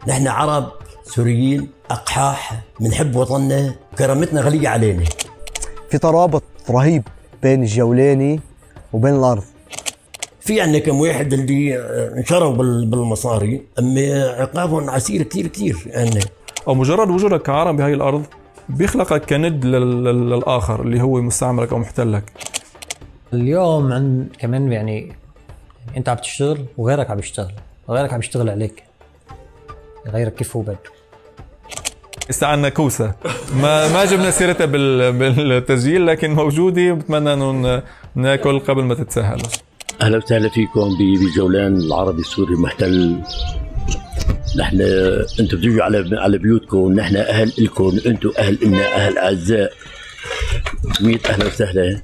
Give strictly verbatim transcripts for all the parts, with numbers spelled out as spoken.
نحن عرب سوريين أقحاح، بنحب وطننا، كرامتنا غالية علينا. في ترابط رهيب بين الجولاني وبين الأرض. في عندنا كم واحد اللي انشروا بالمصاري، أما عقابهم عسير كتير كتير يعني. أو مجرد وجودك كعرب بهاي الأرض بيخلقك كند للآخر اللي هو مستعمرك أو محتلك. اليوم عن كمان يعني أنت عم تشتغل وغيرك عم يشتغل، وغيرك عم يشتغل عليك، غيرك كيف هو بده. لسه عنا كوسة ما ما جبنا سيرتها بالتسجيل، لكن موجودة، بتمنى انه ناكل قبل ما تتسهل. اهلا وسهلا فيكم بجولان العربي السوري المحتل. نحن انتم بتجوا على على بيوتكم، نحن اهل الكم، انتم اهل إلنا، اهل اعزاء. ميت اهلا وسهلا.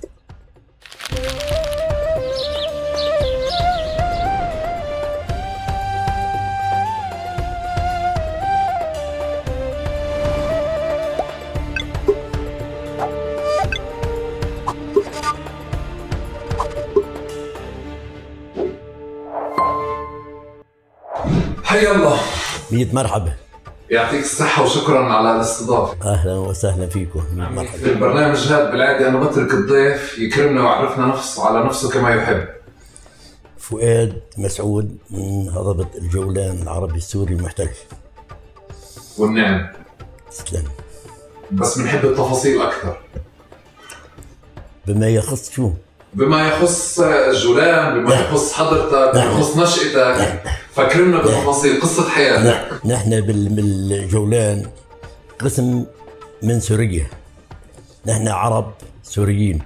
حيا الله. ميت مرحبا. يعطيك الصحة وشكرا على الاستضافة. أهلا وسهلا فيكم. ميت مرحبا. في البرنامج هذا بالعادة أنا بترك الضيف يكرمنا ويعرفنا نفسه على نفسه كما يحب. فؤاد مسعود من هضبة الجولان العربي السوري المحتل. والنعم. تسلم. بس بنحب التفاصيل أكثر. بما يخص شو؟ بما يخص الجولان، بما يخص حضرتك، بما يخص نشأتك، فكرمنا بتفاصيل قصة حياتك. نحن بالجولان قسم من سوريا، نحن عرب سوريين،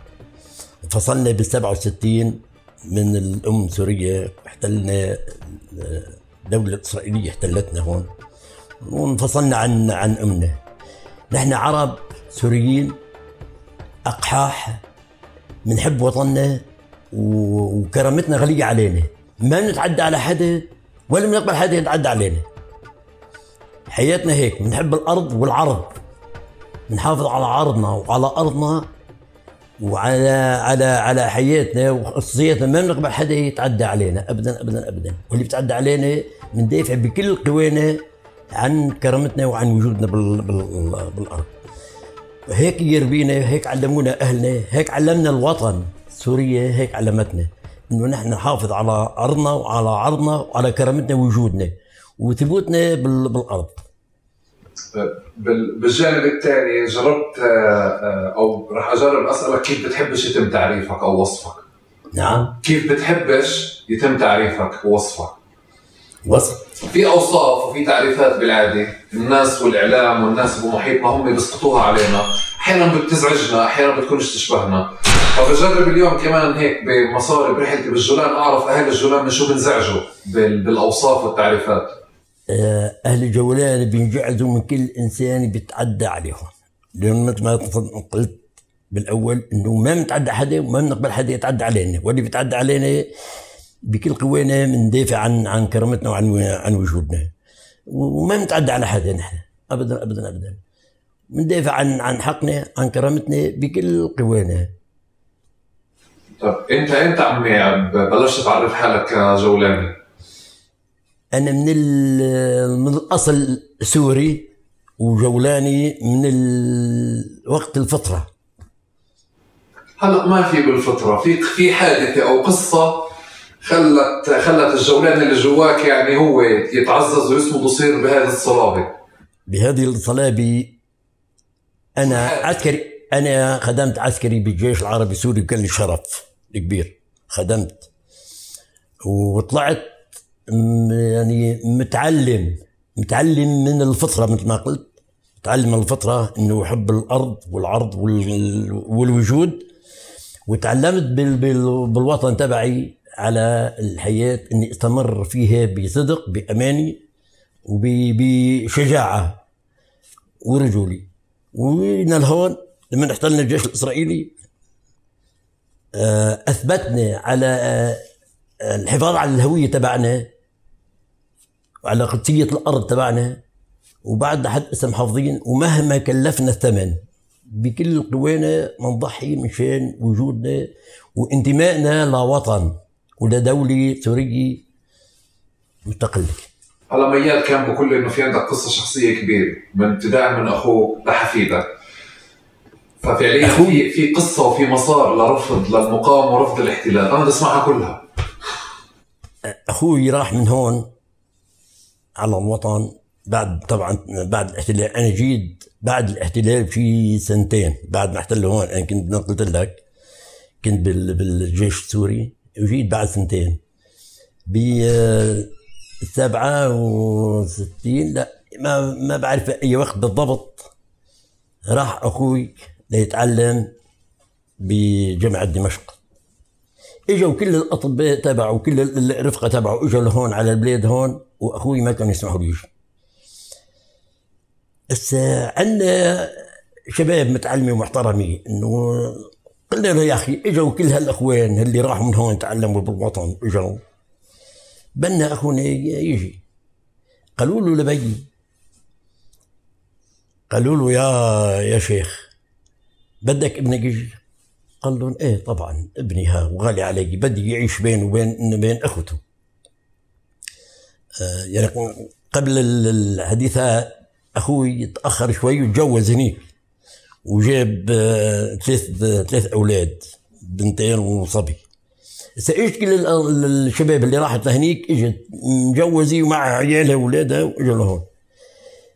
انفصلنا بالسبعة وستين من الأم سوريا، احتلنا الدولة الإسرائيلية احتلتنا هون وانفصلنا عن عن أمنا. نحن عرب سوريين أقحاح، بنحب وطننا وكرامتنا غالية علينا، ما بنتعدى على حدا ولا بنقبل حدا يتعدى علينا. حياتنا هيك، بنحب الأرض والعرض، بنحافظ على عرضنا وعلى أرضنا وعلى على على حياتنا وخصوصياتنا، ما بنقبل حدا يتعدى علينا أبدا أبدا أبدا، واللي بيتعدى علينا بندافع بكل قوانا عن كرامتنا وعن وجودنا بال بال بالأرض. هيك يربينا، هيك علمونا أهلنا، هيك علمنا الوطن. سوريا هيك علمتنا إنه نحن نحافظ على أرضنا وعلى عرضنا وعلى كرامتنا ووجودنا وثبوتنا بالأرض. بالجانب الثاني جربت أو راح أجرب أسألك كيف بتحبش يتم تعريفك أو وصفك؟ نعم. كيف بتحبش يتم تعريفك ووصفك؟ وصف في أوصاف وفي تعريفات بالعادة الناس والإعلام والناس بمحيطنا هم بيسقطوها علينا، أحيانا بتزعجنا، أحيانا بتكونش تشبهنا. فبجرب اليوم كمان هيك بمصاري برحلتي بالجولان أعرف أهل الجولان من شو بنزعجوا بالأوصاف والتعريفات. أهل الجولان بينجعزوا من كل إنسان بيتعدى عليهم، لأن مثل ما قلت بالأول إنه ما بنتعدى حدا وما بنقبل حدا يتعدى علينا، واللي بيتعدى علينا بكل قوانا بندافع عن عن كرامتنا وعن عن وجودنا، وما بنتعدى على حدا نحن ابدا ابدا ابدا، بندافع عن عن حقنا عن كرامتنا بكل قوانا. طيب انت انت عمي بلشت تعرف حالك كجولاني؟ انا من من الاصل سوري وجولاني من وقت الفطره. هلا ما في بالفطره، في في حادثه او قصه خلت خلت الجولان اللي جواك يعني هو يتعزز ويصمد ويصير بهذه الصلابه. بهذه الصلابه انا عسكري، انا خدمت عسكري بالجيش العربي السوري، كان لي شرف كبير، خدمت وطلعت يعني متعلم متعلم من الفطره مثل ما قلت، متعلم من الفطره انه يحب الارض والعرض والوجود، وتعلمت بالوطن تبعي على الحياة اني استمر فيها بصدق بأماني وبشجاعة ورجولي. وجينا لهون لما احتلنا الجيش الإسرائيلي أثبتنا على الحفاظ على الهوية تبعنا وعلى قدسية الأرض تبعنا، وبعد حد اسم محافظين، ومهما كلفنا الثمن بكل قوانا نضحي مشان وجودنا وانتمائنا لوطن ولدولة سورية مستقلة. هلا مياد كان بقول لي انه في عندك قصه شخصيه كبيره من ابتداء من اخوك لحفيدك، ففعليا في في قصه وفي مسار لرفض للمقاومه ورفض الاحتلال، انا بدي اسمعها كلها. اخوي راح من هون على الوطن بعد طبعا بعد الاحتلال. انا جيت بعد الاحتلال في سنتين بعد ما احتلوا هون. انا كنت قلت لك كنت بالجيش السوري وجيت بعد سنتين ب سبعة وستين لا ما ما بعرف اي وقت بالضبط. راح اخوي ليتعلم بجامعة دمشق. اجوا كل الاطباء تبعه وكل الرفقه تبعه اجوا لهون على البلاد هون، واخوي ما كانوا يسمحوا لي يجي. هسه عندنا شباب متعلمين ومحترمين، انه قلنا له يا اخي اجوا كل هالاخوان اللي راحوا من هون تعلموا بالوطن اجوا بدنا اخونا يجي. قالوا له لبي، قالوا له يا يا شيخ بدك ابنك يجي؟ قال لهم ايه طبعا ابني ها وغالي علي، بدي يعيش بينه وبين بين اخوته. آه يعني قبل الحديث اخوي تاخر شوي وتجوز هنيك وجاب آه ثلاث ثلاث اولاد بنتين وصبي. هسه اجت كل الشباب اللي راحت لهنيك اجت مجوزه ومع عيالها واولادها واجوا لهون.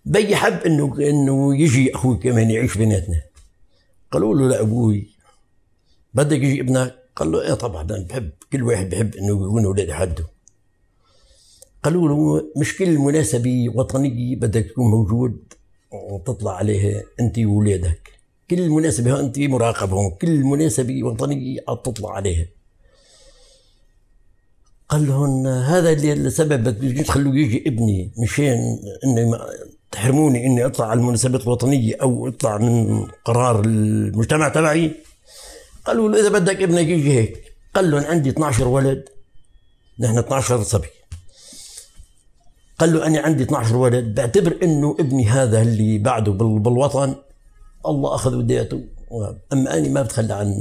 بي حب انه انه يجي اخوي كمان يعيش بيناتنا. قالوا له لابوي بدك يجي ابنك؟ قال له ايه طبعا انا بحب، كل واحد بحب انه يكون اولادي حده. قالوا له مش كل مناسبه وطنيه بدك تكون موجود وتطلع عليها انت واولادك، كل مناسبه انت مراقب هون، كل مناسبه وطنيه تطلع عليها. قال لهم هذا اللي السبب بدك تخلوا يجي ابني مشان انه تحرموني اني اطلع على المناسبات الوطنيه او اطلع من قرار المجتمع تبعي؟ قالوا له اذا بدك ابنك يجي هيك. قال لهم عندي اثنعش ولد، نحن اثنعش صبي. قال له انا عندي اثنعش ولد، بعتبر انه ابني هذا اللي بعده بالوطن الله اخذ وديته، اما انا ما بتخلى عن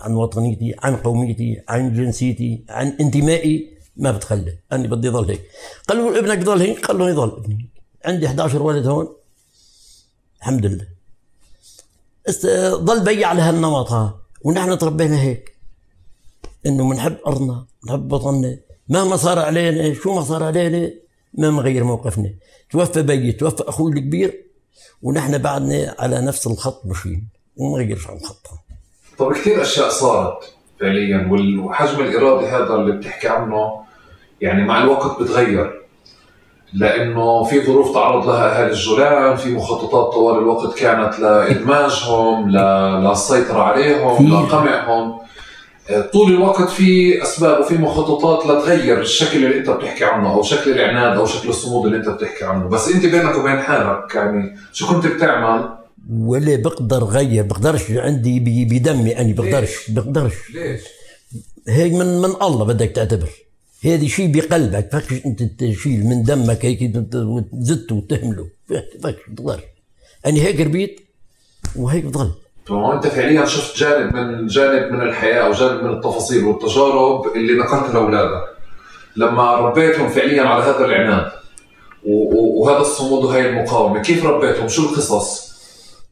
عن وطنيتي، عن قوميتي، عن جنسيتي، عن انتمائي، ما بتخلى، انا بدي ضل هيك. قالوا له ابنك ضل هيك؟ قال له يضل ابني. عندي احد عشر ولد هون الحمد لله. ضل بي على هالنمط ها، ونحن تربينا هيك انه بنحب ارضنا، بنحب وطننا، مهما صار علينا، شو ما صار علينا ما نغير موقفنا. توفى بي، توفى اخوي الكبير، ونحن بعدنا على نفس الخط ماشيين وما نغيرش عن خطها. طب كثير اشياء صارت فعليا، وحجم الاراده هذا اللي بتحكي عنه يعني مع الوقت بتغير، لانه في ظروف تعرض لها اهالي الجولان، في مخططات طوال الوقت كانت لادماجهم، للسيطره عليهم، لقمعهم. طول الوقت في اسباب وفي مخططات لتغير الشكل اللي انت بتحكي عنه او شكل العناد او شكل الصمود اللي انت بتحكي عنه، بس انت بينك وبين حالك يعني شو كنت بتعمل؟ ولا بقدر غير، بقدرش، عندي بدمي انا بقدرش بقدرش ليش؟ هيك من من الله بدك تعتبر، هذا شيء بقلبك، فكش انت تشيل من دمك هيك وتزته وتهمله، فكش بتقدر. انا هيك ربيت وهيك بضل. انت فعليا شفت جانب من جانب من الحياه او جانب من التفاصيل والتجارب اللي نقلتها لاولادك لما ربيتهم فعليا على هذا العناد وهذا الصمود وهي المقاومه، كيف ربيتهم؟ شو القصص؟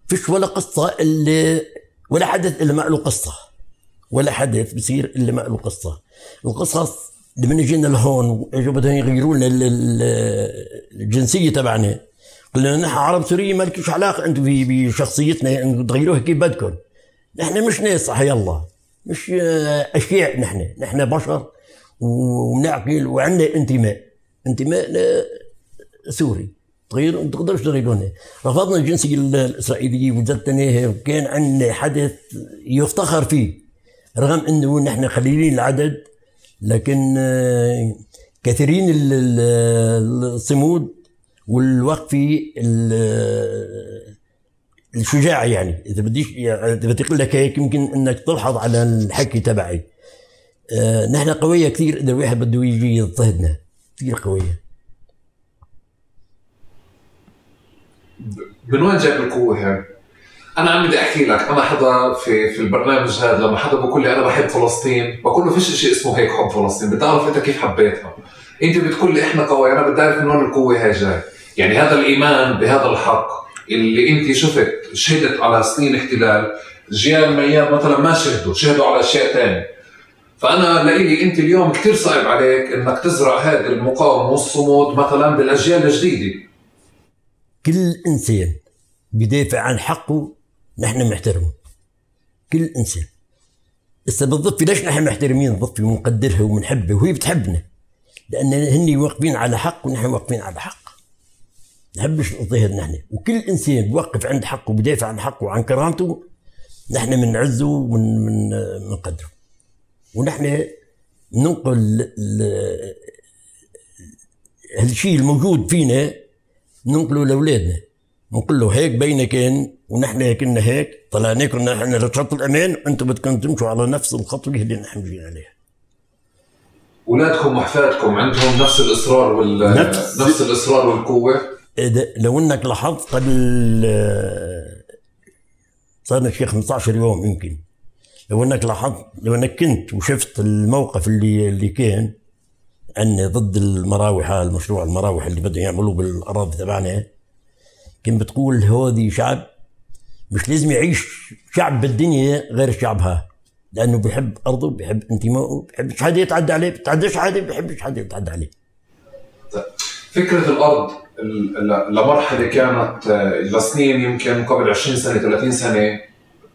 فيش ولا قصه اللي ولا حدث الا ما له قصه، ولا حدث بصير الا ما له قصه. القصص لما جينا لهون اجوا بدهم يغيروا لنا الجنسيه تبعنا، قلنا نحن عرب سوريين ما لكش علاقه انتم بشخصيتنا، تغيروها كيف بدكم. نحن مش ناس حي الله، مش اشياء، نحن نحن بشر وبنعقل وعندنا انتماء، انتماء سوري. تغيروا ما تقدروش تغيرونا. رفضنا الجنسيه الاسرائيليه وجدتناها، وكان عندنا حدث يفتخر فيه رغم انه نحن قليلين العدد، لكن كثيرين الصمود والوقفه الشجاعه. يعني اذا بديش اذا بدي اقول لك هيك يمكن انك تلحظ على الحكي تبعي. آه نحن قويه كثير اذا الواحد بده يجي يضطهدنا، كثير قويه. من وين جايب القوه هاي؟ انا عم بدي احكي لك، انا حدا في في البرنامج هذا لما حدا بقول لي انا بحب فلسطين، بقول له فيش شيء اسمه هيك حب فلسطين، بتعرف انت كيف حبيتها. انت بتقول لي احنا قوي، انا بدي اعرف من وين القوه هاي جاي. يعني هذا الايمان بهذا الحق اللي انت شفت شهدت على سنين احتلال، جيال مياد مثلا ما شهدوا، شهدوا على اشياء ثانيه. فانا لإلي انت اليوم كثير صعب عليك انك تزرع هذه المقاومه والصمود مثلا بالاجيال الجديده. كل انسان بدافع عن حقه نحن بنحترمه، كل انسان. هسه بالضفه ليش نحن محترمين الضفه ومنقدرها ومنحبها وهي بتحبنا؟ لان هن واقفين على حق ونحن واقفين على حق. نحبش نضيهر نحن، وكل انسان بوقف عند حقه وبدافع عن حقه وعن كرامته نحن بنعزه ومنقدره. ونحن ننقل هالشيء الموجود فينا ننقله لاولادنا، نقول له هيك بينا كان ونحن كنا هيك طلعنا كنا نحن لشط الامان وانتم بدكم تمشوا على نفس الخطوه اللي نحن مشينا عليها. اولادكم واحفادكم عندهم نفس الاصرار وال نفس, نفس الاصرار والقوه. لو انك لاحظت قبل صار شي خمسة عشر يوم يمكن، لو انك لاحظت لو انك كنت وشفت الموقف اللي اللي كان عندنا ضد المراوح، المشروع المراوح اللي بدهم يعملوه بالاراضي تبعنا، كنت بتقول هذه شعب مش لازم يعيش شعب بالدنيا غير شعبها، لانه بيحب ارضه بيحب انتمائه، بيحبش حدا يتعدى عليه، بتعداش حدا، بيحبش حدا يتعدى عليه. فكره الارض لمرحله كانت لسنين يمكن قبل عشرين سنه ثلاثين سنه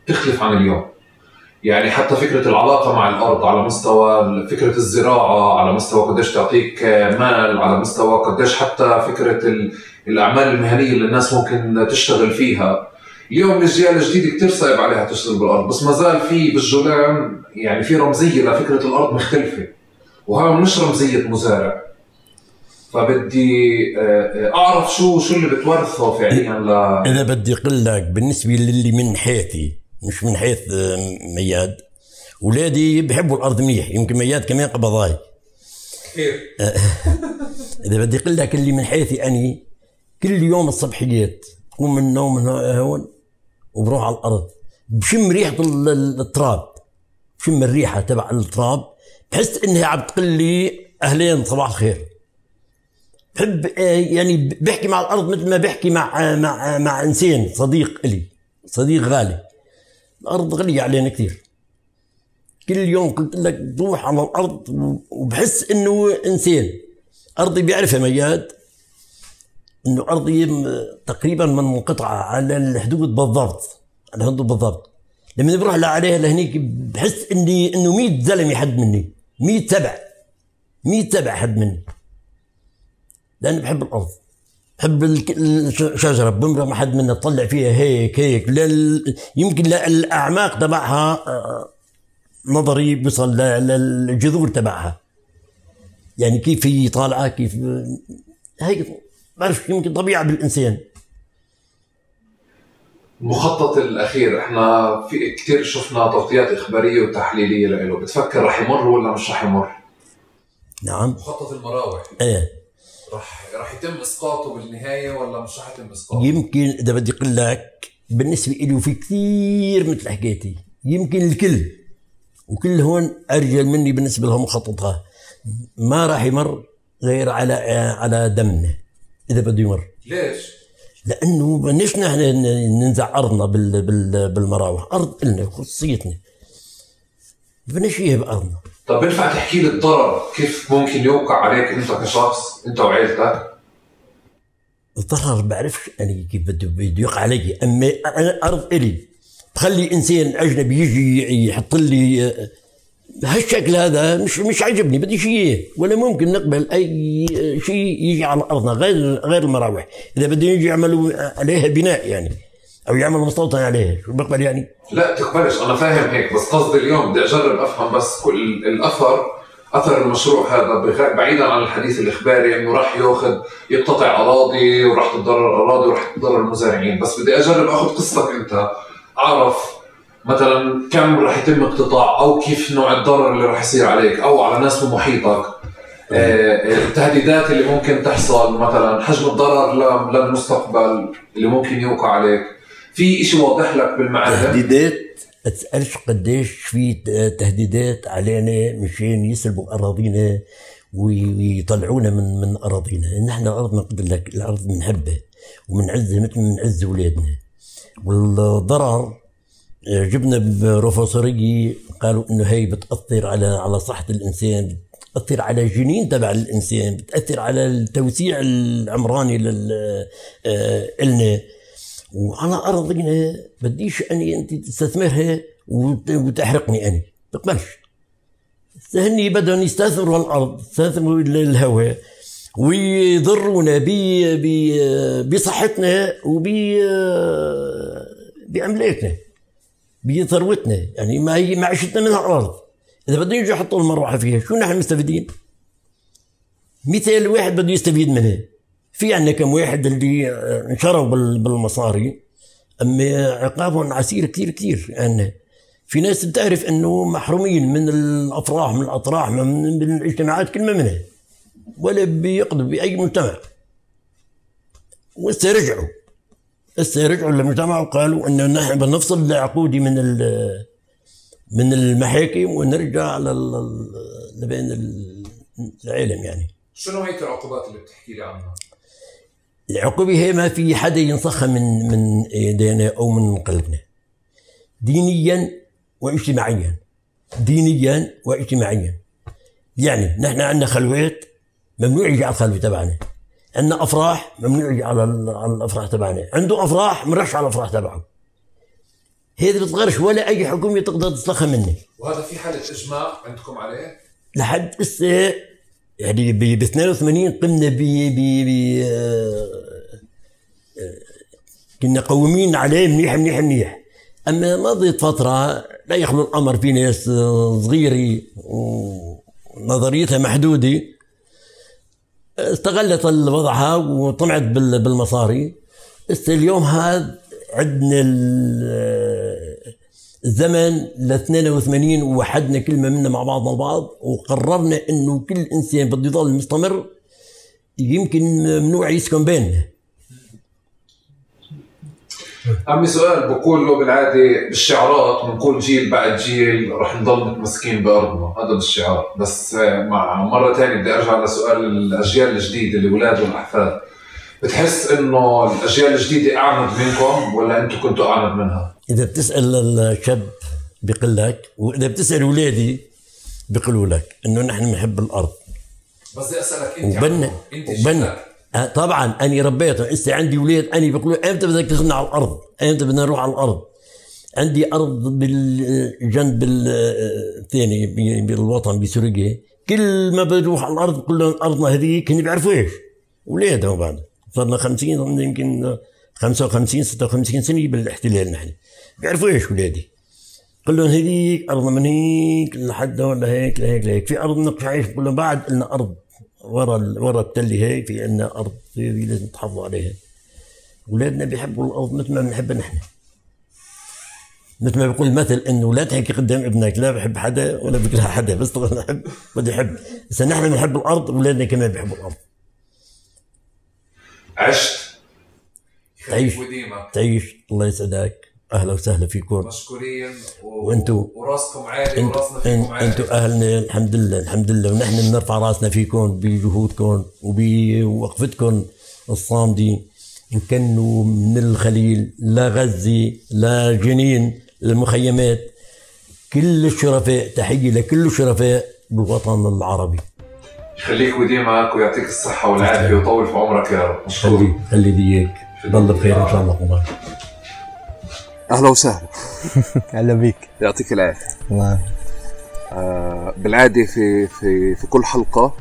تختلف عن اليوم. يعني حتى فكره العلاقه مع الارض على مستوى فكره الزراعه، على مستوى قديش تعطيك مال، على مستوى قديش حتى فكره الاعمال المهنيه اللي الناس ممكن تشتغل فيها. اليوم الاجيال الجديده كثير صعب عليها تشتغل بالارض، بس ما زال في بالجولان يعني في رمزيه لفكره الارض مختلفه، وهذا مش رمزيه مزارع. فبدي اعرف شو شو اللي بتورثه فعليا ل اذا بدي اقول لك بالنسبه للي من حيثي مش من حيث مياد، اولادي بحبوا الارض منيح، يمكن مياد كمان قبضاي كثير. اذا بدي اقول لك اللي من حيثي اني كل يوم الصبحيات بقوم من النوم من هون وبروح على الارض بشم ريحه التراب، بشم الريحه تبع التراب، بحس انها عم تقول لي اهلين صباح الخير. بحب يعني بحكي مع الارض مثل ما بحكي مع مع مع انسان صديق الي، صديق غالي. الارض غاليه علينا كثير. كل يوم قلت لك بروح على الارض وبحس انه انسان. ارضي بيعرفها مياد انه ارضي تقريبا منقطعه على الحدود بالضبط، على الحدود بالضبط. لما بروح عليها لهنيك بحس اني انه مية زلمه حد مني، مية سبع مية سبع حد مني. لأني بحب الأرض، بحب الشجرة، بمرق ما حد منا تطلع فيها هيك هيك لل... يمكن للأعماق تبعها نظري بيصل للجذور تبعها، يعني كيف هي طالعة كيف هيك بعرف، يمكن طبيعة بالإنسان. المخطط الأخير احنا في كثير شفنا تغطيات إخبارية وتحليلية له، بتفكر رح يمر ولا مش رح يمر؟ نعم. مخطط المراوح ايه رح رح يتم اسقاطه بالنهايه ولا مش رح يتم اسقاطه؟ يمكن اذا بدي اقول لك بالنسبه لي وفي كثير مثل حكيتي، يمكن الكل وكل هون ارجل مني بالنسبه لهم مخططها ما راح يمر غير على على دمنا اذا بده يمر. ليش؟ لانه بدناش نحن ننزع ارضنا بال بال بالمراوح، ارض النا خصوصيتنا، بدناش اياها بارضنا. طب بينفع تحكي لي الضرر كيف ممكن يوقع عليك انت كشخص انت وعائلتك؟ الضرر بعرفش انا كيف بده بده يوقع علي، اما انا ارض الي بخلي انسان اجنبي يجي يحط لي هالشكل هذا مش مش عجبني، بدي شيء ولا ممكن نقبل اي شيء يجي على ارضنا غير غير المراوح. اذا بدهم يجي يعملوا عليها بناء يعني او يعملوا مستوطن عليها شو بقبل يعني؟ لا تقبلش، انا فاهم هيك، بس قصدي اليوم بدي اجرب افهم بس كل الاثر اثر المشروع هذا بعيدا عن الحديث الاخباري انه راح ياخذ يقتطع اراضي وراح تتضرر اراضي وراح تتضرر المزارعين، بس بدي اجرب اخذ قصتك انت، اعرف مثلا كم راح يتم اقتطاع او كيف نوع الضرر اللي راح يصير عليك او على ناس بمحيطك، التهديدات اللي ممكن تحصل، مثلا حجم الضرر للمستقبل اللي ممكن يوقع عليك. في شيء واضح لك بالمعرفة؟ تهديدات ما تسألش قديش في تهديدات علينا مشان يسلبوا أراضينا ويطلعونا من من اراضينا. نحن الارض ما قلت لك الارض بنحبها وبنعزها مثل ما بنعز اولادنا. والضرر جبنا بروفيسورية قالوا انه هي بتاثر على على صحه الانسان، بتاثر على الجنين تبع الانسان، بتاثر على التوسيع العمراني لل النا وعلى ارضنا. بديش اني انت تستثمرها وتحرقني اني، بقبلش. هني بدهم يستثمروا الارض، يستثمروا الهواء ويضرونا بصحتنا وب باملاكنا بثروتنا، يعني ما هي معيشتنا من الارض. اذا بدهم يجوا يحطوا المروحه فيها شو نحن مستفيدين؟ مثال واحد بده يستفيد منها. في عندنا كم واحد اللي انشروا بالمصاري اما عقابهم عسير كثير كثير. يعني في ناس بتعرف انه محرومين من الافراح من الاطراح من الاجتماعات كلمه منها ولا بيقضوا باي مجتمع. وهسه رجعوا هسه رجعوا للمجتمع وقالوا انه نحن بنفصل العقودي من من المحاكم ونرجع لبين العالم. يعني شنو هيك العقوبات اللي بتحكي لي عنها؟ العقوبة هي ما في حدا ينسخها من من ايدينا او من قلبنا، دينيا واجتماعيا. دينيا واجتماعيا يعني نحن عندنا خلوات ممنوع يجي على الخلوة تبعنا، عندنا افراح ممنوع يجي على على الافراح تبعنا، عنده افراح مرش على الافراح تبعه. هذا بتغيرش ولا اي حكومه تقدر تسلخها مني. وهذا في حاله اجماع عندكم عليه؟ لحد هسه يعني ب اثنين وثمانين قمنا ب ب ب كنا قومين عليه منيح منيح منيح. اما مضيت فتره لا يخلو الامر في ناس صغيره ونظريتها محدوده استغلت الوضعها وطمعت بالمصاري. هسه اليوم هذا عندنا الزمن ل اثنين وثمانين ووحدنا كلمه منا مع بعضنا البعض وقررنا انه كل انسان بده يضل مستمر يمكن ممنوع يسكن بيننا. عمي سؤال بقول له بالعاده بالشعارات بنقول جيل بعد جيل رح نضل متمسكين بارضنا، هذا بالشعار. بس مع مره ثانيه بدي ارجع لسؤال الاجيال الجديده الاولاد والاحفاد. بتحس انه الاجيال الجديده اعند منكم ولا انتم كنتوا اعند منها؟ اذا بتسال الشاب بيقول لك، واذا بتسال اولادي بيقولوا لك انه نحن بنحب الارض. بس بدي اسالك انت وبنا وبنا آه طبعا اني ربيتهم. هسه عندي اولاد اني بيقولوا امتى بدك تاخذنا على الارض؟ امتى بدنا نروح على الارض؟ عندي ارض بالجنب الثاني بالوطن بسوريا، كل ما بروح على الارض بقول لهم ارضنا هذيك، هن بيعرفوا ايش؟ اولادهم بعد صرنا خمسين يمكن خمسة وخمسين ستة وخمسين سنه بالاحتلال. نحن بيعرفوا ايش اولادي؟ قل لهم هذيك ارضنا من هيك لحد هون لهيك لهيك لهيك. في ارض نقش عايش بقول لهم بعد لنا ارض ورا ورا التله هيك، في عندنا ارض هذه لازم تحافظوا عليها. اولادنا بيحبوا الارض مثل ما بنحبها نحن. مثل ما بيقول المثل انه لا تحكي قدام ابنك لا بحب حدا ولا بكره حدا، بس طبعا بحب بدي احب. بس نحن بنحب الارض واولادنا كمان بيحبوا الارض. عشت تعيش تعيش الله يسعدك. اهلا وسهلا فيكم، مشكورين و... وانتم وراسكم عالي وراسنا فيكم عالي. انتم اهلنا الحمد لله الحمد لله، ونحن بنرفع راسنا فيكم بجهودكم وبوقفتكم الصامده. ان كانوا من الخليل لغزه لجنين المخيمات، كل الشرفاء، تحيه لكل الشرفاء بالوطن العربي. يخليك وديمك ويعطيك الصحه والعافيه ويطول في عمرك يا رب. خلي خلي ديك ضل بخير ان شاء الله. الله اهلا وسهلا. اهلا بيك. يعطيك العافيه. الله. آه بالعاده في في في كل حلقه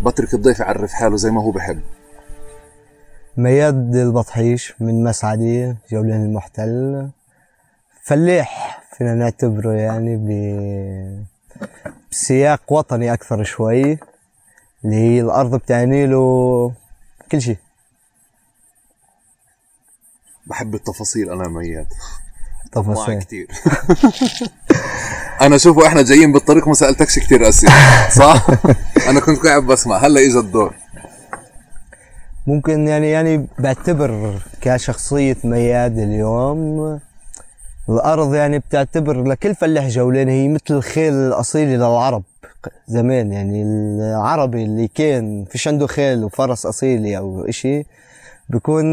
بترك الضيف يعرف حاله زي ما هو بحب. مياد البطحيش من مسعدي جولان المحتل، فلاح فينا نعتبره يعني ب بسياق وطني اكثر شوي، اللي هي الارض بتعني له كل شيء. بحب التفاصيل انا مياد، تفاصيل كثير. انا شوفوا احنا جايين بالطريق ما سالتكش كثير اسئله صح؟ انا كنت قاعد بسمع، هلا اجى الدور. ممكن يعني يعني بعتبر كشخصية مياد اليوم الأرض يعني بتعتبر لكل فلاح جولان هي مثل الخيل الأصيل للعرب زمان، يعني العربي اللي كان فيش عنده خيل وفرس أصيلي أو إشي بيكون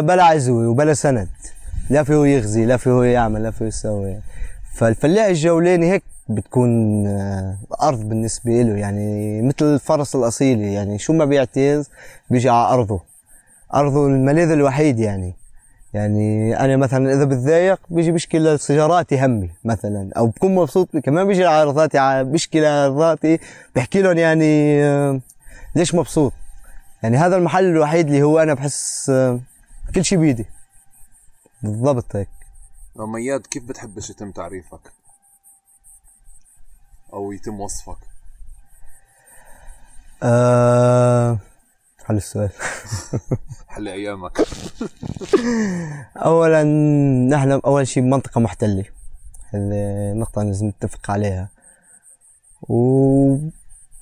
بلا عزوة وبلا سند، لا فيه يغزي لا فيه يعمل لا فيه يسوي. فالفلاح الجولاني هيك بتكون أرض بالنسبة له، يعني مثل الفرس الأصيلي، يعني شو ما بيعتز بيجي على أرضه، أرضه الملاذ الوحيد. يعني يعني أنا مثلا إذا بتضايق بيجي بيشكي لسياراتي همي مثلا، أو بكون مبسوط كمان بيجي على أرضاتي بيشكي لأرضاتي بحكي لهم يعني ليش مبسوط. يعني هذا المحل الوحيد اللي هو أنا بحس كل شي بيدي بالضبط هيك. مياد، كيف بتحبش يتم تعريفك أو يتم وصفك؟ أه... حل السؤال. حل أيامك. أولا نحن أول شيء بمنطقة محتلة، هذه نقطة لازم نتفق عليها،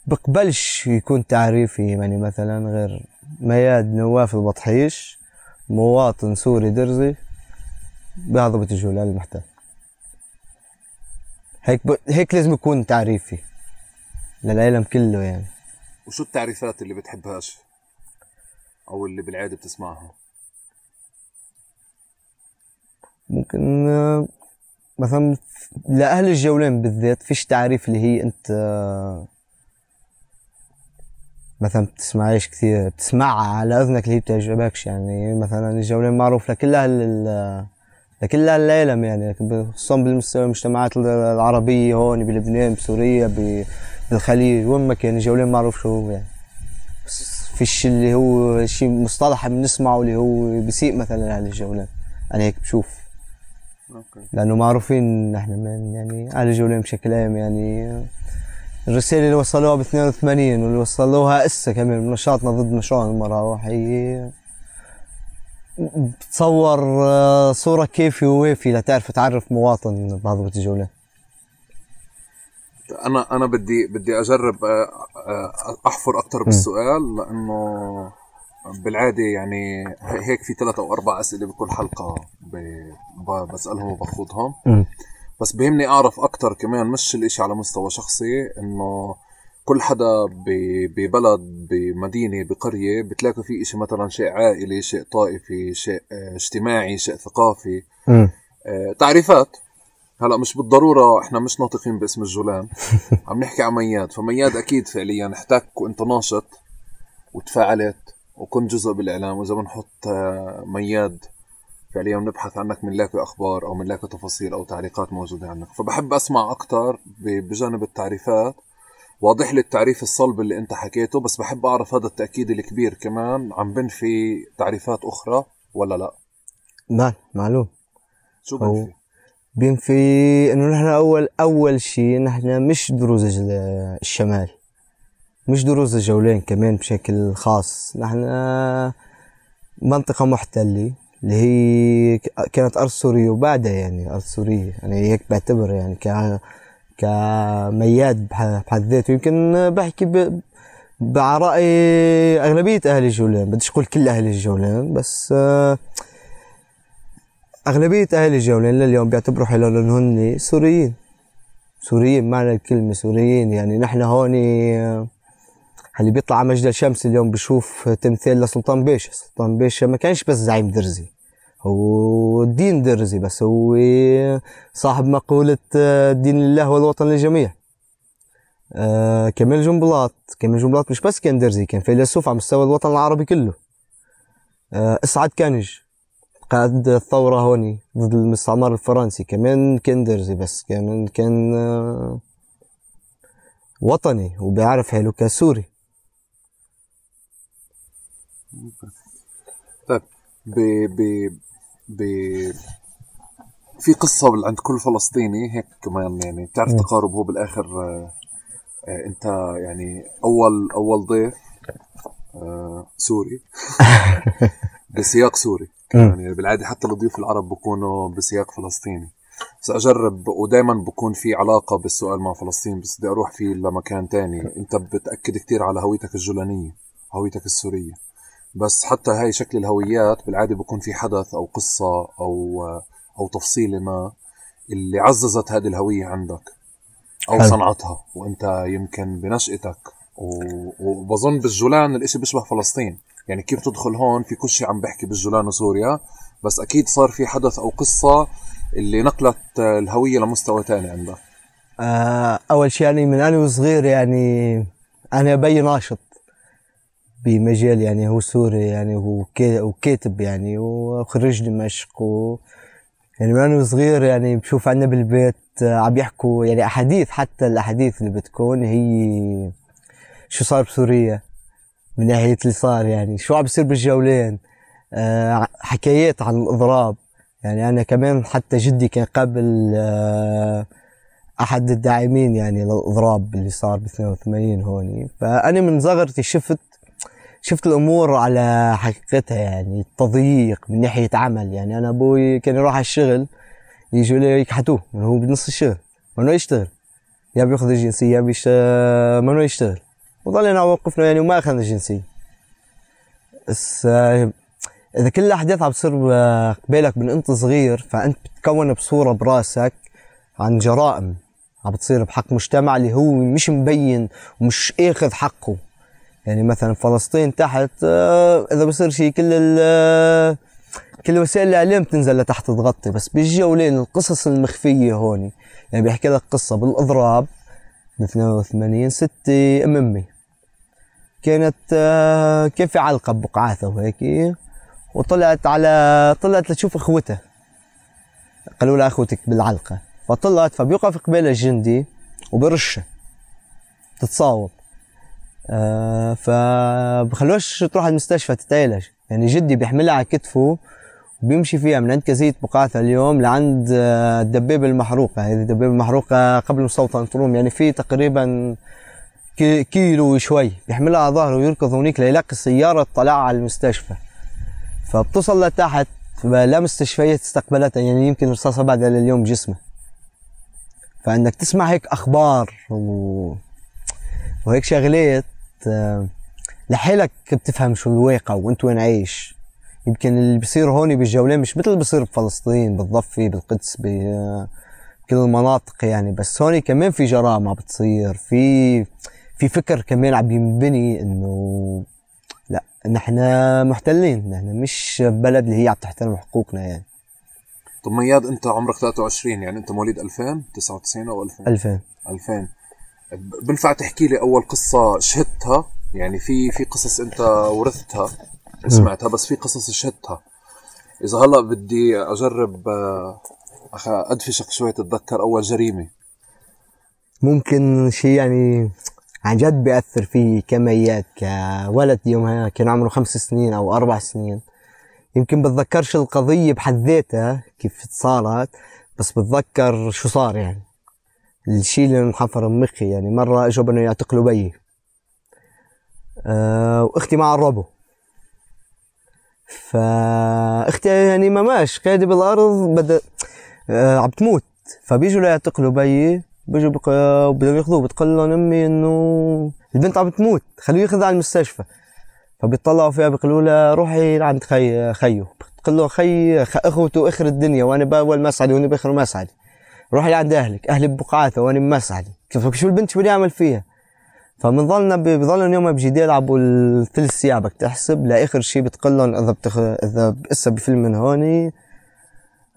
وبقبلش يكون تعريفي يعني مثلا غير مياد نواف البطحيش مواطن سوري درزي بهضبة الجولان المحتل. هيك ب... هيك لازم يكون تعريفي للعالم كله يعني. وشو التعريفات اللي بتحبهاش او اللي بالعاده بتسمعها؟ ممكن مثلا لاهل الجولان بالذات فيش تعريف اللي هي انت مثلا بتسمعيش كثير، بتسمعها على اذنك اللي هي بتعجبكش. يعني مثلا الجولان معروف لكل اهل لكل اهل العالم، يعني خصوصا بالمجتمعات العربيه هون بلبنان بسوريا بالخليج وين ما كان الجولان معروف شو هو. يعني بس فيش اللي هو شيء مصطلح بنسمعه اللي هو بيسيء مثلا اهل الجولان، انا هيك بشوف. اوكي. لانه معروفين نحن من يعني اهل الجولان بشكل عام. يعني الرسالة اللي وصلوها ب اثنين وثمانين واللي وصلوها هسه كمان بنشاطنا ضد نشاط المراوح هي بتصور صورة كيفي ووافي لتعرف تعرف مواطن بهضبة الجولان. انا انا بدي بدي اجرب احفر اكثر بالسؤال، لانه بالعاده يعني هيك في ثلاث او اربع اسئله بكل حلقه بسالهم وباخذهم، بس بهمني اعرف اكثر كمان، مش الاشي على مستوى شخصي، انه كل حدا ببلد بمدينه بقريه بتلاقي في اشي مثلا شيء عائلي، شيء طائفي، شيء اجتماعي، شيء ثقافي، م. تعريفات. هلا مش بالضروره احنا مش ناطقين باسم الجولان. عم نحكي عن مياد، فمياد اكيد فعليا احتك وانت ناشط وتفاعلت وكنت جزء بالاعلام، واذا بنحط مياد فعليا بنبحث عنك بنلاقي اخبار او بنلاقي تفاصيل او تعليقات موجوده عنك. فبحب اسمع اكثر بجانب التعريفات. واضح لي التعريف الصلب اللي انت حكيته، بس بحب اعرف هذا التاكيد الكبير كمان عم بنفي تعريفات اخرى ولا لا؟ لا معلوم. شو بنفي؟ بينفي انه نحن اول اول شيء نحن مش دروز الشمال، مش دروز الجولان كمان بشكل خاص. نحن منطقة محتلة اللي هي كانت ارض سورية وبعدها يعني ارض سورية، يعني هيك بعتبر يعني ك كمياد بحد ذاته. يمكن بحكي ب... بعرأي اغلبية اهل الجولان، بديش اقول كل اهل الجولان، بس أغلبية أهل الجولان لليوم بيعتبروا حالهم هن سوريين، سوريين معنى الكلمة سوريين. يعني نحن هون اللي بيطلع على مجد الشمس اليوم بشوف تمثال لسلطان باشا. سلطان باشا ما كانش بس زعيم درزي، هو دين درزي، بس هو صاحب مقولة الدين لله والوطن للجميع. آه كمال جنبلاط، كمال جنبلاط مش بس كان درزي، كان فيلسوف على مستوى الوطن العربي كله. آه اسعد كانج قائد الثورة هوني ضد المستعمر الفرنسي كمان كان درزي، بس كمان كان وطني وبيعرف حاله كسوري. طيب ب ب ب في قصة عند كل فلسطيني هيك كمان، يعني بتعرف تقارب هو بالاخر آه آه انت يعني اول اول ضيف آه سوري بسياق سوري. يعني بالعادة حتى الضيوف العرب بكونوا بسياق فلسطيني، بس أجرب ودايما بكون في علاقة بالسؤال مع فلسطين، بس بدي أروح فيه لمكان تاني. أنت بتأكد كتير على هويتك الجولانية، هويتك السورية، بس حتى هاي شكل الهويات بالعادة بكون في حدث أو قصة أو أو تفصيلة ما اللي عززت هذه الهوية عندك. او حلو. صنعتها، وانت يمكن بنشأتك و- وبظن بالجولان الاشي بيشبه فلسطين، يعني كيف تدخل هون في كل شيء عم بحكي بالجولان وسوريا، بس اكيد صار في حدث او قصة اللي نقلت الهوية لمستوى تاني عندك. آه، أول شيء يعني من أنا وصغير يعني أنا أبي ناشط بمجال يعني هو سوري يعني هو كي- وكاتب يعني وخريج دمشق و يعني من أنا وصغير يعني بشوف عنا بالبيت آه، عم يحكوا يعني أحاديث، حتى الأحاديث اللي بتكون هي شو صار بسوريا من ناحية اللي صار، يعني شو عم بيصير بالجولين، آه، حكايات عن الإضراب. يعني أنا كمان حتى جدي كان قبل آه احد الداعمين يعني للاضراب اللي صار ب اثنين وثمانين هون. فانا من صغرتي شفت شفت الامور على حقيقتها، يعني التضييق من ناحيه عمل. يعني انا ابوي كان يروح على الشغل يجوا لي يكحتوه من هو بنص الشغل، ممنوع يشتغل، يا بياخذ الجنسيه يا بيش ممنوع يشتغل، وضلينا وقفنا يعني وما اخذنا الجنسيه. بس آه، اذا كل الاحداث عم تصير قبالك من انت صغير، فانت بتكون بصوره براسك عن جرائم عم بتصير بحق مجتمع اللي هو مش مبين ومش اخذ حقه. يعني مثلا فلسطين تحت آه، اذا بصير شيء كل ال كل وسائل الاعلام تنزل لتحت تغطي، بس بالجولين القصص المخفيه هون. يعني بيحكي لك قصه بالاضراب ب اثنين وثمانين، ستي ام امي كانت آه، كان في علقه ببقعاثه وهيك، وطلعت على طلعت لتشوف اخوتها، قالوا لها اخوتك بالعلقه، فطلعت فبيوقف قبالها الجندي وبرشها تتصاوب. آه فبخلوش تروح على المستشفى تتعالج. يعني جدي بيحملها على كتفه وبيمشي فيها من عند كزية بقعاثة اليوم لعند آه الدبابة المحروقة. هذه الدبابة المحروقة قبل مستوطن طروم، يعني في تقريبا كي كيلو وشوي، بيحملها على ظهره ويركض هونيك ليلاقي السيارة تطلعها على المستشفى. فبتصل لتحت لا مستشفيات استقبلتها، يعني يمكن رصاصة بعدها لليوم بجسمه. فانك تسمع هيك اخبار و... وهيك شغلات آه، لحالك بتفهم شو الواقع وانت وين عايش. يمكن اللي بيصير هون بالجولين مش مثل اللي بيصير بفلسطين بالضفة بالقدس بكل المناطق يعني، بس هون كمان في جرائم عم بتصير، في في فكر كمان عم ينبني انه لا نحن محتلين، نحن مش بلد اللي هي عم تحترم حقوقنا يعني. طب مياد انت عمرك ثلاثة وعشرين، يعني انت مواليد ألفين تسعة وتسعين او ألفين؟ ألفين. ألفين. بنفع تحكي لي اول قصة شهدتها؟ يعني في في قصص انت ورثتها وسمعتها، بس في قصص شهدتها. اذا هلا بدي اجرب ادفشك شوي تتذكر اول جريمة. ممكن شيء يعني عن جد بيأثر فيه كميات كولد يومها كان عمره خمس سنين او اربع سنين. يمكن بتذكرش القضية بحد ذاتها كيف صارت، بس بتذكر شو صار. يعني الشيء اللي محفر بمخي، يعني مرة اجوا بدهم يعتقلوا بيي أه واختي مع الربو، فاختي يعني ما ماش قاعدة بالارض بدأ أه عم تموت، فبيجوا ليعتقلوا بيي، بيجوا بق... بدهم ياخذوه، بتقول لهم امي انه البنت عم تموت خلوه ياخذها على المستشفى. فبيطلعوا فيها بيقولوا لها روحي لعند خي خيو، بتقول له خي اخوته اخر الدنيا وانا باول مسعدي وانا باخر مسعدي، روحي لعند اهلك، اهلي ببقعاثه وانا بمسعدي. كيف شو البنت شو بدي اعمل فيها؟ فبنضلنا بضلنا يوم بجدال يلعبوا الثلاث ساعة بدك تحسب لاخر شيء بتقول لهم اذا بتخ... اذا هسه بفيلم من هوني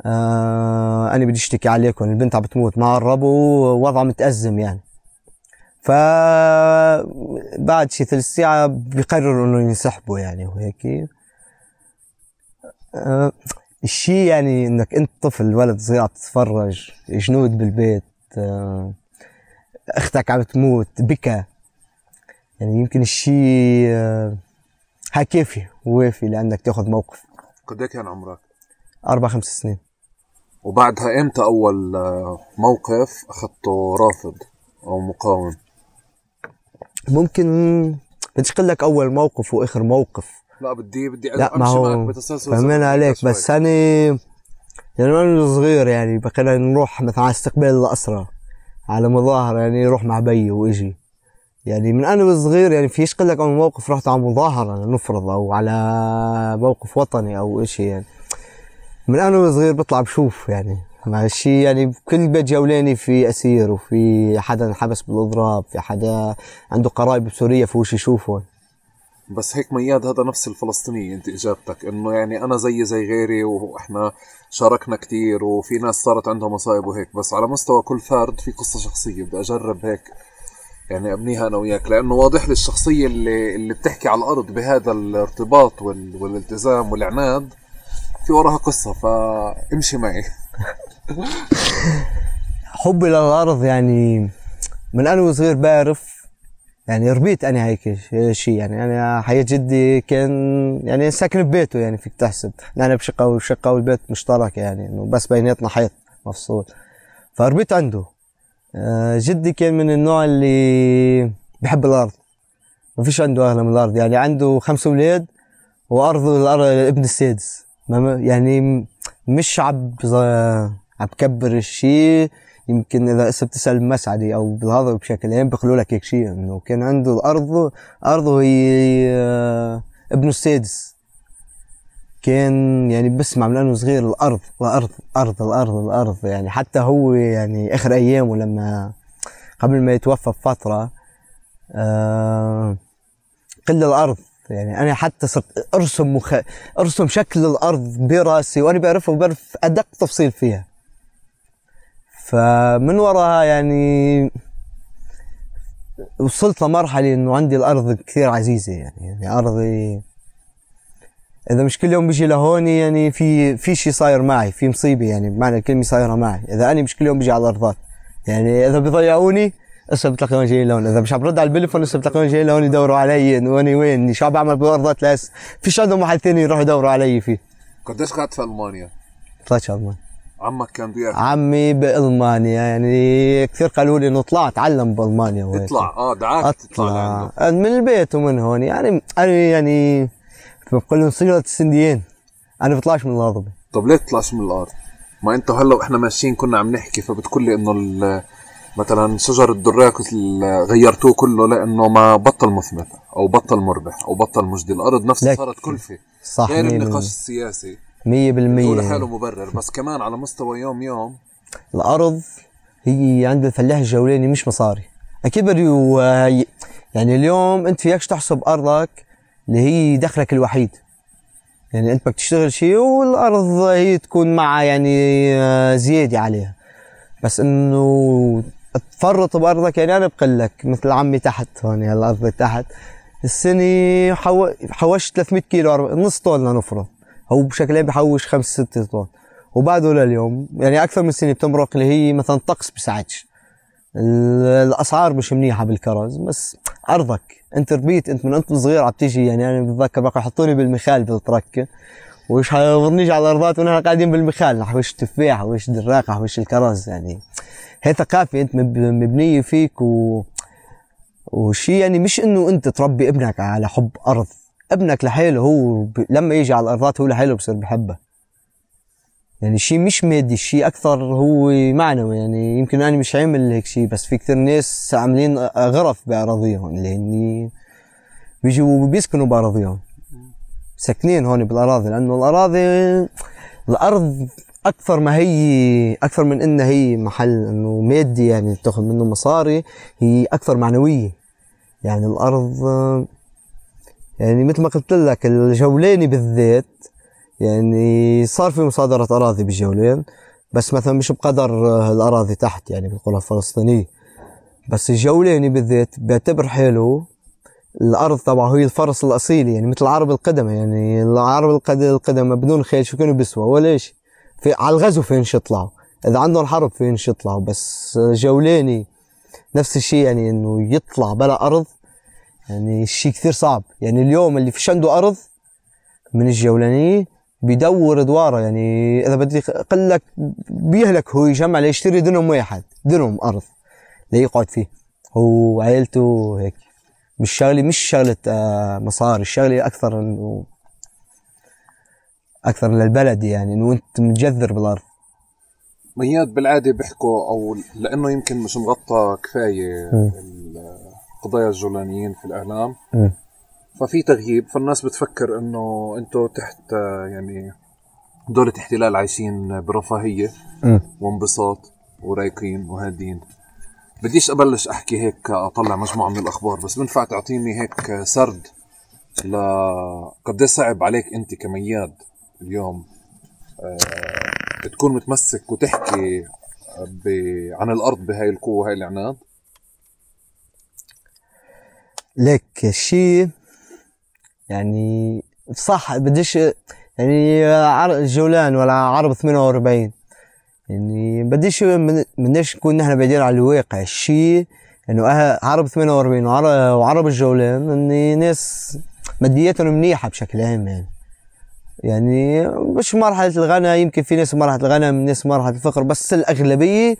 آه انا بدي اشتكي عليكم، البنت عم بتموت مع الربو ووضعها متأزم يعني. فبعد شي ثلاث ساعة بيقرروا انه ينسحبوا يعني وهيك. أه الشي يعني انك انت طفل ولد صغير عم تتفرج، جنود بالبيت، أه اختك عم تموت، بكى، يعني يمكن الشي أه هاي كافي ووافي لانك تاخذ موقف. قد ايه كان عمرك؟ اربع خمس سنين. وبعدها امتى اول موقف اخذته رافض او مقاوم؟ ممكن بديش اقول لك اول موقف واخر موقف، لا بدي بدي لا امشي معك بتسلسل. فهمين عليك، بس انا يعني وانا صغير يعني بقينا نروح مثلا على استقبال الاسرى على مظاهره، يعني نروح مع بيي واجي. يعني من انا صغير يعني فيش قل لك اول موقف رحت على مظاهره نفرض او على موقف وطني او اشي. يعني من انا صغير بطلع بشوف يعني مع الشيء يعني بكل بيت جولاني في اسير، وفي حدا انحبس بالاضراب، في حدا عنده قرايب بسوريا فوش يشوفهم. بس هيك مياد هذا نفس الفلسطيني انت اجابتك، انه يعني انا زي زي غيري واحنا شاركنا كتير وفي ناس صارت عندها مصايب وهيك، بس على مستوى كل فرد في قصة شخصية بدي اجرب هيك يعني ابنيها انا وياك، لانه واضح لي الشخصية اللي اللي بتحكي على الارض بهذا الارتباط وال... والالتزام والعناد في وراها قصة، فامشي معي. حبي للارض يعني من انا وصغير بعرف، يعني ربيت انا هيك شيء، يعني انا حياة جدي كان يعني ساكن ببيته، يعني فيك تحسب نحن بشقة وشقة والبيت مشترك، يعني انه بس بيناتنا حيط مفصول، فربيت عنده. جدي كان من النوع اللي بحب الارض، ما فيش عنده اغلى من الارض، يعني عنده خمس اولاد وارضه الارض ابن السادس، يعني مش عب عم بكبر الشيء. يمكن اذا هسه بتسال المسعدي او بالهذا بشكل عام بيقولوا لك هيك شيء، انه كان عنده الارض ارضه هي ابنه السادس، كان يعني بسمع من انه صغير الارض الارض الارض الارض الارض، يعني حتى هو يعني اخر ايامه لما قبل ما يتوفى بفتره آه قل الارض، يعني انا حتى صرت ارسم مخ... ارسم شكل الارض براسي وانا بعرفها وبعرف ادق تفصيل فيها. فمن وراها يعني وصلت لمرحله انه عندي الارض كثير عزيزه، يعني يعني ارضي اذا مش كل يوم بيجي لهون يعني في في شيء صاير معي، في مصيبه يعني بمعنى الكلمه صايره معي، اذا انا مش كل يوم بيجي على الارضات، يعني اذا بيضيعوني هسه بتلاقيهم جايين لهون، اذا مش عم برد على البليفون هسه بتلاقيهم جايين لهون يدوروا علي انه انا وين، شو عم بعمل بالارضات، لاس فيش عندهم محل ثاني يروحوا يدوروا علي فيه. قديش قعدت في المانيا؟ طلعت المانيا. عمك كان بيعرف؟ عمي بالمانيا، يعني كثير قالوا لي انه اطلع اتعلم بالمانيا وهيك. اطلع اه دعاك تطلع من البيت ومن هون، يعني انا يعني بقول لهم صيغه السنديين انا بطلعش من الارض. طب ليه تطلعش من الارض؟ ما انت هلا واحنا ماشيين كنا عم نحكي فبتقول لي انه مثلا شجر الدراك غيرتوه كله لانه ما بطل مثمر او بطل مربح او بطل مجدي، الارض نفسها صارت كلفه. صح، غير النقاش السياسي مية بالمية هو لحاله مبرر، بس كمان على مستوى يوم يوم الارض هي عند الفلاح الجولاني مش مصاري اكيد. يعني اليوم انت فيكش تحسب ارضك اللي هي دخلك الوحيد، يعني انت بدك تشتغل شيء والارض هي تكون معها يعني زياده عليها، بس انه تفرط بارضك. يعني انا بقول لك مثل عمي تحت هون الارض تحت السنه حو... حوشت ثلاثمية كيلو، نص طن لنفرض، هو بشكل عام بحوش خمس ست طن وبعده لليوم يعني اكثر من سنه بتمرق، اللي هي مثلا طقس بساعدش، الاسعار مش منيحه بالكرز، بس ارضك انت ربيت، انت من انت صغير عم تيجي. يعني انا بتذكر بقى يحطوني بالمخال بالترك وش حيضرنيش على الارضات ونحن قاعدين بالمخال نحوش تفاح وش دراق نحوش الكرز، يعني هي ثقافه انت مبنيه فيك و وشي يعني مش انه انت تربي ابنك على حب ارض، ابنك لحاله هو ب... لما يجي على الارضات هو لحاله بصير بحبها، يعني شيء مش مادي، شيء اكثر هو معنوي. يعني يمكن انا مش عامل هيك شيء، بس في كثير ناس عاملين غرف باراضيهم، لاني بيجوا بيسكنوا باراضيهم، ساكنين هون بالاراضي، لانه الاراضي الارض اكثر ما هي اكثر من انها هي محل انه مادي يعني تاخذ منه مصاري، هي اكثر معنويه. يعني الارض يعني مثل ما قلت لك الجولاني بالذات يعني صار في مصادرة أراضي بالجولان، بس مثلا مش بقدر الأراضي تحت يعني بيقولها الفلسطينية، بس الجولاني بالذات بيعتبر حاله الأرض تبعه هي الفرس الأصيلي، يعني مثل العرب القدماء. يعني العرب القدماء بدون خيل شو كانوا بيسوى ولا شيء، في على الغزو فينش يطلعوا، إذا عندهم حرب فينش يطلعوا، بس جولاني نفس الشيء، يعني إنه يطلع بلا أرض يعني شيء كثير صعب. يعني اليوم اللي فيش عنده أرض من الجولانية بيدور دواره، يعني اذا بدي اقول لك بيهلك هو يجمع ليشتري دنم واحد، دنم ارض ليقعد فيه هو وعائلته هيك. مش شغله مش شغله آه مصاري، الشغله اكثر انه اكثر للبلد، يعني انه انت متجذر بالارض. مياد بالعاده بيحكوا او لانه يمكن مش مغطى كفايه القضايا الجولانيين في الاعلام م. ففي تغييب، فالناس بتفكر انه انتو تحت يعني دولة احتلال عايشين برفاهية م. وانبساط ورايقين وهادين. بديش أبلش أحكي هيك أطلع مجموعة من الأخبار، بس بنفع تعطيني هيك سرد لقد صعب عليك أنت كمياد اليوم أه تكون متمسك وتحكي ب... عن الأرض بهاي القوة وهاي العناد؟ لك الشيء يعني صح، بديش يعني جولان ولا عرب ثمانية وأربعين يعني بديش بديش نكون نحن بعيدين على الواقع. الشيء انه أه عرب ثمانية وأربعين وعرب, وعرب الجولان اني ناس مادياتهم منيحة بشكل عام يعني يعني مش مرحلة الغنى، يمكن في ناس مرحلة الغنى من ناس مرحلة الفقر، بس الأغلبية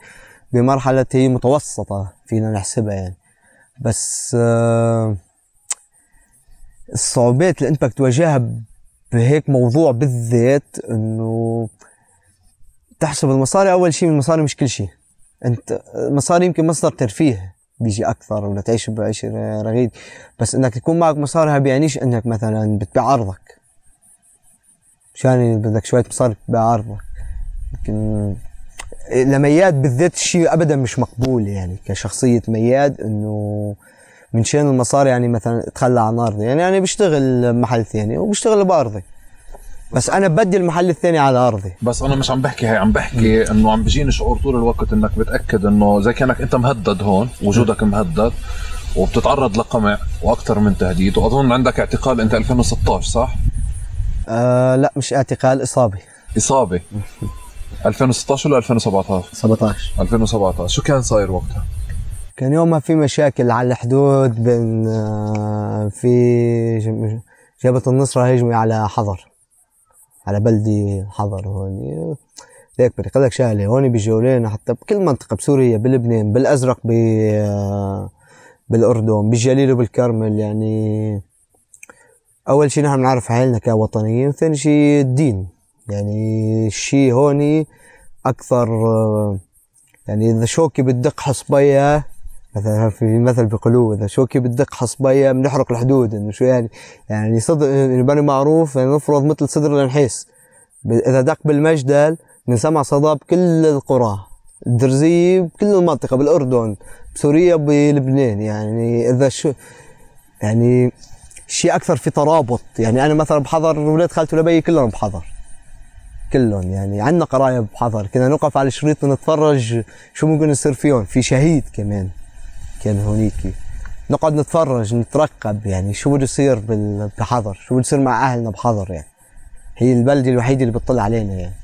بمرحلة هي متوسطة فينا نحسبها يعني. بس آه الصعوبات اللي انت بدك تواجهها بهيك موضوع بالذات انه تحسب المصاري. اول شيء من المصاري مش كل شيء، انت المصاري يمكن مصدر ترفيه بيجي اكثر ولا تعيش بعيش رغيد، بس انك تكون معك مصاري بيعنيش انك مثلا بتبيع ارضك مشان بدك شوية مصاري تبيع ارضك. لكن لمياد بالذات الشيء ابدا مش مقبول يعني كشخصية مياد انه من شان المصاري يعني مثلا اتخلى عن ارضي. يعني انا بشتغل محل ثاني وبشتغل بارضي، بس انا بدي المحل الثاني على ارضي. بس انا مش عم بحكي هي، عم بحكي انه عم بيجيني شعور طول الوقت انك بتاكد انه زي كانك انت مهدد هون، وجودك مهدد وبتتعرض لقمع واكثر من تهديد. واظن عندك اعتقال انت ألفين وستة عشر صح؟ آه لا مش اعتقال، اصابه. اصابه ألفين وستة عشر ولا ألفين وسبعة عشر؟ سبعة عشر. ألفين وسبعة عشر. شو كان صاير وقتها؟ كان يومها في مشاكل على الحدود بين في جبهة النصرة هجموا على حضر، على بلدي حضر هون. ليك بدي اقول لك شغله، هون بجولان حتى بكل منطقة بسوريا، بلبنان، بالازرق، بالاردن، بالجليل وبالكرمل. يعني اول شيء نحن بنعرف حالنا كوطنيين، وثاني شيء الدين. يعني الشيء هون اكثر يعني اذا شوكي بتدق حصبيه، مثلا في مثل بيقولوه اذا شوكي بتدق حصبيه بنحرق الحدود. انه شو يعني؟ يعني صدر بني معروف يعني نفرض مثل صدر النحيس، اذا دق بالمجدل بنسمع صدى بكل القرى، الدرزيه بكل المنطقه، بالاردن، بسوريا، بلبنان. يعني اذا شو يعني شيء اكثر في ترابط. يعني انا مثلا بحضر ولاد خالتي ولبي كلهم بحضر، كلهم يعني عندنا قرايب بحضر، كنا نوقف على الشريط ونتفرج شو ممكن يصير فيهم. في شهيد كمان كان هونيك، نقعد نتفرج نترقب يعني شو بده يصير بحضر، شو بده يصير مع اهلنا بحضر. يعني هي البلده الوحيده اللي بتطلع علينا يعني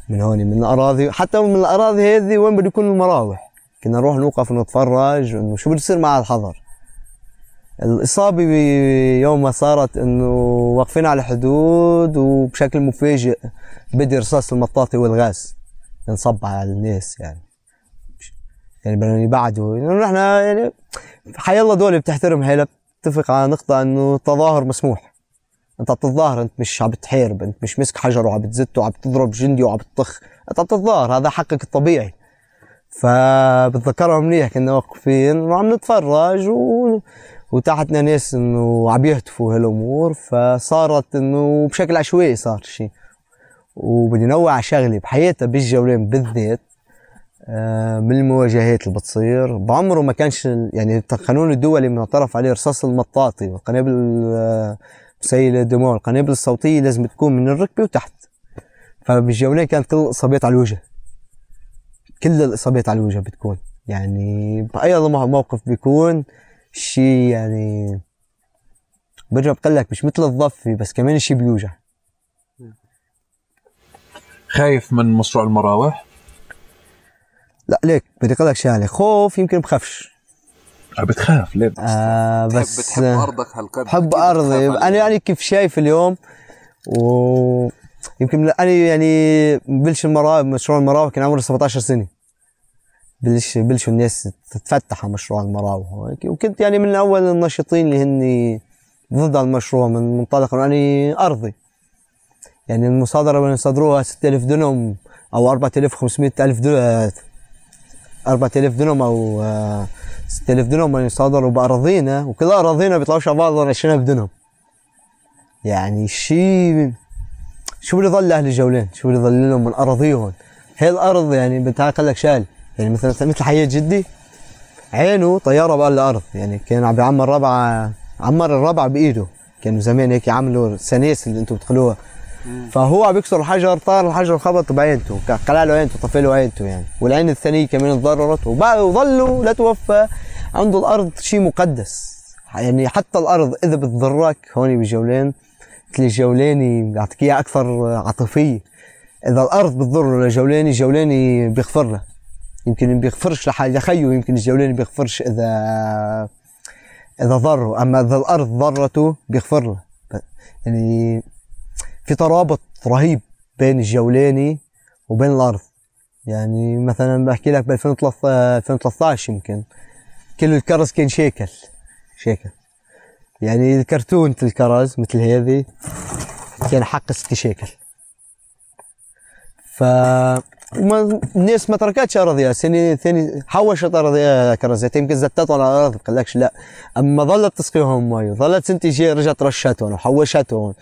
من هون، من الاراضي. حتى من الاراضي هذه وين بده يكون المراوح، كنا نروح نوقف ونتفرج انه شو بده يصير مع الحضر. الإصابة يوم ما صارت إنه واقفين على الحدود وبشكل مفاجئ بدي رصاص المطاطي والغاز ينصب على الناس. يعني يعني بدهم يبعدوا. يعني نحن يعني حيالله دولة بتحترم حالها، بتتفق على نقطة إنه التظاهر مسموح. أنت بتتظاهر، أنت مش عم بتحارب، أنت مش مسك حجر وعم بتزت وعم بتضرب جندي وعم بتطخ، أنت عم بتتظاهر، هذا حقك الطبيعي. فبتذكرهم منيح كنا واقفين وعم نتفرج و وتحتنا ناس انه عم يهتفوا هالامور، فصارت انه بشكل عشوائي صار شيء. وبدي نوع شغله بحياتها بالجولان بالذات، آه من المواجهات اللي بتصير بعمره ما كانش يعني القانون الدولي معترف عليه رصاص المطاطي والقنابل مسيلة الدموع والقنابل الصوتيه لازم تكون من الركبه وتحت. فبالجولان كانت كل الاصابات على الوجه، كل الاصابات على الوجه بتكون. يعني باي موقف بيكون شيء يعني برجع بقول لك مش مثل الضفي، بس كمان الشيء بيوجع. خايف من مشروع المراوح؟ لا ليك بدي اقول لك شغله، خوف يمكن بخافش. بتخاف ليه؟ آه بس بتحب ارضك هالقد؟ بحب ارضي انا. يعني كيف شايف اليوم، ويمكن انا يعني بلش المراوح، مشروع المراوح كان عمري سبعة عشر سنه، بلش بلشوا الناس تتفتح على مشروع المراوح، وكنت يعني من اول الناشطين اللي هني ضد المشروع من منطلق اني ارضي. يعني المصادره اللي صدروها ستة آلاف دنم او أربعة آلاف وخمسمئة ألف دنم، أربعة آلاف دنم او ستة آلاف دنم اللي صادروا باراضينا، وكل اراضينا بيطلعوش على بعض عشرين ألف دنم. يعني شيء شو بده يضل اهل الجولان؟ شو بده يضل لهم من اراضيهم؟ هي الارض يعني بتعال لك شال، يعني مثلا مثل حياة جدي عينه طياره بقى الارض، يعني كان عم بيعمر ربعه، عمر الربعه بايده، كانوا زمان هيك يعملوا السنيس اللي انتم بتدخلوها. فهو عم بيكسر الحجر، طار الحجر خبط بعينته، قلع له عينته، طفي له عينته يعني، والعين الثانيه كمان تضررت، وظلوا لا توفى عنده الارض شيء مقدس. يعني حتى الارض اذا بتضرك هون بالجولان، مثل الجولاني بيعطيك اياها اكثر عاطفيه. اذا الارض بتضر لجولاني، الجولاني بيغفر له، يمكن ما بيغفرش لحاله خيه، يمكن الجولاني بيغفرش اذا اذا ضره، اما اذا الارض ضرته بيغفر له. يعني في ترابط رهيب بين الجولاني وبين الارض. يعني مثلا بحكي لك ب ألفين وثلاثة عشر يمكن كل الكرز كان شيكل شيكل، يعني الكرتونة الكرز مثل هذه كان حق ستة شيكل. ف الناس ما تركتش اراضيها، سنه ثاني حوشت اراضيها كرزات، يمكن زتتهم على الارض ما لكش لا، اما ظلت تسقيهم مي، ظلت سنتي جاي رجعت رشتهم وحوشتهم،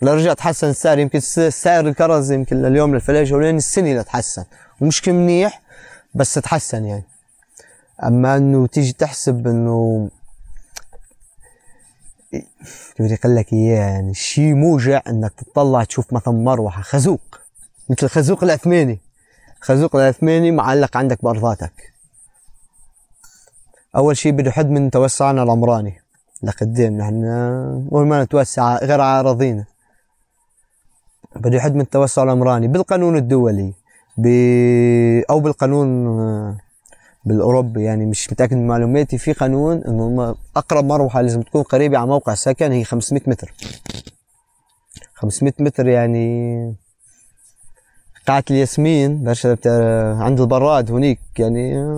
ولا رجع تحسن السعر. يمكن سعر الكرز يمكن لليوم للفلاحه جولان السنه لا تحسن، ومش منيح بس تحسن يعني. اما انه تيجي تحسب انه كيف بدي اقول لك اياه، يعني شيء موجع انك تطلع تشوف مثلا مروحه خازوق مثل خازوق العثماني، خازوق العثماني معلق عندك بارضاتك. اول شيء بده حد من توسعنا العمراني لقدام، نحن اول ما نتوسع غير على اراضينا بده حد من التوسع العمراني بالقانون الدولي ب... او بالقانون بالاوروبي، يعني مش متاكد من معلوماتي. في قانون انه اقرب مروحه لازم تكون قريبه على موقع سكن هي خمسمية متر. خمسمية متر يعني قاعة الياسمين برشا عند البراد هونيك، يعني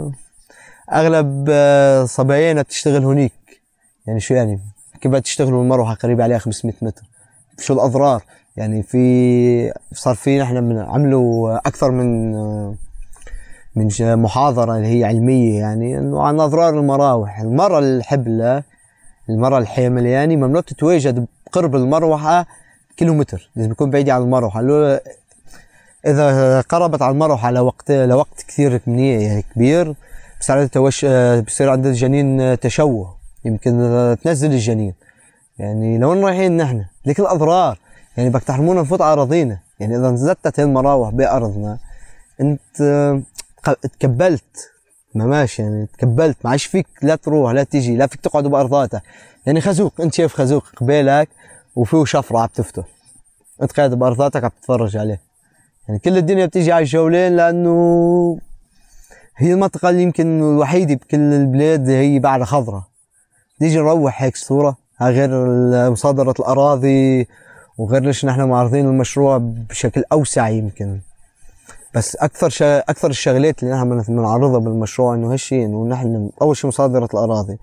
اغلب صبايانا بتشتغل هونيك. يعني شو يعني كيف تشتغلوا المروحه قريبه عليها خمسمية متر؟ شو الاضرار؟ يعني في صار في نحن عملوا اكثر من من محاضره اللي هي علميه، يعني انه عن اضرار المراوح. المراه الحبلة، المراه الحامل يعني ممنوع تتواجد بقرب المروحه كيلومتر، لازم يكون بعيده عن المروحه. لو اذا قربت على المروحه لوقت لوقت كثير منيح يعني كبير، بصير عندها توش بصير عند الجنين تشوه، يمكن تنزل الجنين. يعني لوين رايحين نحن؟ لك الاضرار، يعني بدك تحرمونا نفوت على اراضينا. يعني اذا نزلت هاي المراوح بارضنا انت تكبلت، ما ماشي يعني تكبلت، ما عادش فيك لا تروح لا تيجي، لا فيك تقعد بارضاتك. يعني خازوق، انت شايف خازوق قبالك وفيه شفره عم تفتل، انت قاعد بارضاتك عم تتفرج عليه. يعني كل الدنيا بتيجي على الجولان لانه هي المنطقه اللي يمكن الوحيده بكل البلاد هي بعد خضراء. نيجي نروح هيك صوره، غير مصادره الاراضي وغير ليش نحن معرضين المشروع بشكل اوسع يمكن. بس اكثر شا... اكثر الشغلات اللي نحن بنعرضها بالمشروع انه هالشيء، انه نحن اول شيء مصادره الاراضي.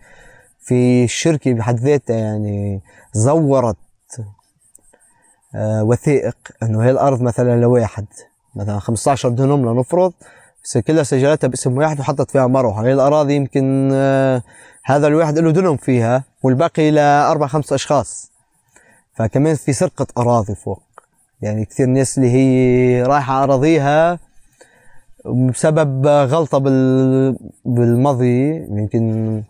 في الشركه بحد ذاتها يعني زورت آه وثائق انه هي الارض مثلا لواحد، مثلا خمسة عشر دنم لنفرض، بس كلها سجلتها باسم واحد وحطت فيها مروحه. هي الاراضي يمكن آه هذا الواحد له دنم فيها والباقي لاربع خمس اشخاص. فكمان في سرقه اراضي فوق، يعني كثير ناس اللي هي رايحه اراضيها بسبب غلطه بال بالماضي يمكن.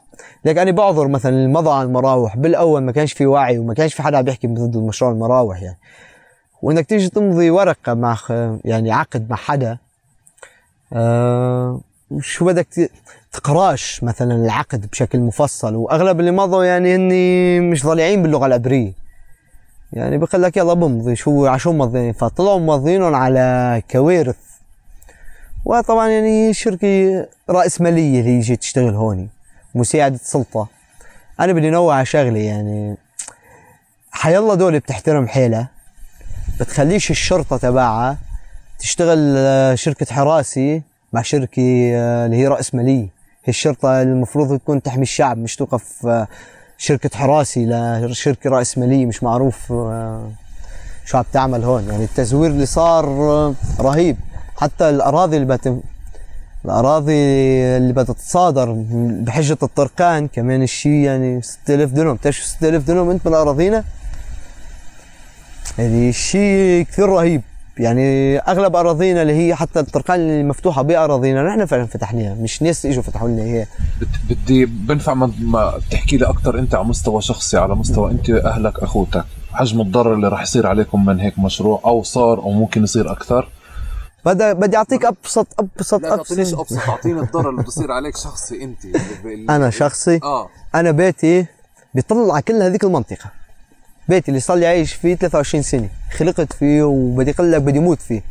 لك انا بعذر مثلا المضى على المراوح بالاول ما كانش في وعي وما كانش في حدا عم بيحكي ضد المشروع المراوح يعني. وانك تيجي تمضي ورقه مع يعني عقد مع حدا آه شو بدك تقراش مثلا العقد بشكل مفصل، واغلب اللي مضوا يعني هني مش ضليعين باللغه العبريه، يعني بقول لك يلا بمضي شو عشو مضيين، فطلعوا ماضيينهم على كوارث. وطبعا يعني شركه راسماليه اللي جت تشتغل هون مساعده سلطه. انا بدي نوع على شغله، يعني حيالله دول بتحترم حالها، بتخليش الشرطه تبعها تشتغل شركه حراسه مع شركه اللي هي راسماليه. هي الشرطه المفروض تكون تحمي الشعب، مش توقف شركه حراسه لشركه راسماليه مش معروف شو عم تعمل هون. يعني التزوير اللي صار رهيب. حتى الاراضي اللي بت الاراضي اللي بدها تتصادر بحجه الطرقان كمان الشيء، يعني ستة آلاف دنم. بتعرف ستة آلاف دنم انت من اراضينا؟ يعني شيء كثير رهيب. يعني اغلب اراضينا اللي هي حتى الطرقان اللي مفتوحه باراضينا نحن فعلا فتحناها، مش ناس اجوا فتحوا لنا اياها. بدي بنفع ما, ما تحكي لي اكثر انت على مستوى شخصي، على مستوى انت اهلك اخوتك، حجم الضرر اللي راح يصير عليكم من هيك مشروع، او صار او ممكن يصير اكثر. بدي بدي اعطيك ابسط ابسط لا ابسط تعطينيش ابسط، اعطيني الضرر اللي بصير عليك شخصي انت. اللي انا شخصي اه انا بيتي بيطلع على كل هذيك المنطقه. بيتي اللي صار لي عايش فيه ثلاثة وعشرين سنه، خلقت فيه وبدي اقول لك بدي موت فيه.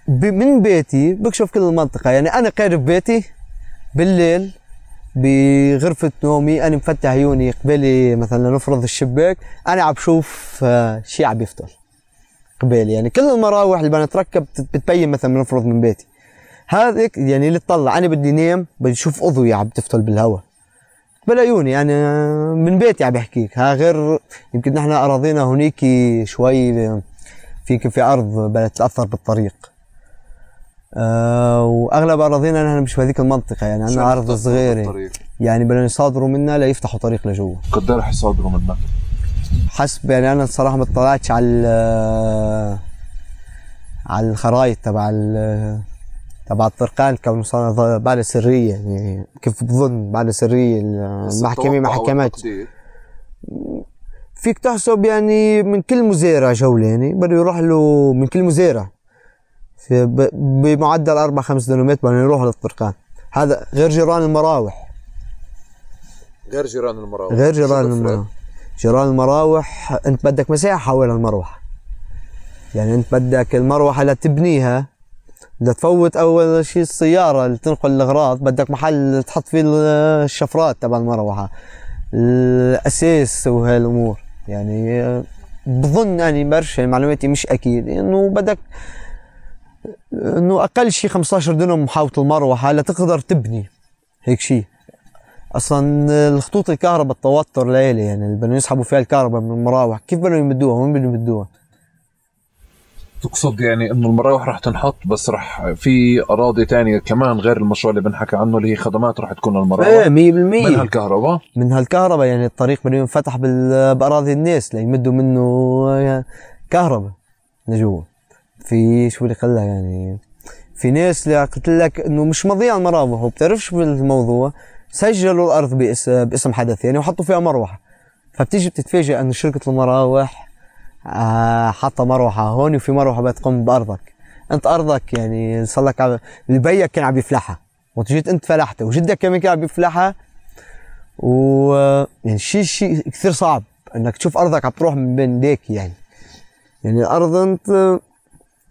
من بيتي بكشف كل المنطقه. يعني انا قاعد ببيتي بالليل بغرفه نومي، انا مفتح عيوني قبالي مثلا نفرض الشباك، انا عم بشوف شيء عم يفتل قبالي. يعني كل المراوح اللي بدنا نتركب بتبين مثلا نفرض من بيتي. هذيك يعني اللي تطلع انا بدي نام بدي اشوف اضويه عم تفتل بالهواء بالعيوني. يعني من بيتي عم بحكيك. ها غير يمكن نحن اراضينا هونيك شوي فيك في ارض بدها تتاثر بالطريق. أه واغلب اراضينا نحن مش بهذيك المنطقه. يعني عندنا ارض صغيره، يعني بدنا يصادروا منا ليفتحوا طريق لجوا. قد رح يصادروا منا؟ حسب يعني انا الصراحه ما اطلعتش على على الخرائط تبع تبع الطرقان كونه صار بعد سريه. يعني كيف بظن بعد سريه المحكمه ما حكمتش. فيك تحسب يعني من كل مزارع جولاني بده يروح له، من كل مزارع بمعدل اربع خمس دنومات بده يروح للطرقان. هذا غير جيران المراوح. غير جيران المراوح غير جيران المراوح. جيران المراوح انت بدك مساحه حول المروحه. يعني انت بدك المروحه لتبنيها لتفوت اول شيء السياره اللي تنقل الاغراض، بدك محل تحط فيه الشفرات تبع المروحه، الاساس وهالامور. يعني بظن اني برشا معلوماتي مش اكيد انه بدك انه اقل شيء خمسة عشر دنم محاوطه المروحه لتقدر تبني هيك شيء. اصلا الخطوط الكهرباء التوتر ليلي، يعني اللي بدهم يسحبوا فيها الكهرباء من المراوح كيف بدهم يمدوها؟ وين بدهم يمدوها؟ تقصد يعني انه المراوح رح تنحط بس رح في اراضي تانية كمان غير المشروع اللي بنحكي عنه اللي هي خدمات رح تكون المراوح؟ ايه مية بالمية من هالكهرباء؟ من هالكهرباء. يعني الطريق بده ينفتح باراضي الناس ليمدوا منه كهرباء لجوا. في شو بدي اقول لك، يعني في ناس اللي قلت لك انه مش مضيع المراوح وبتعرفش بالموضوع، سجلوا الارض باسم حدا ثاني وحطوا فيها مروحه. فبتيجي بتتفاجئ انه شركه المراوح آه حاطه مروحه هون وفي مروحه بتقوم بارضك. انت ارضك يعني صار لك عب... اللي بيك كان عم يفلحها وجيت انت فلحتها وجدك كمان كان عم يفلحها. و يعني شيء شيء كثير صعب انك تشوف ارضك عم تروح من بين ايديك. يعني يعني الارض انت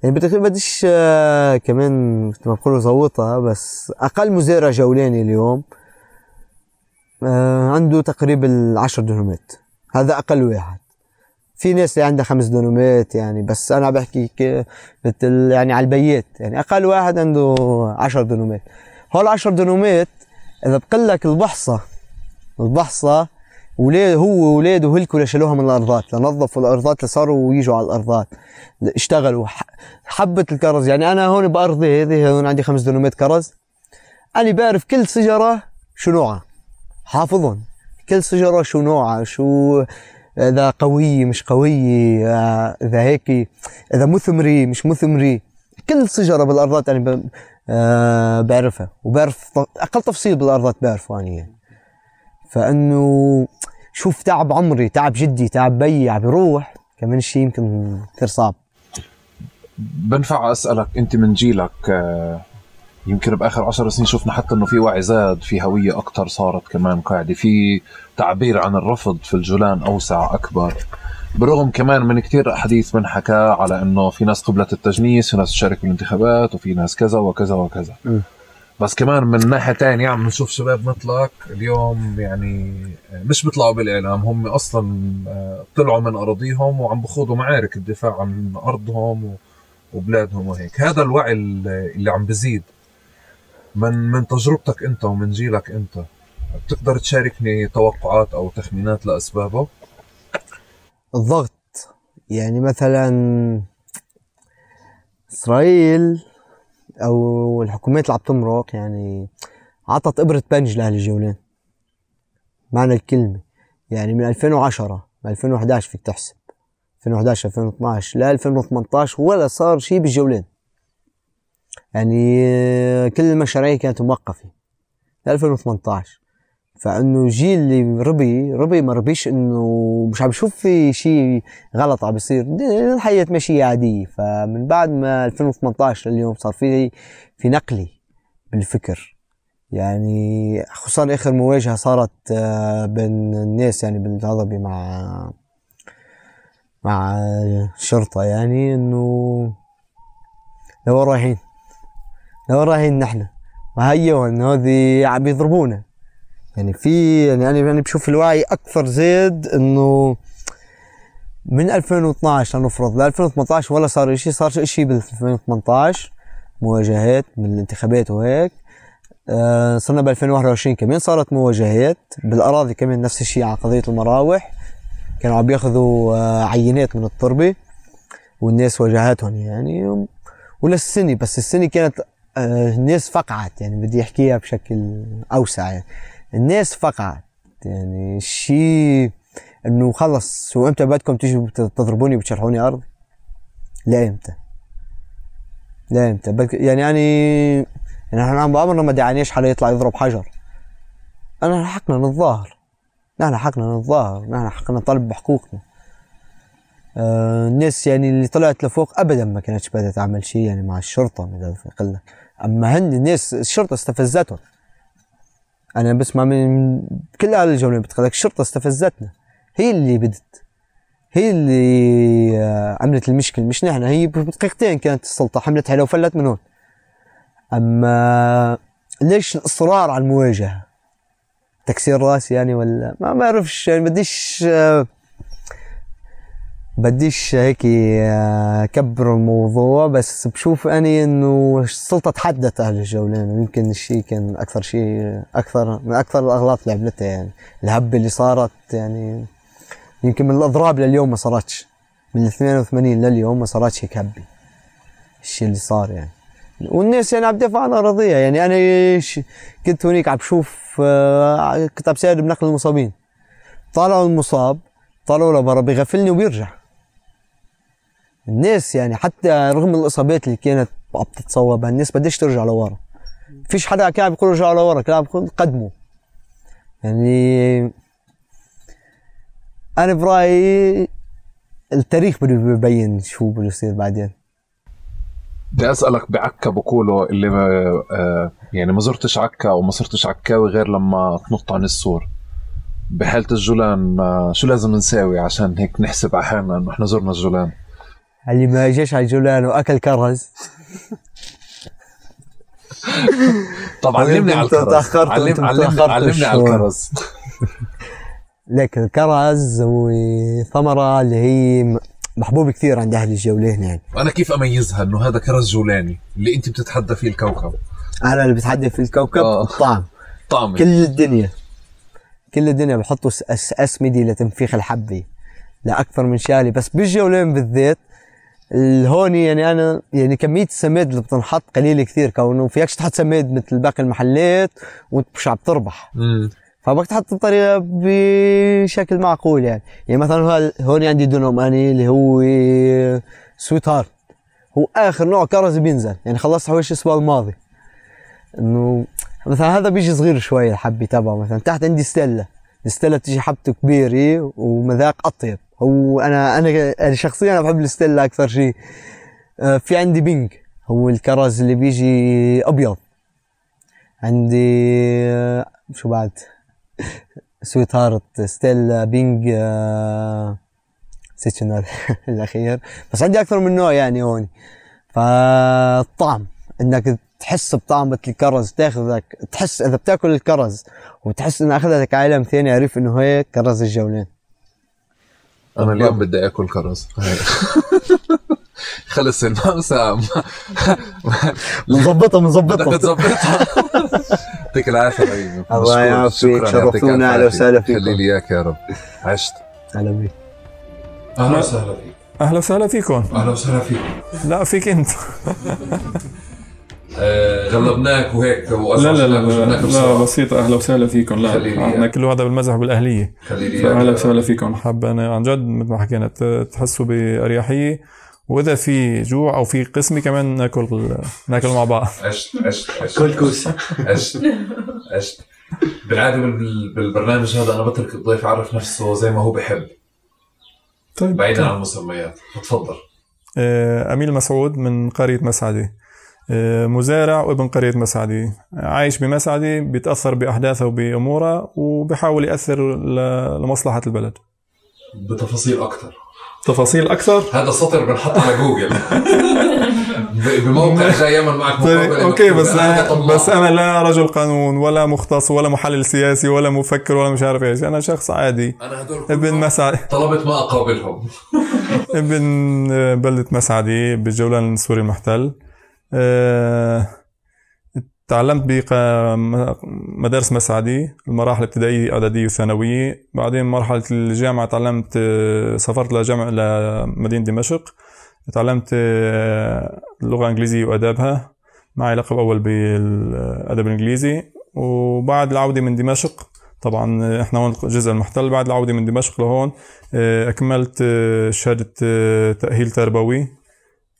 يعني بدك بديش آه كمان مثل ما بقولوا زوطها، بس اقل مزارع جولاني اليوم آه عنده تقريبا عشر دنومات. هذا اقل واحد. في ناس اللي عندها خمس دنومات يعني، بس انا بحكي مثل يعني على البيات. يعني اقل واحد عنده عشر دنومات. هول عشر دنومات اذا بقول لك البحصه البحصه ولاد هو واولاده هلكوا لشالوها من الارضات، لنظفوا الارضات لصاروا ويجوا على الارضات اشتغلوا حبه الكرز. يعني انا هون بارضي هذه هون عندي خمس دنومات كرز، انا بعرف كل شجره شو نوعها، حافظهم كل شجره شو نوعها، شو اذا قويه مش قويه، اذا هيك اذا مثمري مش مثمري. كل شجره بالارضات انا أه بعرفها وبعرف اقل تفصيل بالارضات بعرفه انا يعني. فانه شوف تعب عمري تعب جدي تعب بيي عم بيروح كمان شيء يمكن كثير صعب. بنفع اسالك انت من جيلك يمكن باخر عشر سنين شفنا حتى انه في وعي زاد، في هويه اكثر صارت كمان قاعده، في تعبير عن الرفض في الجولان اوسع اكبر، برغم كمان من كثير حديث بنحكى على انه في ناس قبلت التجنيس، في ناس تشارك بالانتخابات، وفي ناس كذا وكذا وكذا. م. بس كمان من ناحيه ثانيه عم نشوف شباب مثلك اليوم يعني مش بيطلعوا بالاعلام، هم اصلا طلعوا من اراضيهم وعم بخوضوا معارك الدفاع عن ارضهم وبلادهم وهيك. هذا الوعي اللي عم بزيد من من تجربتك انت ومن جيلك انت، بتقدر تشاركني توقعات او تخمينات لاسبابه؟ الضغط. يعني مثلا اسرائيل او الحكومات اللي عم تمرق يعني عطت ابره بنج لاهل الجولان معنى الكلمه. يعني من ألفين وعشرة من ألفين وإحدى عشر فيك تحسب ألفين وإحدى عشر ألفين واثناعش ل ألفين وثمنطاش ولا صار شيء بالجولان. يعني كل المشاريع كانت موقفة ل ألفين وثمنطاش. فانه جيل اللي ربي ربي ما ربيش انه مش عم بشوف في شيء غلط عم بيصير، الحياة ماشية عادية. فمن بعد ما ألفين وثمنطاش لليوم صار في في نقلة بالفكر، يعني خصوصا اخر مواجهة صارت بين الناس يعني بالهضبة مع مع الشرطة، يعني انه لوين رايحين لوين رايحين نحن، وهيو انه هذي عم يضربونا. يعني في يعني انا يعني بشوف الوعي اكثر زاد انه من ألفين واثناعش لنفرض ل ألفين وثمنطاش ولا صار شيء، صار شيء بال ألفين وثمنطاش مواجهات من الانتخابات وهيك. آه صرنا ب ألفين وواحد وعشرين كمان صارت مواجهات بالاراضي كمان نفس الشيء على قضية المراوح، كانوا عم ياخذوا آه عينات من التربة والناس واجهتهم يعني. وللسنة بس السنة كانت آه الناس فقعت، يعني بدي احكيها بشكل اوسع، يعني الناس فقعت يعني الشيء انه خلص شو امتى بدكم تيجوا تضربوني وتشرحوني ارض؟ لا امتى؟ لا امتى؟ يعني يعني يعني نحن عم بعمرنا ما دعانيش حدا يطلع يضرب حجر. انا حقنا نتظاهر، نحن حقنا نتظاهر، نحن حقنا نطالب بحقوقنا. آه الناس يعني اللي طلعت لفوق ابدا ما كانتش بدها تعمل شيء يعني مع الشرطه بدها اقول لك، اما هن الناس الشرطه استفزتهم. انا بسمع من كل اهل الجولان بتقول لك الشرطه استفزتنا، هي اللي بدت، هي اللي عملت المشكله مش نحن. هي بدقيقتين كانت السلطه حملت حيلها وفلت من هون. اما ليش الاصرار على المواجهه؟ تكسير راس يعني ولا ما بعرفش، يعني بديش بديش هيك كبر الموضوع، بس بشوف اني انه السلطه تحدت اهل الجولان، ويمكن الشيء كان اكثر شيء اكثر من اكثر الاغلاط اللي عملتها. يعني الهبه اللي صارت يعني يمكن من الاضراب لليوم ما صارتش، من ال ثمانية وثمانين لليوم ما صارتش هيك هبه الشيء اللي صار يعني. والناس يعني عم تدافع عن اراضيها. يعني انا كنت هونيك عم بشوف كنت عم بساعد بنقل المصابين، طالعوا المصاب طالعوا لبرا بيغفلني وبيرجع. الناس يعني حتى رغم الاصابات اللي كانت عم تتصوبها الناس بديش ترجع لورا. فيش حدا كان عم بيقول رجعوا لورا، كان عم بيقول قدموا. يعني انا برايي التاريخ بده يبين شو بده يصير بعدين. بدي اسالك بعكا بقولوا اللي آه يعني ما زرتش عكا او ما صرتش عكاوي غير لما تنط عن السور. بحالة الجولان آه شو لازم نساوي عشان هيك نحسب على حالنا انه احنا زرنا الجولان؟ اللي ما جاش على الجولان واكل كرز طب علمني على الكرز، علم علمني علمني على الكرز. لك الكرز هو ثمرة اللي هي محبوب كثير عند اهل الجولان. يعني وانا كيف اميزها انه هذا كرز جولاني اللي انت بتتحدى فيه الكوكب؟ انا اللي بتحدى فيه الكوكب آه. الطعم طعم كل الدنيا كل الدنيا بحطوا اسمدي لتنفيخ الحبه لاكثر من شغله، بس بالجولان بالذات الهوني يعني انا يعني كميه السماد اللي بتنحط قليله كثير، كونه فيكش تحط سماد مثل باقي المحلات وانت مش عم تربح. امم فبدك تحط الطريقه بشكل معقول. يعني يعني مثلا هون عندي دونوم اني اللي هو سويت هارت، هو اخر نوع كرز بينزل، يعني خلصت حوالي الاسبوع الماضي. انه مثلا هذا بيجي صغير شوي الحبه تبعه. مثلا تحت عندي ستيلا، الستيلا بتيجي حبته كبيره ومذاق اطيب. هو انا انا انا شخصيا انا بحب الستيلا اكثر شيء. في عندي بينج هو الكرز اللي بيجي ابيض. عندي شو بعد سويت هارت، ستيلا، بينج، نسيت شنو الاخير، بس عندي اكثر من نوع يعني هون. فالطعم انك تحس بطعمة الكرز، تاخذك تحس اذا بتاكل الكرز وتحس انه اخذتك عالم ثاني، عرف انه هيك كرز الجولان. انا اليوم بدي اكل كرز. خلص الموسم بنظبطها بنظبطها بدك تظبطها. يعطيك العافيه حبيبي. الله يعافيك، شرفتونا. اهلا وسهلا فيكم. خلي لي اياك يا رب. عشت. اهلا بيك. اهلا وسهلا فيك. اهلا وسهلا فيكم. اهلا وسهلا فيكم. لا فيك انت. آه غلبناك وهيك لا لا لا, لا, لا بسيطة. أهلا وسهلا فيكم. لا احنا كله هذا بالمزح بالأهلية. أهلا وسهلا فيكم. حاب أنا عن جد مثل ما حكينا تحسوا بأريحية، وإذا في جوع أو في قسمي كمان ناكل ناكل مع بعض. عشت عشت عشت كل كوسة. عشت عشت بالعادة بالبرنامج هذا أنا بترك الضيف يعرف نفسه زي ما هو بحب. طيب بعيدا عن المسميات. فتفضل. أميل مسعود من قرية مسعدي، مزارع وابن قرية مسعدي، عايش بمسعدي، بيتأثر بأحداثها وبأمورها وبيحاول يأثر لمصلحة البلد. بتفاصيل أكتر تفاصيل أكثر هذا السطر بنحط على جوجل بموقع جاي يعمل معك مقابلة. أوكي بس أنا بس أنا لا رجل قانون ولا مختص ولا محلل سياسي ولا مفكر ولا مش عارف إيش، أنا شخص عادي. أنا هدول ابن مسعدي طلبت ما أقابلهم. ابن بلدة مسعدي بالجولان السوري المحتل. أه... تعلمت بمدارس مسعدي المراحل الابتدائية إعدادية وثانوية، بعدين مرحلة الجامعة تعلمت، سافرت لجامعة لمدينة دمشق، تعلمت اللغة الإنجليزية وأدابها، معي لقب أول بالأدب الإنجليزي. وبعد العودة من دمشق، طبعا إحنا هون الجزء المحتل، بعد العودة من دمشق لهون أكملت شهادة تأهيل تربوي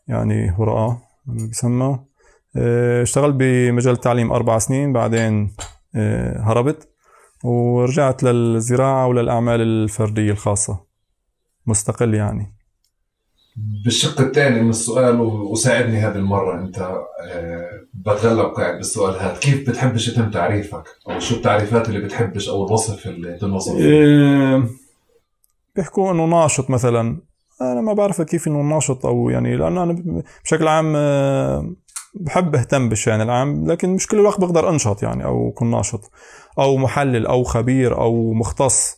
يعني هراء بيسمى. اشتغلت بمجال التعليم أربع سنين، بعدين هربت ورجعت للزراعة وللأعمال الفردية الخاصة مستقل يعني. بالشق الثاني من السؤال وساعدني هذه المرة أنت، بتغلب قاعد بالسؤال هذا، كيف بتحبش يتم تعريفك أو شو التعريفات اللي بتحبش أو الوصف اللي تنوصف فيه؟ بيحكوا إنه ناشط مثلا، أنا ما بعرف كيف إنه ناشط أو يعني، لأنه أنا بشكل عام بحب اهتم بالشأن العام، لكن مش كل الوقت بقدر انشط يعني او كن ناشط او محلل او خبير او مختص.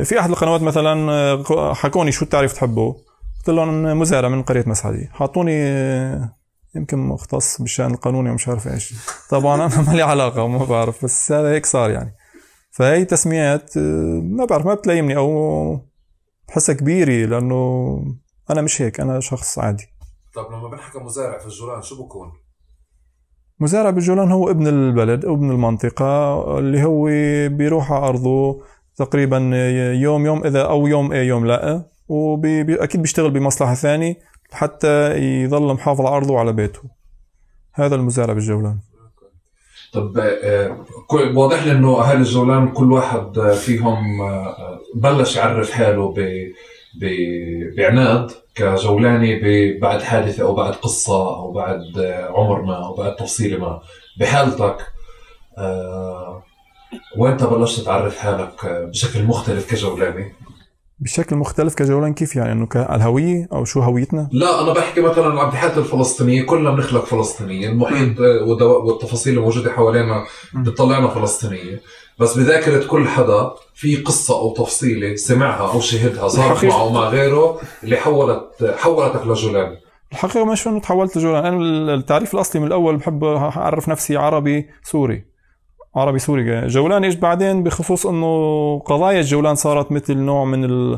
في احد القنوات مثلا حكوني شو التعريف تحبه، قلت لهم مزارع من قرية مسعدي، حاطوني يمكن مختص بالشأن القانوني ومش عارف ايش. طبعا انا ما لي علاقة وما بعرف، بس هذا هيك صار يعني. فهي تسميات ما بعرف ما بتلايمني او بحسها كبيرة، لانه انا مش هيك، انا شخص عادي. طب لما بنحكي مزارع في الجولان شو بكون؟ مزارع بالجولان هو ابن البلد او ابن المنطقة، اللي هو بيروح على أرضه تقريبا يوم يوم إذا أو يوم إيه يوم لا، وأكيد بيشتغل بمصلحة ثانية حتى يظل محافظ على أرضه وعلى بيته. هذا المزارع بالجولان. طب واضح لي إنه أهل الجولان كل واحد فيهم بلش يعرف حاله بعناد كجولاني بعد حادثة أو بعد قصة أو بعد عمر ما أو بعد تفصيل ما. بحالتك أه وأنت بلشت تعرف حالك بشكل مختلف كجولاني؟ بشكل مختلف كجولان كيف يعني؟ إنه كالهوية أو شو هويتنا؟ لا أنا بحكي مثلا عن بحالة الفلسطينية، كلنا بنخلق فلسطينية، المحيط والتفاصيل الموجودة حوالينا بتطلعنا فلسطينية، بس بذاكرة كل حدا في قصة أو تفصيلة سمعها أو شهدها صارت معه ومع غيره اللي حولت حولتك لجولان. الحقيقة مش إنه تحولت لجولان، أنا التعريف الأصلي من الأول بحب أعرف نفسي عربي سوري، عربي سوري. جولان إيش بعدين بخصوص إنه قضايا الجولان صارت مثل نوع من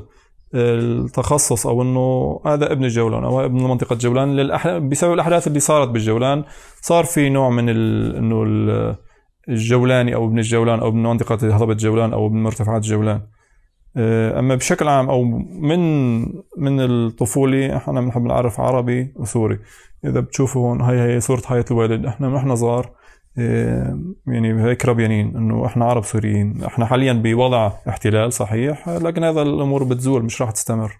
التخصص، أو إنه هذا ابن الجولان أو ابن منطقة جولان للأح... بسبب الأحداث اللي صارت بالجولان، صار في نوع من ال... إنه ال... الجولاني أو ابن الجولان أو ابن منطقة هضبة جولان أو ابن مرتفعات جولان. أما بشكل عام أو من من الطفولة إحنا بنحب نعرف عربي وسوري. إذا بتشوفوا هون هاي هي صورة حياة الوالد، إحنا من إحنا صغار يعني هيك ربيانين إنه إحنا عرب سوريين. إحنا حاليا بوضع احتلال صحيح، لكن هذا الأمور بتزول مش راح تستمر.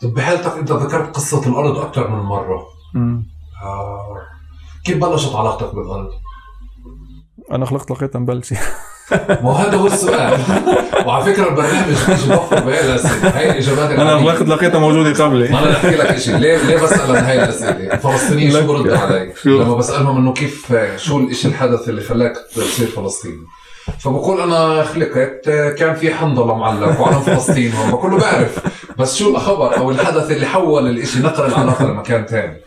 طب بحالتك أنت ذكرت قصة الأرض أكثر من مرة. آه. كيف بلشت علاقتك بالأرض؟ أنا خلقت لقيتها مبلشة. ما هذا هو السؤال. وعلى فكرة البرنامج مش بفر بهاي الأسئلة، هاي الإجابات أنا خلقت لقيتها موجودة قبلي. ما أنا أحكي لك إشي، ليه ليه بسأل عن هاي الأسئلة؟ الفلسطينيين شو بردوا علي لما بسألهم إنه كيف شو الإشي الحدث اللي خلاك تصير فلسطيني؟ فبقول أنا خلقت كان في حنظلة معلق وعلم فلسطين، وما كله بعرف، بس شو الخبر أو الحدث اللي حول الإشي نقل العلاقة لمكان تاني؟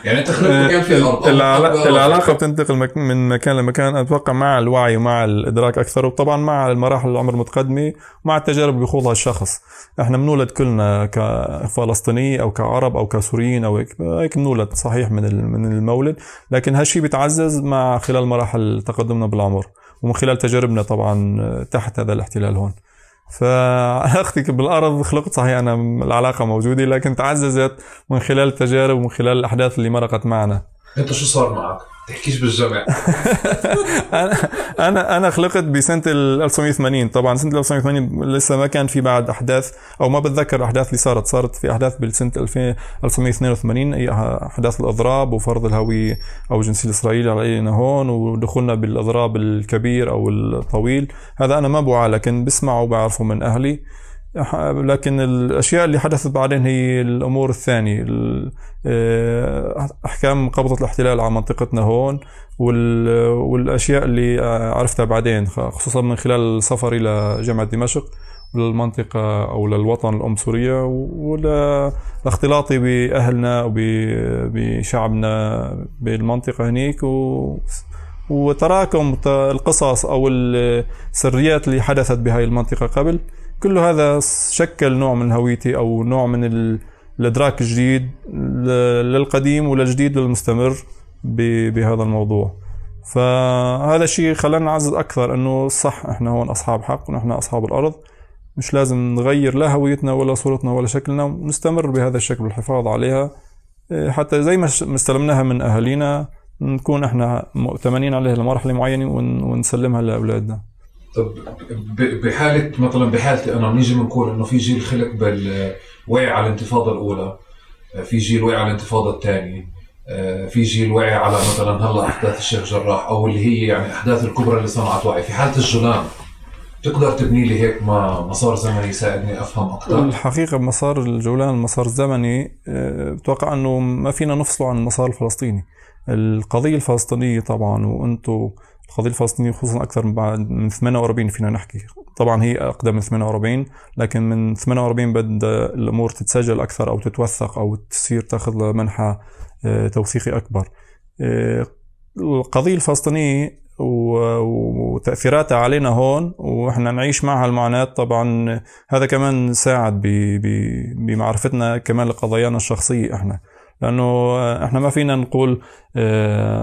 يعني انت خلقت كان في ارض العلاقه, العلاقة بتنتقل مك... من مكان لمكان اتوقع مع الوعي ومع الادراك اكثر، وطبعا مع المراحل العمر المتقدمه ومع التجارب اللي بيخوضها الشخص. احنا بنولد كلنا كفلسطيني او كعرب او كسوريين او هيك هيك بنولد صحيح من من المولد، لكن هالشيء بيتعزز مع خلال مراحل تقدمنا بالعمر ومن خلال تجاربنا طبعا تحت هذا الاحتلال هون. فعلاقتي بالأرض خلقت صحيح أنا العلاقة موجودة، لكن تعززت من خلال التجارب ومن خلال الأحداث اللي مرقت معنا. أنت شو صار معك؟ تحكيش بالجمع. أنا أنا أنا خلقت بسنة ألف وتسعمية وثمانين، طبعا سنة ألف وتسعمية وثمانين لسه ما كان في بعد أحداث أو ما بتذكر الأحداث اللي صارت صارت في أحداث بالسنة ألف وتسعمية واثنين وثمانين، أي أحداث الأضراب وفرض الهوية أو الجنسية الإسرائيلية علينا هون ودخولنا بالأضراب الكبير أو الطويل. هذا أنا ما بوعى لكن بسمعه وبعرفه من أهلي. لكن الأشياء اللي حدثت بعدين هي الأمور الثانية، أحكام قبضة الاحتلال على منطقتنا هون والأشياء اللي عرفتها بعدين، خصوصا من خلال سفري لجامعة دمشق للمنطقة أو للوطن الأم سوريا، ولاختلاطي بأهلنا وبشعبنا بالمنطقة هنيك، وتراكم القصص أو السريات اللي حدثت بهاي المنطقة قبل. كل هذا شكل نوع من هويتي أو نوع من الإدراك الجديد للقديم وللجديد للمستمر بهذا الموضوع. فهذا الشيء خلانا نعزز أكثر أنه صح إحنا هون أصحاب حق ونحن أصحاب الأرض، مش لازم نغير لا هويتنا ولا صورتنا ولا شكلنا، ونستمر بهذا الشكل والحفاظ عليها حتى زي ما استلمناها من أهالينا نكون إحنا مؤتمنين عليها لمرحلة معينة ونسلمها لأولادنا. طب بحالة مثلا بحالتي أنا بنيجي بنقول إنه في جيل خلق بالوعي على الانتفاضة الأولى، في جيل وعي على الانتفاضة الثانية، في جيل وعي على مثلا هلا أحداث الشيخ جراح أو اللي هي يعني أحداث الكبرى اللي صنعت وعي. في حالة الجولان تقدر تبني لي هيك مسار زمني يساعدني أفهم أكثر؟ الحقيقة مسار الجولان المسار الزمني بتوقع أنه ما فينا نفصله عن المسار الفلسطيني. القضية الفلسطينية طبعا وأنتو القضية الفلسطينية خصوصا أكثر من ثمانية وأربعين فينا نحكي، طبعا هي أقدم من ثمانية وأربعين، لكن من ثمانية وأربعين بدأ الأمور تتسجل أكثر أو تتوثق أو تصير تأخذ منحى توثيقي أكبر. القضية الفلسطينية وتأثيراتها علينا هون وإحنا نعيش معها المعاناة، طبعا هذا كمان ساعد بمعرفتنا كمان لقضايانا الشخصية إحنا، لأنه إحنا ما فينا نقول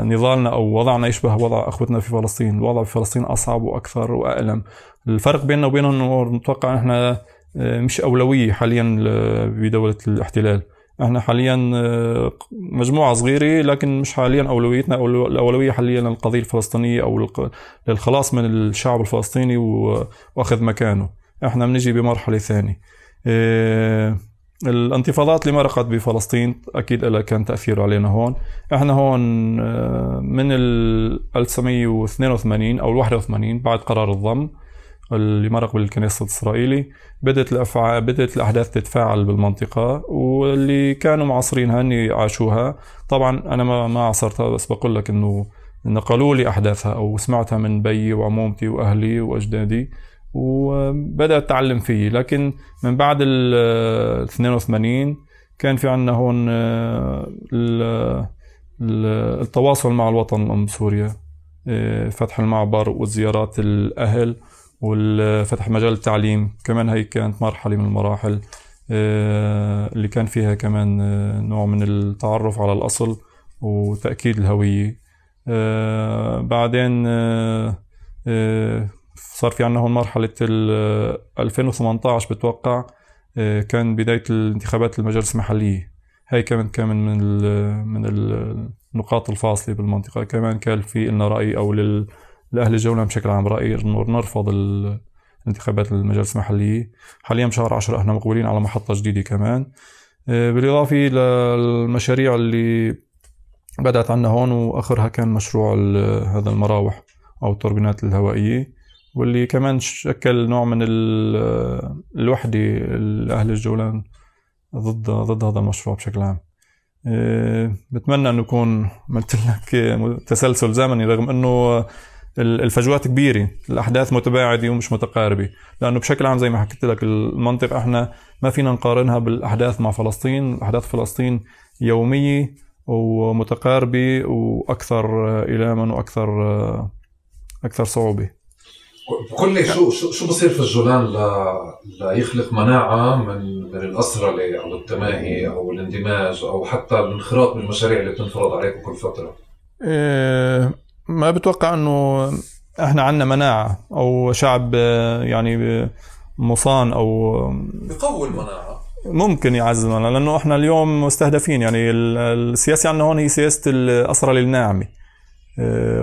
نضالنا أو وضعنا يشبه وضع أخوتنا في فلسطين. الوضع في فلسطين أصعب وأكثر وأألم. الفرق بيننا وبينهم إنه نتوقع إحنا مش أولوية حاليا بدولة الاحتلال، إحنا حاليا مجموعة صغيرة لكن مش حاليا أولويتنا. الأولوية حاليا للقضية الفلسطينية أو للخلاص من الشعب الفلسطيني وأخذ مكانه. إحنا بنجي بمرحلة ثانية. الانتفاضات اللي مرقت بفلسطين أكيد لها كان تأثير علينا هون. إحنا هون من ألف وتسعمية واثنين وثمانين أو واحد وثمانين بعد قرار الضم اللي مرق بالكنيسة الإسرائيلي بدأت الأفعال بدأت الأحداث تتفاعل بالمنطقة، واللي كانوا معاصرينها أني عاشوها. طبعا أنا ما ما عاصرتها، بس بقول لك إنه نقلوا لي أحداثها أو سمعتها من بيي وعمومتي وأهلي وأجدادي وبدأت أتعلم فيه. لكن من بعد ال اثنين وثمانين كان في عنا هون التواصل مع الوطن الأم سوريا، فتح المعبر وزيارات الأهل والفتح مجال التعليم كمان. هي كانت مرحلة من المراحل اللي كان فيها كمان نوع من التعرف على الأصل وتأكيد الهوية. بعدين صار في عنا هون مرحلة ألفين وثمانية عشر بتوقع كان بداية الانتخابات المجالس المحلية. هاي كمان كمان من من النقاط الفاصلة بالمنطقة. كمان كان في لنا رأي أو لأهل الجولة بشكل عام رأي إنه نرفض الانتخابات المجالس المحلية. حاليا بشهر عشرة احنا مقبلين على محطة جديدة كمان، بالإضافة للمشاريع اللي بدأت عنا هون، وآخرها كان مشروع هذا المراوح أو التوربينات الهوائية، واللي كمان شكل نوع من الوحدة لأهل الجولان ضد ضد هذا المشروع بشكل عام. بتمنى أن يكون عملت لك تسلسل زمني رغم أنه الفجوات كبيرة، الأحداث متباعدة ومش متقاربة، لأنه بشكل عام زي ما حكيت لك المنطقة احنا ما فينا نقارنها بالأحداث مع فلسطين. أحداث فلسطين يومية ومتقاربة وأكثر إلاما وأكثر أكثر صعوبة. بكل شو شو شو بصير في الجولان ل... ليخلق مناعة من من الأسرلة أو التماهي أو الاندماج أو حتى الانخراط بالمشاريع اللي بتنفرض عليكم كل فترة؟ إيه ما بتوقع إنه إحنا عنا مناعة أو شعب يعني مصان أو بقوي المناعة. ممكن يعزز المناعة لأنه إحنا اليوم مستهدفين، يعني السياسة عنا هون هي سياسة الأسرة الناعمة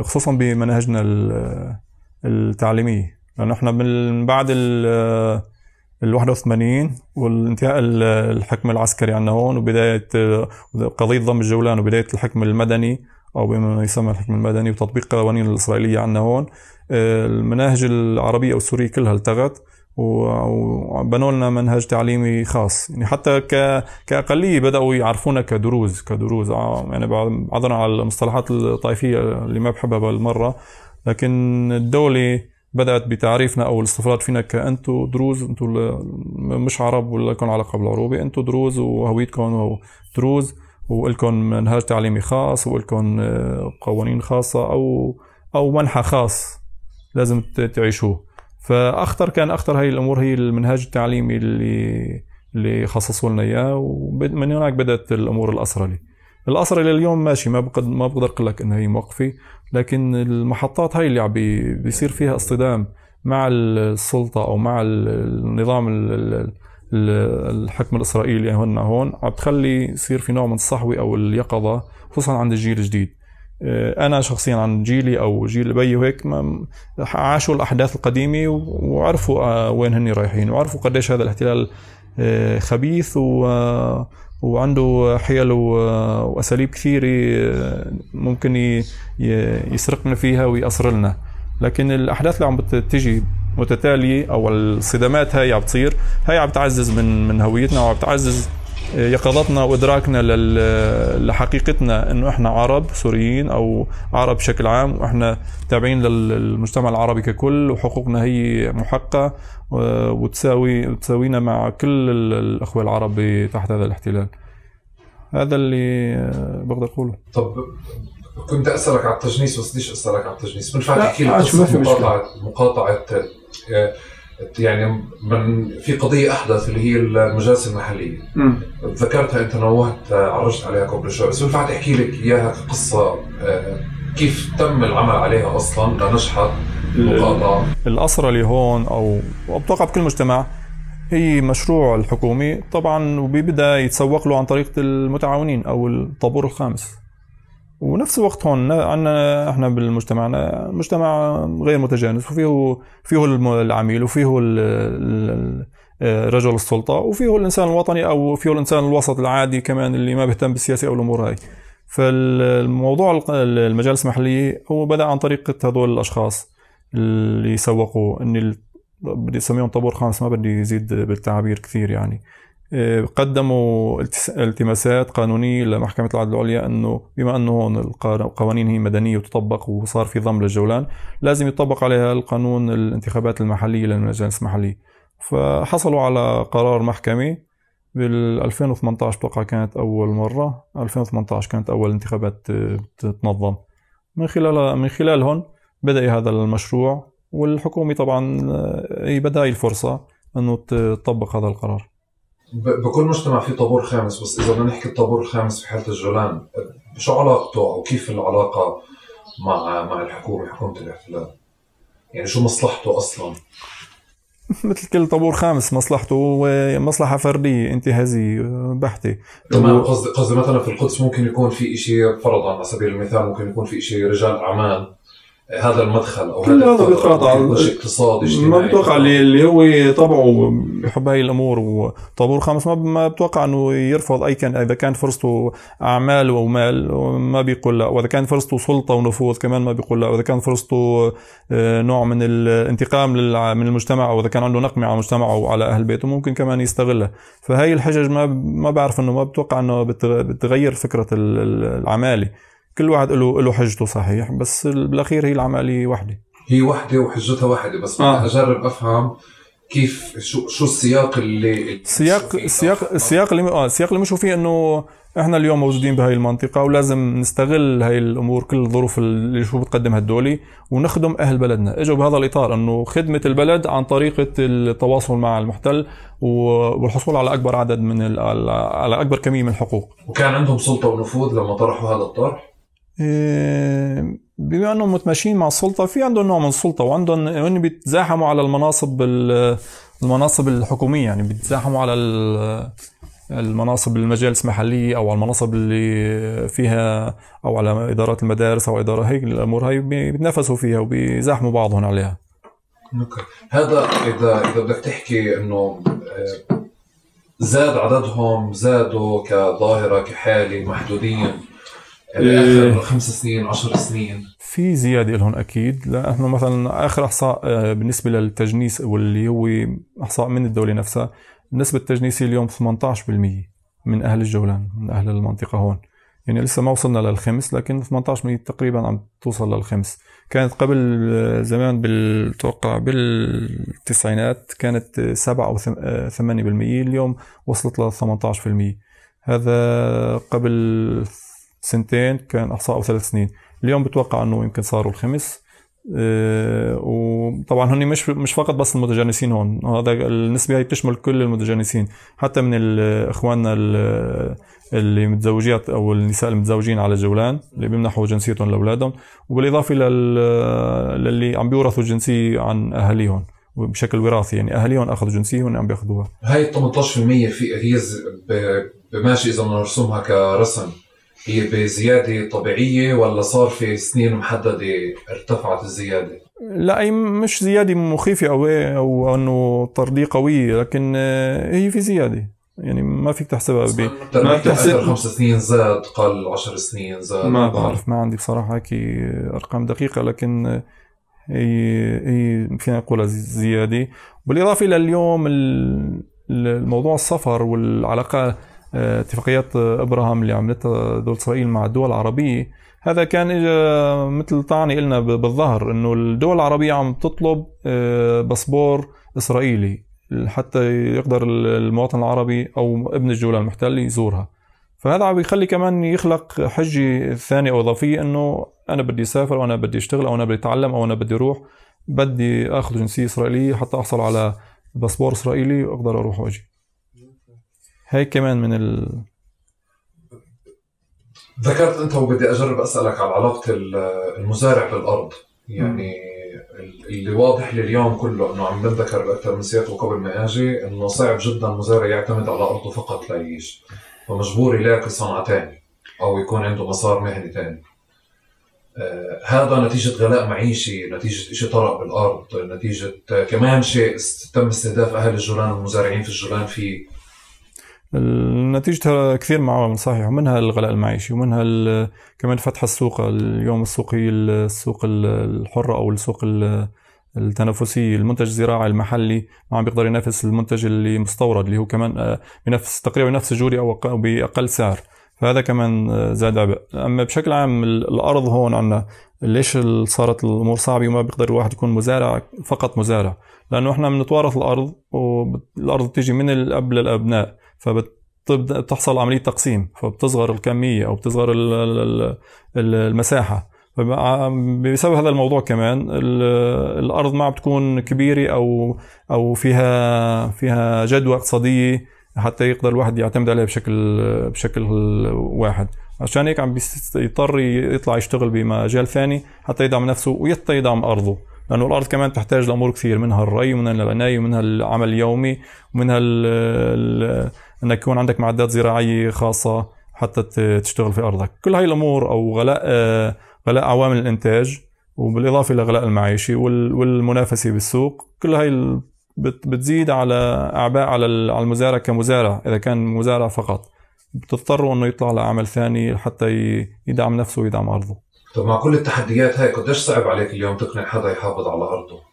خصوصا بمناهجنا التعليمية، لأنه إحنا من بعد ال الواحد وثمانين والانتهاء الحكم العسكري عنا هون وبداية قضية ضم الجولان وبداية الحكم المدني أو بما يسمى الحكم المدني وتطبيق القوانين الإسرائيلية عنا هون، المناهج العربية أو السورية كلها التغت وبنوا لنا منهج تعليمي خاص. يعني حتى كأقلية بدأوا يعرفونا كدروز كدروز يعني عذرا على المصطلحات الطائفية اللي ما بحبها بالمرة، لكن الدولة بدأت بتعريفنا أو الاستفراد فينا كأنتو دروز، أنتو مش عرب ولا لكم علاقة بالعروبة، أنتو دروز وهويتكم دروز ولكم منهج تعليمي خاص ولكم قوانين خاصة أو أو منحى خاص لازم تعيشوه. فأخطر كان أخطر هاي الأمور هي المنهج التعليمي اللي اللي خصصوا لنا إياه، ومن هناك بدأت الأمور الأسرلي. الأسرلي اليوم ماشي، ما بقدر ما بقدر أقول لك إنها هي موقفة، لكن المحطات هاي اللي عم بيصير فيها اصطدام مع السلطة أو مع النظام الحكم الإسرائيلي هون هون عم تخلي يصير في نوع من الصحوة أو اليقظة خصوصا عند الجيل الجديد. أنا شخصيا عن جيلي أو جيل بي وهيك عاشوا الأحداث القديمة وعرفوا وين هني رايحين وعرفوا قديش هذا الاحتلال خبيث و وعنده حيل وأساليب كثيرة ممكن يسرقنا فيها ويأسر لنا. لكن الأحداث اللي عم بتجي متتالية أو الصدامات هاي عم بتصير، هاي عم بتعزز من من هويتنا وعم بتعزز يقظتنا وإدراكنا لحقيقتنا إنه إحنا عرب سوريين أو عرب بشكل عام، وإحنا تابعين للمجتمع العربي ككل، وحقوقنا هي محققة وتساوي تساوينا مع كل الأخوة العرب تحت هذا الاحتلال. هذا اللي بقدر أقوله. طب كنت أسألك على التجنيس بس ليش أسألك على التجنيس؟ من فاتح كيلو قصة مقاطعة مقاطعة يعني من في قضية أحدث اللي هي المجالس المحلية. م. ذكرتها أنت نوهت عرجت عليها قبل شوي، بس بنفع تحكي لك إياها قصة كيف تم العمل عليها أصلا لنجحت المقاطعة. الأسرة اللي هون أو أتوقع بكل مجتمع هي مشروع الحكومي طبعا، وبيبدأ يتسوق له عن طريق المتعاونين أو الطابور الخامس. ونفس الوقت هون عندنا احنا بالمجتمعنا مجتمع غير متجانس، وفيه فيه العميل وفيه رجل السلطة وفيه الإنسان الوطني أو فيه الإنسان الوسط العادي كمان اللي ما بيهتم بالسياسة أو الأمور هاي. فالموضوع المجالس المحلية هو بدأ عن طريق هذول الأشخاص اللي سوقوا، إني بدي أسميهم طابور خامس، ما بدي يزيد بالتعابير كثير يعني. قدموا التماسات قانونية لمحكمة العدل العليا أنه بما أنه هون القوانين هي مدنية وتطبق وصار في ضم للجولان لازم يطبق عليها القانون الانتخابات المحلية للمجالس المحلية. فحصلوا على قرار محكمة بال ألفين وثمانية عشر بقى كانت أول مرة، ألفين وثمانية عشر كانت أول انتخابات تتنظم. من خلال من خلالهم بدأ هذا المشروع، والحكومة طبعا هي بدأ الفرصة أنه تطبق هذا القرار. بكل مجتمع في طابور خامس، بس إذا بدنا نحكي الطابور الخامس في حالة الجولان شو علاقته أو كيف العلاقة مع مع الحكومة حكومة الاحتلال؟ يعني شو مصلحته أصلا؟ مثل كل طابور خامس مصلحته مصلحة فردية انتهازية بحتة. تمام. قصدي قصدي مثلا في القدس ممكن يكون في إشي فرضا على سبيل المثال ممكن يكون في إشي رجال أعمال، هذا المدخل او هذا القطاع اقتصادي اجتماعي ما بتوقع اللي هو طبعه بحب هاي الامور. وطابور خامس ما بتوقع انه يرفض اي كان، اذا كان فرصته اعمال ومال ما بيقول لا، واذا كان فرصته سلطه ونفوذ كمان ما بيقول لا، واذا كان فرصته نوع من الانتقام من المجتمع او اذا كان عنده نقمه على مجتمعه وعلى اهل بيته ممكن كمان يستغلها. فهي الحجج ما ما بعرف انه ما بتوقع انه بتغير فكره العمالي. كل واحد له له حجته صحيح، بس بالاخير هي العمليه واحده، هي واحده وحجتها واحده. بس آه. اجرب افهم كيف شو شو السياق اللي السياق السياق السياق اللي اه السياق اللي مشوا فيه انه احنا اليوم موجودين بهاي المنطقه ولازم نستغل هاي الامور كل الظروف اللي شو بتقدمها الدوله ونخدم اهل بلدنا. اجوا بهذا الاطار انه خدمه البلد عن طريقه التواصل مع المحتل والحصول على اكبر عدد من على اكبر كميه من الحقوق. وكان عندهم سلطه ونفوذ لما طرحوا هذا الطرح؟ بما انهم متماشيين مع السلطه في عندهم نوع من السلطه وعندهم هن بيتزاحموا على المناصب المناصب الحكوميه، يعني بيتزاحموا على المناصب المجالس المحليه او على المناصب اللي فيها او على ادارات المدارس او اداره هيك الامور هاي بيتنافسوا فيها وبيزاحموا بعضهم عليها. اوكي. هذا اذا اذا بدك تحكي انه زاد عددهم، زادوا كظاهره كحاله محدودين باخر خمس سنين عشر سنين؟ في زياده لهم اكيد. لا احنا مثلا اخر احصاء بالنسبه للتجنيس واللي هو احصاء من الدوله نفسها، نسبه التجنيسيه اليوم ثمانية عشر بالمئة من اهل الجولان، من اهل المنطقه هون. يعني لسه ما وصلنا للخمس لكن ثمانية عشر بالمئة تقريبا عم توصل للخمس. كانت قبل زمان بالتوقع بالتسعينات كانت سبعة او ثمانية بالمئة، اليوم وصلت ل ثمانية عشر بالمئة. هذا قبل سنتين كان احصاء او ثلاث سنين، اليوم بتوقع انه يمكن صاروا الخمس. أه وطبعا هن مش مش فقط بس المتجانسين هون، هذا النسبه هي بتشمل كل المتجانسين، حتى من اخواننا اللي متزوجات او النساء المتزوجين على الجولان اللي بيمنحوا جنسيتهم لاولادهم، وبالاضافه للي عم بيورثوا الجنسيه عن اهاليهم بشكل وراثي، يعني اهاليهم اخذوا جنسيه وهن عم بياخذوها. هاي ثمانية عشر بالمئة في هي بماشي اذا بدنا نرسمها كرسم، هي بزيادة طبيعية ولا صار في سنين محددة ارتفعت الزيادة؟ لا أي مش زيادة مخيفة أو أو أنه طردية قوية، لكن هي في زيادة، يعني ما فيك تحسبها ب ما بتحسب خمس سنين زاد قل عشر سنين زاد. ما بعرف، ما عندي بصراحة هيك أرقام دقيقة، لكن هي هي فينا نقولها زيادة. بالإضافة إلى اليوم الموضوع السفر والعلاقات، اتفاقيات ابراهام اللي عملتها دولة اسرائيل مع الدول العربية، هذا كان اجى مثل طعني لنا بالظهر انه الدول العربية عم تطلب باسبور اسرائيلي حتى يقدر المواطن العربي او ابن الجولان المحتل يزورها. فهذا عم يخلي كمان يخلق حجة ثانية او اضافية انه انا بدي اسافر وانا بدي اشتغل او انا بدي اتعلم او انا بدي اروح، بدي اخذ جنسية اسرائيلية حتى احصل على باسبور اسرائيلي واقدر اروح واجي. هاي كمان من ال... ذكرت انت وبدي اجرب اسالك على علاقه المزارع بالارض، يعني اللي واضح لليوم كله انه عم بنذكر باكثر من سياق وقبل ما اجي انه صعب جدا المزارع يعتمد على ارضه فقط ليعيش، فمجبور يلاقي صنعه ثانيه او يكون عنده مسار مهني ثاني. آه هذا نتيجه غلاء معيشي، نتيجه شيء طرق بالارض، نتيجه كمان شيء تم استهداف اهل الجولان والمزارعين في الجولان فيه. نتيجتها كثير من عوامل صحيح، ومنها الغلاء المعيشي ومنها كمان فتح السوق. اليوم السوق هي السوق الحرة أو السوق التنافسية، المنتج الزراعي المحلي ما عم بيقدر ينافس المنتج اللي مستورد اللي هو كمان بنفس تقريبا نفس الجودة أو بأقل سعر، فهذا كمان زاد عبء. أما بشكل عام الأرض هون عنا ليش صارت الأمور صعبة وما بيقدر الواحد يكون مزارع فقط مزارع؟ لأنه إحنا بنتوارث الأرض والأرض بتيجي من الأب للأبناء، فبتحصل عملية تقسيم، فبتصغر الكمية أو بتصغر المساحة. بسبب هذا الموضوع كمان الأرض ما بتكون كبيرة أو أو فيها فيها جدوى اقتصادية حتى يقدر الواحد يعتمد عليها بشكل بشكل واحد. عشان هيك عم بيضطر يطلع يشتغل بمجال ثاني حتى يدعم نفسه ويحتى يدعم أرضه، لأنه الأرض كمان تحتاج لأمور كثير، منها الري ومنها العناية ومنها العمل اليومي ومنها أنك يكون عندك معدات زراعية خاصة حتى تشتغل في أرضك. كل هاي الأمور أو غلاء غلاء عوامل الإنتاج وبالإضافة إلى غلاء المعيشي والمنافسة بالسوق، كل هاي بتزيد على أعباء على المزارع كمزارع. إذا كان مزارع فقط بتضطر أنه يطلع لعمل ثاني حتى يدعم نفسه ويدعم أرضه. طب مع كل التحديات هاي قديش صعب عليك اليوم تقنع حدا يحافظ على أرضه؟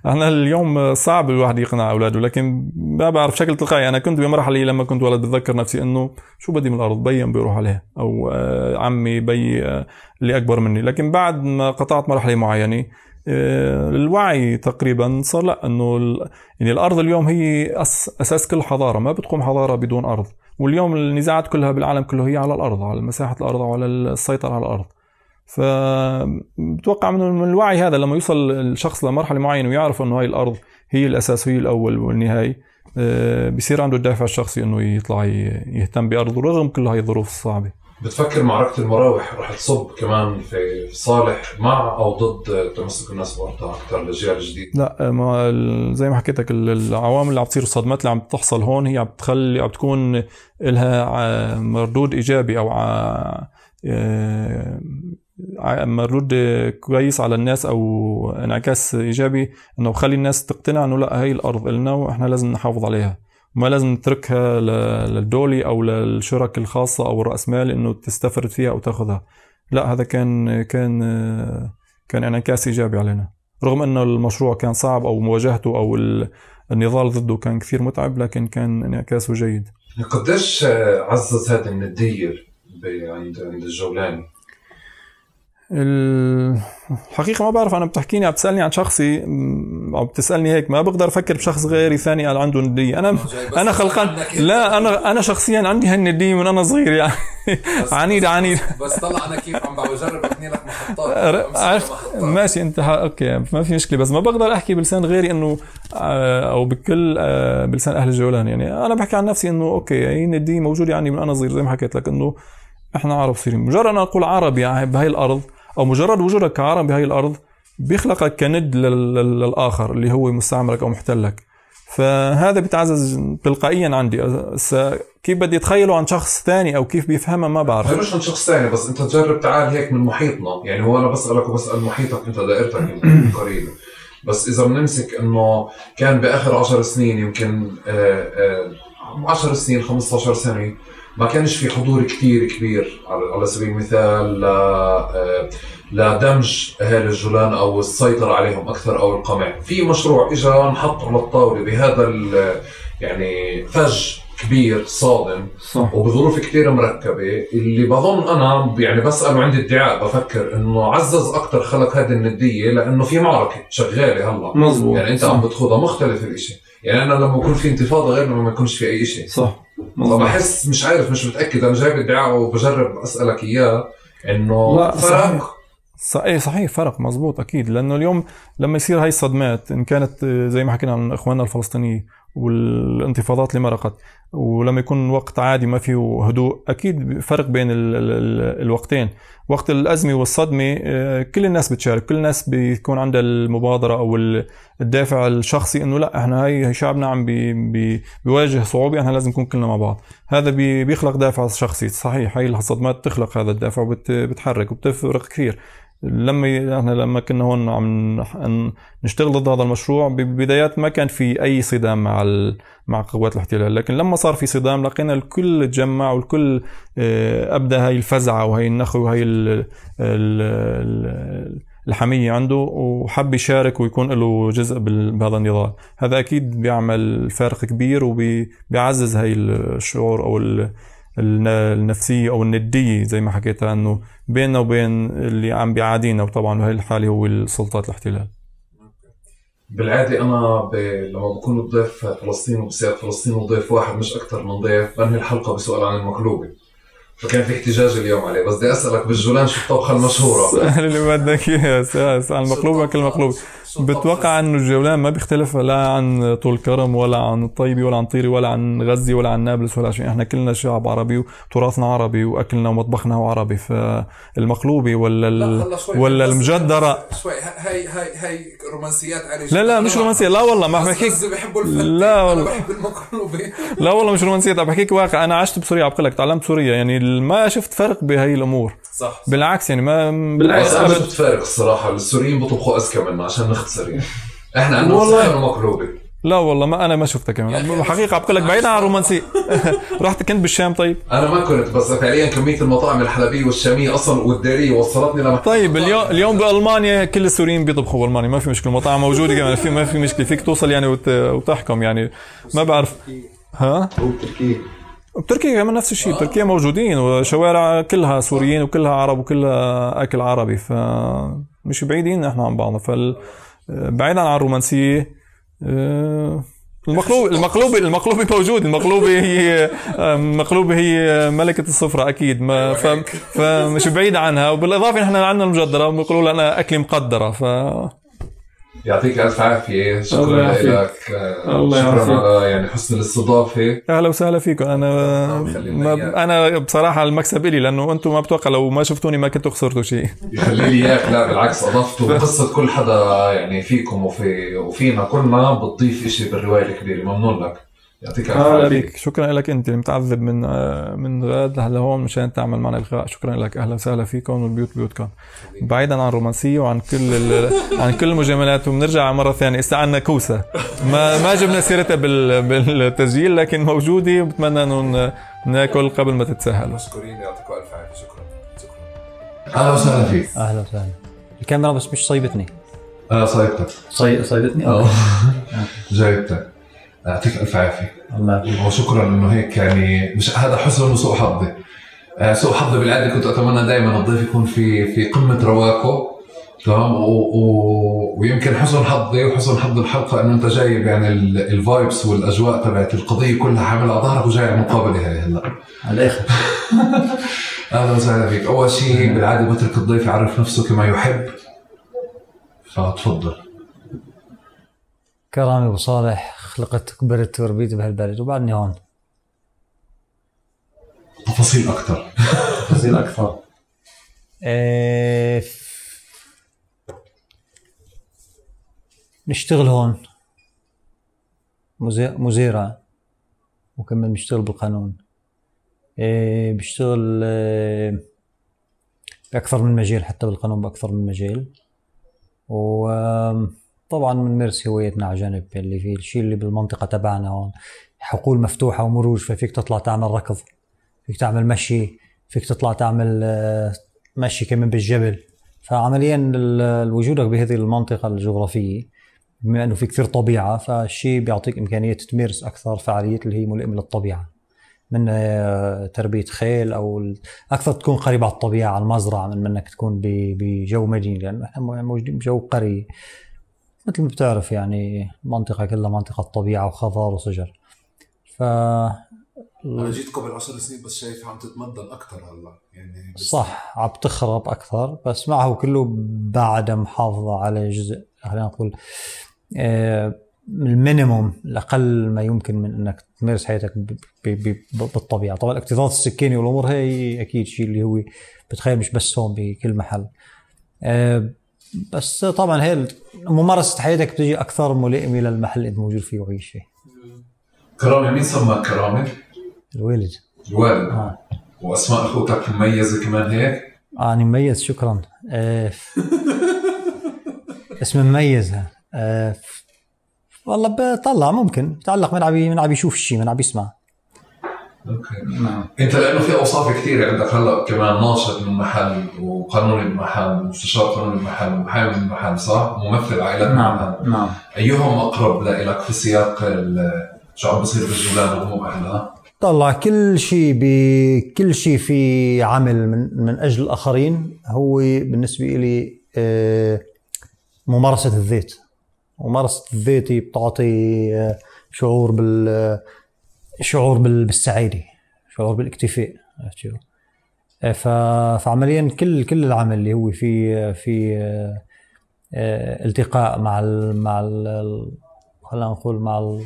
احنا اليوم صعب الواحد يقنع اولاده، لكن ما بعرف بشكل تلقائي. انا كنت بمرحله لما كنت ولد بتذكر نفسي انه شو بدي من الارض، بي بيروح عليها او عمي بي اللي اكبر مني. لكن بعد ما قطعت مرحله معينه الوعي تقريبا صار لا انه يعني الارض اليوم هي اساس كل حضاره، ما بتقوم حضاره بدون ارض. واليوم النزاعات كلها بالعالم كله هي على الارض، على مساحه الارض وعلى السيطره على الارض. فبتوقع من الوعي هذا لما يوصل الشخص لمرحله معينه ويعرف انه هاي الارض هي الاساس وهي الاول والنهايه، بصير عنده الدافع الشخصي انه يطلع يهتم بارضه رغم كل هاي الظروف الصعبه. بتفكر معركة المراوح رح تصب كمان في صالح مع أو ضد تمسك الناس بأرضها أكثر للأجيال الجديدة؟ لا، ما زي ما حكيت لك العوامل اللي عم تصير، الصدمات اللي عم تحصل هون هي عم تخلي عم تكون لها مردود إيجابي أو مردود كويس على الناس أو انعكاس إيجابي، إنه بخلي الناس تقتنع إنه لا هاي الأرض إلنا وإحنا لازم نحافظ عليها، ما لازم نتركها للدولة أو للشركة الخاصة أو الرأسمال إنه تستفرد فيها أو تأخذها. لا، هذا كان كان كان انعكاس إيجابي علينا، رغم إنه المشروع كان صعب أو مواجهته أو النضال ضده كان كثير متعب، لكن كان انعكاسه جيد. قديش عزز هذا الندية عند عند الجولاني؟ الحقيقة ما بعرف، أنا بتحكيني عم بتسألني عن شخصي أو بتسألني هيك، ما بقدر أفكر بشخص غيري ثاني قال عنده ندية. أنا أنا خلقان، لا أنا أنا شخصيا عندي هالندية من أنا صغير يعني عنيد عنيد. بس طلع أنا كيف عم بجرب أبني لك محطات. عرفت ماشي أنت أوكي ما في مشكلة، بس ما بقدر أحكي بلسان غيري إنه أو بكل بلسان أهل الجولان. يعني أنا بحكي عن نفسي إنه أوكي هي الندية موجودة يعني من أنا صغير، زي ما حكيت لك إنه إحنا عرب صيرين. مجرد أنا أقول عربي يعني بهاي الأرض أو مجرد وجودك كعربي بهاي الأرض بيخلقك كند للآخر اللي هو مستعمرك أو محتلك، فهذا بيتعزز تلقائيا عندي. كيف بدي أتخيله عن شخص ثاني أو كيف بيفهمها ما بعرف. مش عن شخص ثاني، بس أنت تجرب تعال هيك من محيطنا. يعني هو أنا بسألك وبسأل محيطك أنت، دائرتك يمكن قريبة، بس إذا بنمسك إنه كان بآخر عشر سنين يمكن آآ آآ عشر سنين خمسة عشر سنة ما كانش في حضور كتير كبير على سبيل المثال لدمج أهالي الجولان أو السيطرة عليهم أكثر أو القمع. في مشروع إجا نحط على الطاولة بهذا يعني فج كبير صادم صح. وبظروف كتير مركبة، اللي بظن أنا يعني بسأل وعندي ادعاء بفكر إنه عزز أكتر خلق هذه الندية، لأنه في معركة شغالة هلا مزبوط. يعني أنت عم بتخوضها مختلف الإشي. يعني أنا لما يكون في انتفاضة غير لما ما يكونش في أي إشي صح. فبحس مش عارف مش متأكد، أنا جايب ادعاء وبجرب أسألك إياه إنه فرق. صحيح صحيح فرق مزبوط أكيد، لأنه اليوم لما يصير هاي الصدمات إن كانت زي ما حكينا عن إخواننا الفلسطينيين والانتفاضات اللي مرقت، ولما يكون وقت عادي ما فيه هدوء، أكيد فرق بين ال ال الوقتين. وقت الأزمة والصدمة كل الناس بتشارك، كل الناس بيكون عندها المبادرة أو الدافع الشخصي إنه لا إحنا هاي شعبنا عم بي بي بيواجه صعوبة، إحنا لازم نكون كلنا مع بعض. هذا بي بيخلق دافع شخصي صحيح. هاي الصدمات تخلق هذا الدافع وبتحرك وبتفرق كثير. لما احنا لما كنا هون عم نشتغل ضد هذا المشروع بالبدايات ما كان في اي صدام مع مع قوات الاحتلال، لكن لما صار في صدام لقينا الكل تجمع والكل ابدا هاي الفزعه وهي النخوه وهي الحميه عنده وحب يشارك ويكون له جزء بهذا النضال. هذا اكيد بيعمل فارق كبير وبيعزز هاي الشعور او النفسية أو الندية زي ما حكيتها إنه بيننا وبين اللي عم بيعادينا، وطبعا بهاي الحالة هو السلطات الاحتلال. بالعادة أنا ب... لما بكون ضيف فلسطين وبسيادة فلسطين وضيف واحد مش أكتر من ضيف بنهي الحلقة بسؤال عن المقلوبة، فكان في احتجاج اليوم عليه. بس بدي أسألك بالجولان شو الطبخة المشهورة؟ سهل اللي بدك إياه، سهل. المقلوبة كل مقلوبة. بتوقع انه الجولان ما بيختلف لا عن طول كرم ولا عن الطيبي ولا عن طيري ولا عن غزي ولا عن نابلس ولا شيء. احنا كلنا شعب عربي وتراثنا عربي واكلنا ومطبخنا هو عربي. فالمقلوبي ولا ال... ولا المجدره شوي هاي هاي هاي رومانسيات علي. لا لا مش رومانسيه، لا والله ما بحكيك. لا والله بحب المقلوبه. لا والله مش رومانسيه، عم بحكيك واقع. انا عشت بسوريا، عم بقول لك تعلمت سوريا، يعني ما شفت فرق بهي الامور. صح. بالعكس يعني ما بالعكس انا شفت فرق الصراحه. السوريين بيطبخوا اذكى منا عشان نختصر يعني. احنا عندنا والله مقلوبه. لا والله ما انا ما شفتها كمان حقيقه. عم بقول لك بعيد عن الرومانسيه. رحت كنت بالشام. طيب انا ما كنت، بس فعليا كميه المطاعم الحلبيه والشاميه اصلا والداريه وصلتني لما. طيب اليوم اليوم بالمانيا كل السوريين بيطبخوا بالمانيا، ما في مشكله، المطاعم موجوده كمان، في ما في مشكله، فيك توصل يعني وت... وتحكم يعني. ما بعرف ها وتركيا بتركيا كمان نفس الشيء. بتركيا موجودين وشوارع كلها سوريين وكلها عرب وكلها اكل عربي. ف مش بعيدين احنا عن بعضنا. فال بعيدا عن الرومانسيه المقلوب المقلوبة المقلوبة موجود. المقلوبة هي مقلوبة هي ملكة السفرة أكيد ما ف... فمش بعيد عنها. وبالإضافة نحن عندنا المجدرة وبيقولوا لنا أكل مقدرة. ف يعطيك ألف عافية. شكرا لك. شكرا على يعني حسن الاستضافة. أهلا وسهلا فيكم. أنا ما أنا بصراحة المكسب إلي لأنه أنتم ما بتوقع لو ما شفتوني ما كنتوا خسرتوا شيء. يخلي لي إياك. لا بالعكس أضفتوا قصة كل حدا يعني فيكم وفي وفينا كلنا بتضيف إشي بالرواية الكبيرة. ممنون لك. يعطيك ألف عافية. شكرا لك أنت المتعذب من من غاد لهون مشان تعمل معنا لقاء. شكرا لك. أهلا وسهلا فيكم والبيوت بيوتكم. بعيدا عن الرومانسية وعن كل عن كل المجاملات. وبنرجع مرة ثانية استعنا كوسة ما ما جبنا سيرتها بالتسجيل لكن موجودة وبتمنى إنه ناكل قبل ما تتساهلوا. مشكورين. يعطيكم ألف عافية. شكرا. شكرا. أهلا وسهلا فيك. أهلا وسهلا. الكاميرا بس مش صيبتني. أنا صيبتك. صي صيبتني. أه جايبتك. يعطيك ألف عافية. الله. وشكرا إنه هيك يعني مش هذا حسن وسوء حظي. آه سوء حظي بالعادة كنت أتمنى دائما الضيف يكون في في قمة رواقه تمام و... و... ويمكن حسن حظي وحسن حظ الحلقة إنه أنت جايب يعني الفايبس والأجواء تبعت القضية كلها حامل على ظهرك وجاي على المقابلة هاي هلا. على الآخر. أهلا وسهلا فيك. أول شيء بالعادة بترك الضيف يعرف نفسه كما يحب فتفضل. كرامي أبو صالح. خلقت كبرت وربيت بهالبلد وبعدني هون. تفاصيل أكثر. تفاصيل أكثر. إيه نشتغل هون مزيرع وكمان بنشتغل بالقانون. إيه بشتغل إيه بأكثر من مجال حتى بالقانون بأكثر من مجال. وطبعا بنمارس هوايتنا على جانب اللي في الشيء اللي بالمنطقة تبعنا هون حقول مفتوحة ومروج. ففيك تطلع تعمل ركض فيك تعمل مشي فيك تطلع تعمل مشي كمان بالجبل. فعمليا وجودك بهذه المنطقة الجغرافية بما أنه في كثير طبيعة فالشيء بيعطيك إمكانية تمارس أكثر فعاليات اللي هي ملائمة للطبيعة من تربية خيل أو أكثر تكون قريب على الطبيعة على المزرعة من منك تكون بجو مديني. لأن إحنا موجودين بجو قري مثل ما بتعرف يعني منطقة كلها منطقة طبيعة وخضار وشجر. ف أنا جيت قبل عشر سنين بس شايف عم تتمدن أكثر هلا يعني. صح عم تخرب أكثر بس معه كله بعد محافظة على جزء خلينا نقول آه المينيموم الأقل ما يمكن من أنك تمارس حياتك بالطبيعة. طبعا الاكتظاظ السكاني والأمور هي أكيد شيء اللي هو بتخيل مش بس هون بكل محل. آه بس طبعا هي ممارسة حياتك بتجي أكثر ملائمة للمحل اللي أنت موجود فيه وعيش فيه. كرامي مين سماك كرامي؟ الوالد. الوالد. آه. وأسماء أخوتك مميزة كمان هيك؟ آه أنا مميز شكرا. آه اسم مميز. آه والله بطلع ممكن بتعلق من عم من عم يشوف الشيء من عم يسمع. اوكي. نعم. انت لانه في اوصاف كثيره عندك هلا كمان ناشط من محل وقانوني بمحل ومستشار قانوني بمحل ومحامي بمحل صح؟ ممثل عائلات بمحل. نعم نعم. ايهم اقرب لك في سياق شو عم بصير بالجولان وهو اهلها؟ طلع كل شيء بكل شيء في عمل من من اجل الاخرين هو بالنسبه لي ممارسه الذات. ممارسه الذات بتعطي شعور بال شعور بالسعاده شعور بالاكتفاء. فعمليا كل كل العمل اللي هو في في التقاء مع ال مع ال خلينا نقول مع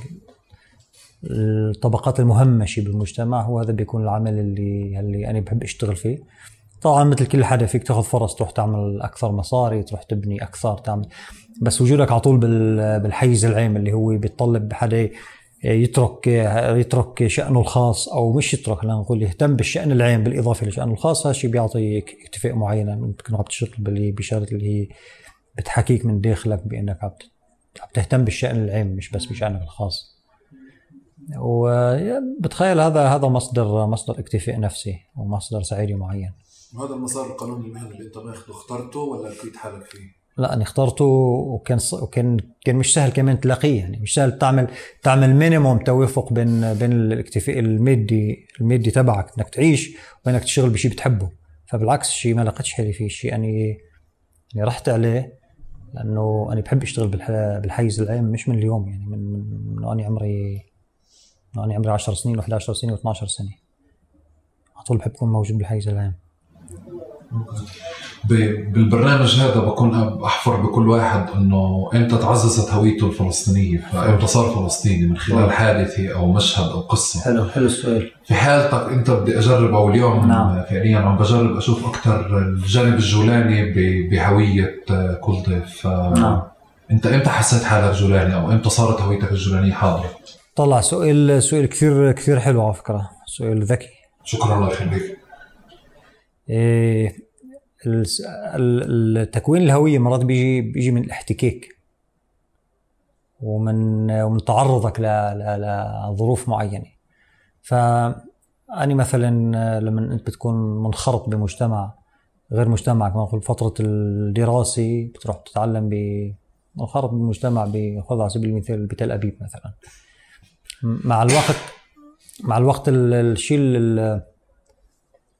الطبقات المهمشة بالمجتمع هو هذا بيكون العمل اللي اللي أنا بحب أشتغل فيه. طبعا مثل كل حدا فيك تاخذ فرص تروح تعمل أكثر مصاري تروح تبني أكثر تعمل بس وجودك على طول بالحيز العام اللي هو بيتطلب حدا يترك يترك شأنه الخاص أو مش يترك خلينا نقول يهتم بالشأن العام بالإضافة لشأنه الخاص. هذا الشيء بيعطي اكتفاء معين تكون عم تشتغل بشغلة اللي هي بتحكيك من داخلك بأنك عم تهتم بالشأن العام مش بس بشأنك الخاص. وبتخيل هذا هذا مصدر مصدر اكتفاء نفسي ومصدر سعادة معين. وهذا المسار القانوني المهني اللي انت ماخذه اخترته ولا لقيت حالك فيه؟ لا أنا اخترته وكان وكان كان مش سهل كمان تلاقيه يعني مش سهل تعمل تعمل مينيموم توافق بين بين الاكتفاء المادي المادي تبعك انك تعيش وانك تشتغل بشيء بتحبه. فبالعكس الشيء ما لقيتش حالي فيه شيء يعني يعني رحت عليه لأنه أنا بحب أشتغل بالحيز العام، مش من اليوم يعني من من أنا عمري من أنا عمري عشر سنين وإحدى عشرة سنة واثناشر سنة، على طول بحب أكون موجود بالحيز العام. بالبرنامج هذا بكون أحفر بكل واحد إنه إمتى تعززت هويته الفلسطينية، فإمتى صار فلسطيني من خلال حادثة أو مشهد أو قصة. حلو حلو السؤال. في حالتك أنت بدي أجرب أو اليوم نعم. فعليا عم بجرب أشوف أكتر الجانب الجولاني بهوية كل ضيف. نعم. أنت إمتى حسيت حالك جولاني أو إمتى صارت هويتك الجولانية حاضرة؟ طلع سؤال سؤال كثير كثير حلو على فكرة، سؤال ذكي. شكرا الله يخليك. إيه التكوين الهوية مرات بيجي بيجي من الاحتكاك ومن ومن تعرضك لظروف معينة. فأني مثلا لما أنت بتكون منخرط بمجتمع غير مجتمعك، مثلا فترة الدراسي بتروح تتعلم بمنخرط بمجتمع بخذ على سبيل المثال بتل أبيب مثلا، مع الوقت مع الوقت الشيء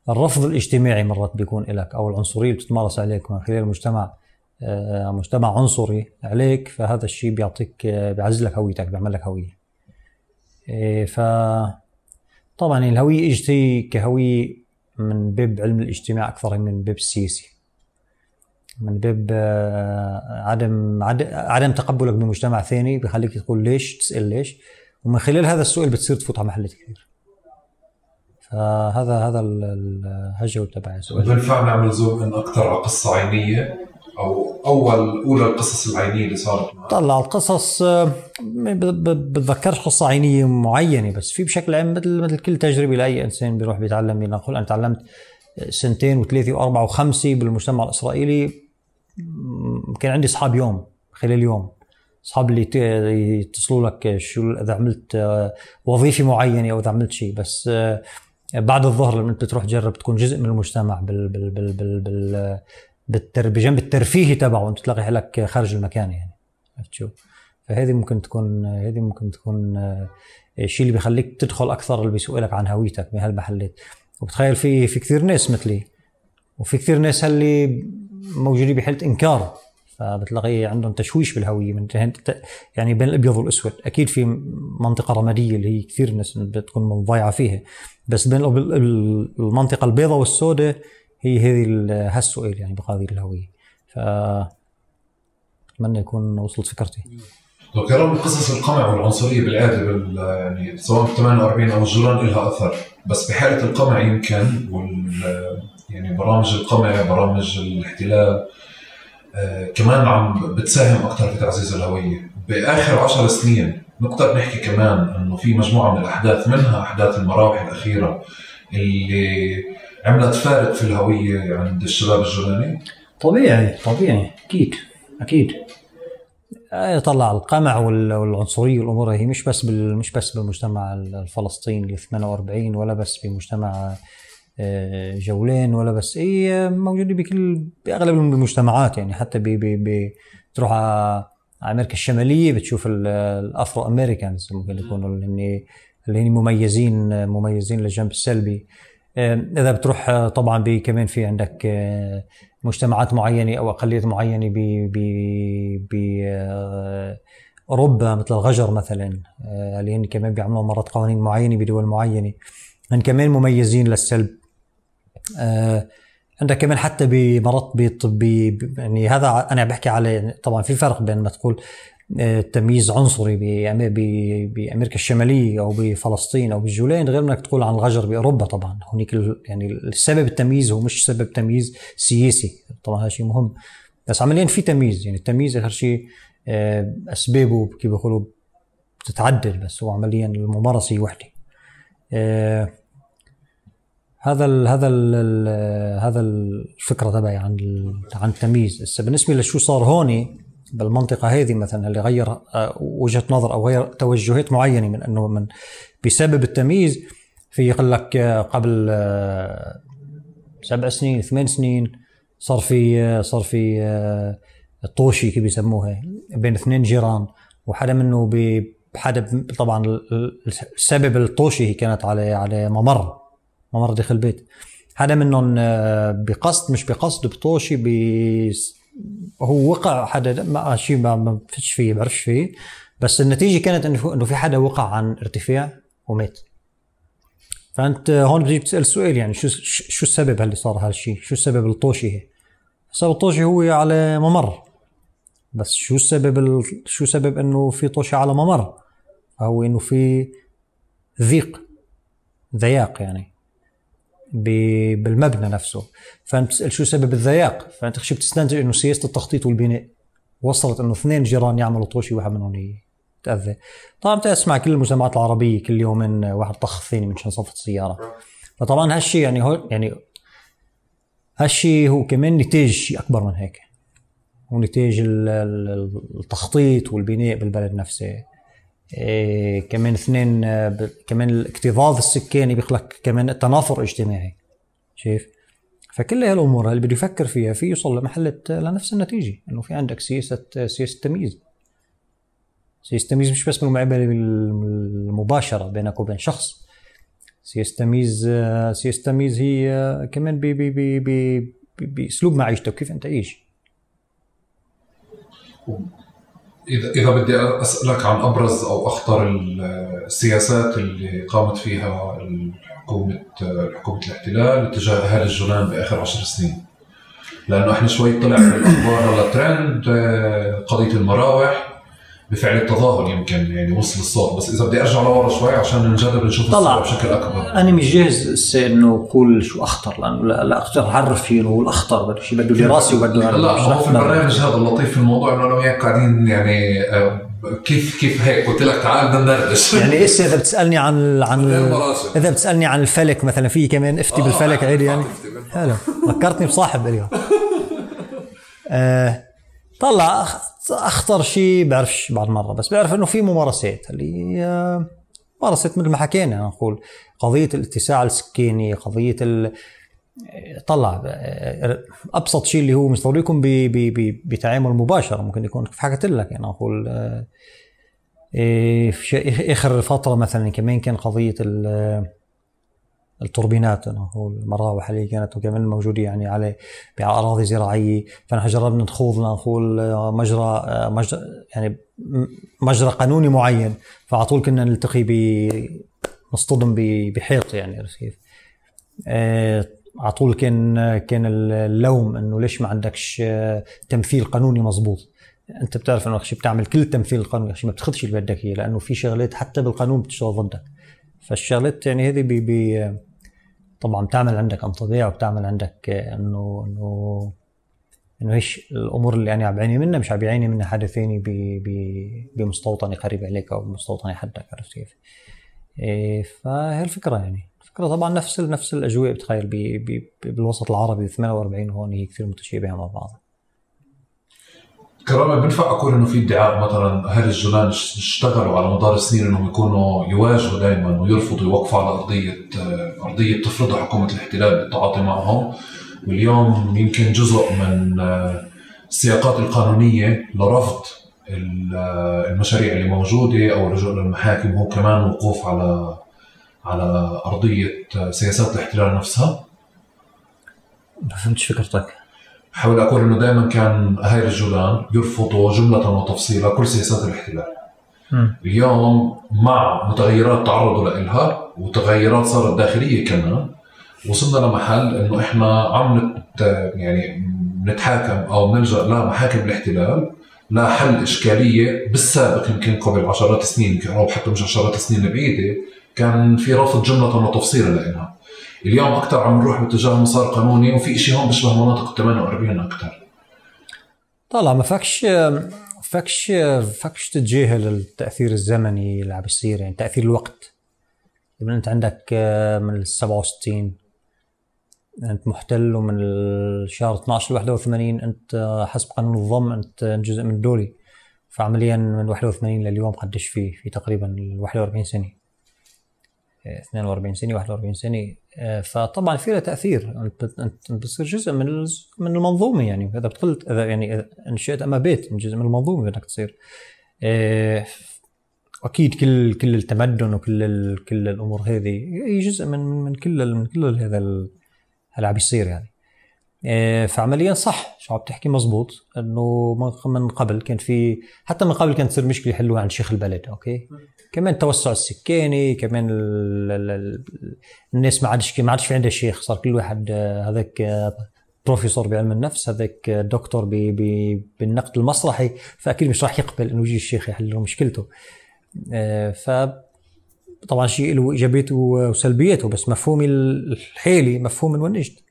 الرفض الاجتماعي مرات بيكون لك أو العنصرية اللي بتتمارس عليك من خلال المجتمع مجتمع عنصري عليك، فهذا الشيء بيعطيك بيعزز لك هويتك، بيعمل لك هوية. فطبعا الهوية اجتي كهوية من باب علم الاجتماع أكثر من باب السياسي، من باب عدم عدم تقبلك بمجتمع ثاني بيخليك تقول ليش، تسأل ليش، ومن خلال هذا السؤال بتصير تفوت على محلات كثير. فهذا هذا الهجوة تبع السؤال. بنفع نعمل زوم إن أكثر على قصة عينية أو أول أولى القصص العينية اللي صارت معك؟ طلع القصص بتذكرش قصة عينية معينة، بس في بشكل عام مثل مثل كل تجربة لأي إنسان بيروح بيتعلم. نقول أنا تعلمت سنتين وثلاثة وأربعة وخمسة بالمجتمع الإسرائيلي، كان عندي أصحاب يوم خلال يوم، أصحاب اللي يتصلوا لك شو إذا عملت وظيفة معينة أو إذا عملت شيء. بس بعد الظهر لما أنت تروح تجرب تكون جزء من المجتمع بال بال بال بال بال بالتر بجنب الترفيهي تبعه، أنت تلاقي حالك خارج المكان يعني. عرفت شو؟ فهذه ممكن تكون هذه ممكن تكون الشيء اللي بيخليك تدخل أكثر، اللي بيسألك عن هويتك بهالمحلات. وبتخيل في في كثير ناس مثلي، وفي كثير ناس اللي موجودين بحالة إنكار، فبتلاقي عندهم تشويش بالهوية من يعني بين الأبيض والأسود. أكيد في منطقة رمادية اللي هي كثير ناس بتكون مضيعة فيها، بس بين المنطقة البيضاء والسوداء هي هذه هالسؤال يعني بقضية الهوية. فأتمنى يكون وصلت فكرتي. لو كلام قصص القمع والعنصرية بالعادة بال يعني سواء في ثمانية وأربعين أو الجولان لها أثر، بس بحالة القمع يمكن وال يعني برامج القمع برامج الاحتلال آه كمان عم بتساهم أكثر في تعزيز الهوية. بآخر عشر سنين نقدر نحكي كمان إنه في مجموعة من الأحداث، منها أحداث المراوح الأخيرة اللي عملت فارق في الهوية عند الشباب الجولاني. طبيعي طبيعي أكيد أكيد. طلع القمع والعنصرية والأمور هي مش بس بال مش بس بالمجتمع الفلسطيني اللي ثمانية وأربعين، ولا بس بمجتمع جولان، ولا بس هي موجودة بكل بأغلب المجتمعات يعني. حتى بي بي بتروح على أمريكا الشمالية بتشوف الأفرو أمريكانز ممكن يكونوا اللي اللي هن مميزين مميزين للجنب السلبي. إذا بتروح طبعا كمان في عندك مجتمعات معينة أو أقليات معينة ب ب أوروبا مثل الغجر مثلا، اللي هن كمان بيعملوا مرات قوانين معينة بدول معينة، هن كمان مميزين للسلب. عندك كمان حتى بمرات بطبي يعني. هذا أنا بحكي على طبعا في فرق بين ما تقول تمييز عنصري بأمريكا الشمالية أو بفلسطين أو بالجولان، غير انك تقول عن الغجر بأوروبا. طبعا هناك يعني السبب التمييز هو مش سبب تمييز سياسي، طبعا هذا شيء مهم، بس عمليا في تمييز. يعني التمييز آخر شيء أسبابه كيف بيقولوا بتتعدل، بس هو عمليا الممارسة وحدة. هذا ال هذا ال هذا الفكرة تبعي عن عن التمييز. بس بالنسبة لشو صار هون بالمنطقة هذه مثلا اللي غير وجهة نظر أو غير توجهات معينة من أنه من بسبب التمييز، في يقول لك قبل سبع سنين ثمان سنين صار في صار في الطوشي كيف بيسموها بين اثنين جيران، وحدا منه بحدا طبعا السبب الطوشي هي كانت على على ممر ممر داخل البيت. حدا منهم بقصد مش بقصد بطوشي هو وقع حدا ما شيء ما ما فيش فيه بعرفش فيه، بس النتيجة كانت إنه إنه في حدا وقع عن ارتفاع ومات. فأنت هون بتجي بتسأل سؤال يعني شو شو السبب اللي صار هالشيء؟ شو السبب الطوشي؟ السبب الطوشي هو على ممر، بس شو السبب ال... شو سبب إنه في طوشة على ممر؟ هو إنه في ضيق ضياق يعني بالمبنى نفسه. فأنت بتسأل شو سبب الضياق، فأنت خشي بتستنتج إنه سياسة التخطيط والبناء وصلت إنه اثنين جيران يعملوا طوشي واحد منهم يتأذى. طبعا بتسمع كل المجتمعات العربية كل يومين واحد طخ الثاني من شان صفت السيارة. فطبعا هالشي يعني هو يعني هالشي هو كمان نتاج شيء أكبر من هيك، هو نتاج التخطيط والبناء بالبلد نفسه. إيه كمان اثنين كمان الاكتظاظ السكاني بيخلق كمان التنافر اجتماعي، شايف؟ فكل هالامور اللي بده يفكر فيها في يوصل لمحل لنفس النتيجه، انه في عندك سياسه سياسه تمييز. سياسه تمييز مش بس بالمعامله المباشره بينك وبين شخص، سياسه تمييز سياسه تمييز هي كمان باسلوب معيشتك كيف انت تعيش. إذا إذا بدي أسألك عن أبرز أو أخطر السياسات اللي قامت فيها الحكومة حكومة الاحتلال تجاه أهالي الجولان بآخر عشر سنين، لأنه إحنا شوي طلع من الأخبار على ترند قضية المراوح بفعل التظاهر يمكن يعني وصل الصوت، بس إذا بدي أرجع لورا شوي عشان نجرب نشوف الصورة بشكل أكبر. أنا مش جاهز إنه أقول شو أخطر، لأنه لا, لا أقدر أعرف فيه إنه الأخطر بده شيء بده دراسة وبده. لا هو في البرنامج هذا اللطيف في الموضوع إنه أنا وياك قاعدين يعني كيف كيف هيك قلت لك تعال بدنا ندردش. يعني إيش إذا بتسألني عن عن إذا بتسألني عن الفلك مثلا في كمان افتي آه بالفلك عادي يعني. حلو فكرتني بصاحب اليوم. آه طلع أخطر شيء بعرفش بعد مرة، بس بعرف إنه في ممارسات اللي ممارسات مثل ما حكينا نقول قضية الاتساع السكاني، قضية ال طلع أبسط شيء اللي هو مش ضروري يكون بتعامل مباشر، ممكن يكون في حكيت لك يعني نقول في آخر فترة مثلا كمان كان قضية التوربينات نقول المراوح اللي كانت كمان موجودة يعني على بأراضي زراعية، فنحن جربنا نخوض نقول مجرى مجرى يعني مجرى قانوني معين، فعلى طول كنا نلتقي ب نصطدم بحيط يعني رصيف. على طول كان كان اللوم انه ليش ما عندكش تمثيل قانوني مزبوط. انت بتعرف انه شيء بتعمل كل تمثيل قانوني شيء ما بتاخذش اللي بدك اياه، لانه في شغلات حتى بالقانون بتشتغل ضدك. فالشغلات يعني هذه بي بي طبعا بتعمل عندك انطباع وبتعمل عندك انه انه انه ايش الامور اللي انا عم بعاني منها مش عم بيعاني منها حدا ثاني بمستوطنه قريب عليك او بمستوطنه حدك، عرفت كيف؟ إيه فهي الفكره يعني الفكره طبعا نفس نفس الاجواء بتخيل بي بي بالوسط العربي ثمانية وأربعين هون هي كثير متشابهه مع بعض. كرامة بنفع أقول إنه في ادعاء مثلا أهل الجولان اشتغلوا على مدار السنين إنهم يكونوا يواجهوا دائما ويرفضوا يوقفوا على أرضية أرضية تفرضها حكومة الاحتلال بالتعاطي معهم، واليوم يمكن جزء من السياقات القانونية لرفض المشاريع اللي موجودة أو الرجوع للمحاكم هو كمان وقوف على على أرضية سياسات الاحتلال نفسها. ما فهمتش فكرتك. حاول أقول إنه دائما كان أهالي الجولان يرفضوا جملة وتفصيلا كل سياسات الاحتلال. م. اليوم مع متغيرات تعرضوا لها وتغيرات صارت داخلية كمان وصلنا لمحل إنه إحنا عم نت يعني نتحاكم أو نلجأ لمحاكم الاحتلال لا حل إشكالية. بالسابق يمكن قبل عشرات السنين أو حتى مش عشرات السنين بعيدة كان في رفض جملة وتفصيلا لإنها. اليوم أكتر عم نروح باتجاه مسار قانوني وفي إشي هون بشبه مناطق ثمانية وأربعين أكتر. طلع ما فكش فكش فكش تتجاهل التأثير الزمني اللي عم بيصير يعني تأثير الوقت. لما أنت عندك من السبعة وستين أنت محتل ومن الشهر اثناشر واحد وثمانين أنت حسب قانون الضم أنت جزء من دولي. فعمليا من واحد وثمانين لليوم قديش فيه في تقريبا واحد وأربعين سنة اثنين وأربعين سنة واحد وأربعين سنة. فطبعا في له تأثير أنت أنت بتصير جزء من من المنظومة يعني إذا بتقلت إذا يعني انشأت أما بيت جزء من المنظومة بدك تصير. أكيد كل كل التمدن وكل كل الأمور هذه هي جزء من من كل من كل هذا اللي عم بيصير يعني. فعمليا صح شو عم تحكي مزبوط انه من قبل كان في حتى من قبل كانت تصير مشكله يحلوها عند شيخ البلد. اوكي كمان توسع السكاني كمان ال ال ال الناس ما عادش ما عادش في عندها شيخ صار كل واحد هذاك بروفيسور بعلم النفس هذاك دكتور بالنقد المسرحي فاكيد مش راح يقبل انه يجي الشيخ يحل له مشكلته. ف طبعا شيء له ايجابيته وسلبياته بس مفهومي الحالي مفهوم من وين اجت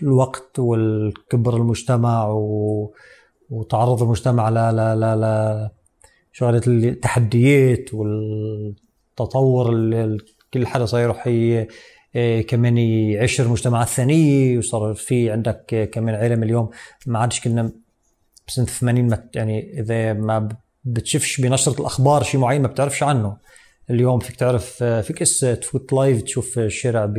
الوقت والكبر المجتمع وتعرض المجتمع ل لا لا لا شغلة التحديات والتطور اللي كل حدا صار يروح كمان يعيش المجتمعات الثانية وصار في عندك كمان عالم اليوم ما عادش كنا بسنة ثمانين يعني إذا ما بتشوفش بنشرة الأخبار شيء معين ما بتعرفش عنه. اليوم فيك تعرف فيك اسا تفوت لايف تشوف الشارع ب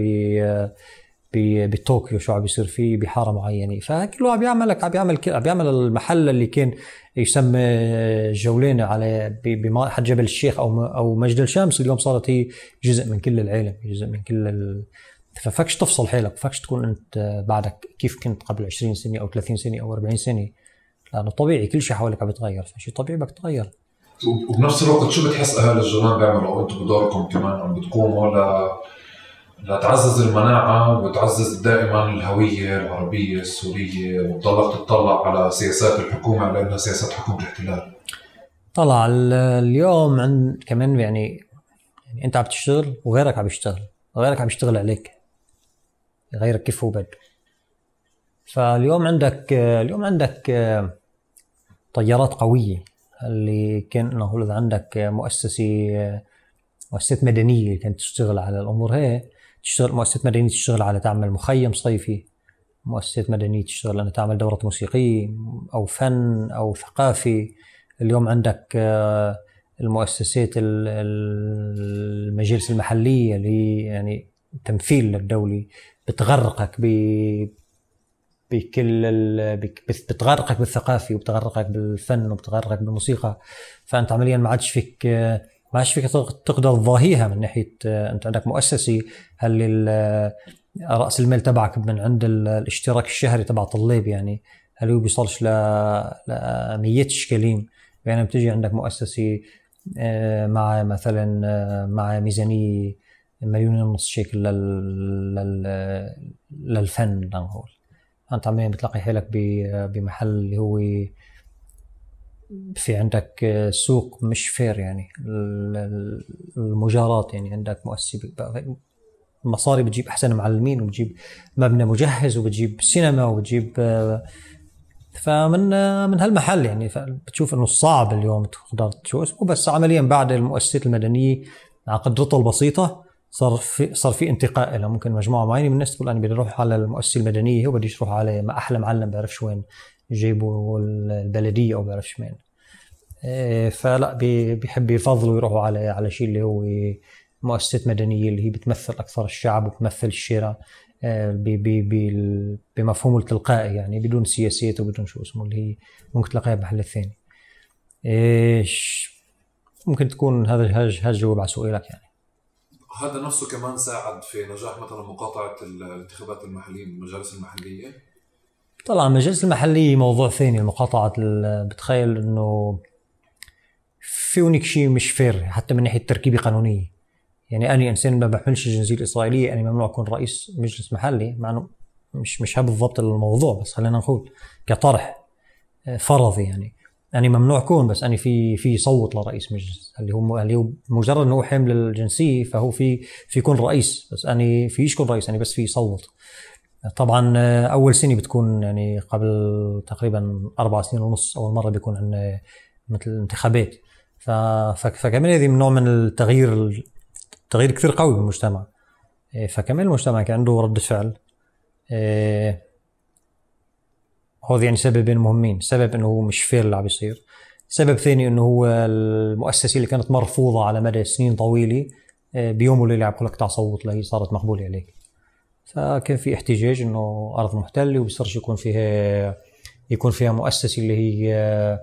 بطوكيو شو عم يصير فيه بحاره معينه فكله عم يعملك عم بيعمل عم بيعمل المحل اللي كان يسمى جولان على بحد جبل الشيخ او او مجد الشمس اليوم صارت هي جزء من كل العالم جزء من كل ال... ففكش تفصل حالك فكش تكون انت بعدك كيف كنت قبل عشرين سنه او ثلاثين سنه او أربعين سنه لانه طبيعي كل شيء حوالك عم يتغير فشيء طبيعي بدك تتغير. وبنفس الوقت شو بتحس اهل الجولان بيعملوا انتم بدوركم كمان عم بتقوموا ل لتعزز المناعة وتعزز دائما الهوية العربية السورية وتضلك تطلع على سياسات الحكومة على أنها سياسات حكومة الاحتلال؟ طلع اليوم عند كمان يعني, يعني أنت عم تشتغل وغيرك عم يشتغل وغيرك عم يشتغل عليك غيرك كيف هو بده. فاليوم عندك اليوم عندك طيارات قوية اللي كان إنه إذا عندك مؤسسة مؤسسات مدنية كانت تشتغل على الأمور هي تشتغل مؤسسات مدنية تشتغل على تعمل مخيم صيفي مؤسسات مدنية تشتغل أن تعمل دورة موسيقية أو فن أو ثقافي. اليوم عندك المؤسسات المجالس المحلية اللي هي يعني تمثيل للدولة بتغرقك ب بكل بتغرقك بالثقافي وبتغرقك بالفن وبتغرقك بالموسيقى. فأنت عمليا ما عادش فيك ما عادش فيك تقدر تضاهيها من ناحية أنت عندك مؤسسة هل رأس المال تبعك من عند الاشتراك الشهري تبع طلاب يعني هل هو بيصلش لمية شكالين يعني بتجي عندك مؤسسة مع مثلا مع ميزانية مليون ونص شيكل للفن لنقول أنت عمليا بتلاقي حالك بمحل اللي هو في عندك سوق مش فير يعني المجارات يعني عندك مؤسسة المصاري بتجيب أحسن معلمين وبتجيب مبنى مجهز وبتجيب سينما وبتجيب فمن من هالمحل يعني بتشوف إنه صعب اليوم تقدر شو اسمه بس عمليا بعد المؤسسات المدنية مع قدرتها البسيطة صار في صار في انتقاء لها ممكن مجموعة معينة من الناس تقول أنا بدي أروح على المؤسسة المدنية وبديش أروح على ما أحلى معلم بعرفش وين جيبوا البلدية أو بعرفش مين فلا بيحب يفضلوا يروحوا على على شيء اللي هو مؤسسات مدنية اللي هي بتمثل أكثر الشعب وبتمثل الشارع بمفهومه التلقائي يعني بدون سياسات وبدون شو اسمه اللي هي ممكن تلاقيها بمحل الثاني. إيش ممكن تكون هذا هذا الجواب على سؤالك يعني. هذا نفسه كمان ساعد في نجاح مثلا مقاطعة الانتخابات المحلية المجالس المحلية. طبعا المجالس المحلية موضوع ثاني المقاطعة بتخيل إنه في هناك شيء مش فير حتى من ناحية تركيبة قانونية يعني أنا إنسان ما بحملش الجنسية الإسرائيلية أنا ممنوع أكون رئيس مجلس محلي مع إنه مش مش هذا بالضبط الموضوع بس خلينا نقول كطرح فرضي يعني أنا ممنوع أكون بس أنا في في صوت لرئيس مجلس اللي هو اللي هو مجرد إنه حامل الجنسية فهو في في يكون رئيس بس أنا فيش يكون رئيس أنا بس في صوت. طبعا أول سنة بتكون يعني قبل تقريبا أربع سنين ونص أول مرة بيكون عندنا مثل انتخابات فكمان هذه من نوع من التغيير تغيير كثير قوي بالمجتمع. فكمان المجتمع كان عنده ردة فعل هذا يعني سببين مهمين سبب انه هو مش فير اللي عم بيصير سبب ثاني انه هو المؤسسة اللي كانت مرفوضة على مدى سنين طويلة بيوم وليلة عم بقولك تعال صوت لهي صارت مقبولة عليك. فكان في احتجاج انه ارض محتلة وبيصيرش يكون فيها يكون فيها مؤسسة اللي هي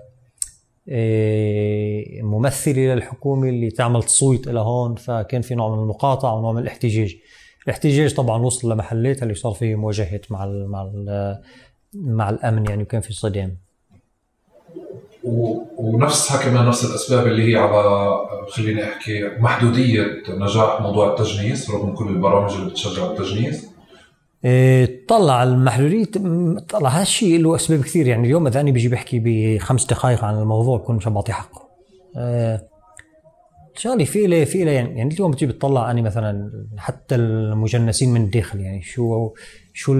ممثلة للحكومة اللي تعمل تصويت إلى هون فكان في نوع من المقاطعة ونوع من الاحتجاج الاحتجاج طبعا وصل لمحلات اللي صار فيه مواجهة مع ال مع ال مع الأمن يعني، وكان في صدام. ونفسها كمان نفس الأسباب اللي هي على خليني أحكي محدودية نجاح موضوع التجنيس رغم كل البرامج اللي بتشجع التجنيس. إيه طلع المحدودية، طلع هالشيء له أسباب كثير يعني. اليوم إذا أنا بيجي بحكي بخمس دقائق عن الموضوع بكون مش بعطي حقه. إيه شغلي في له في له يعني, يعني اليوم بتجي بتطلع أنا مثلا حتى المجنسين من الداخل يعني شو شو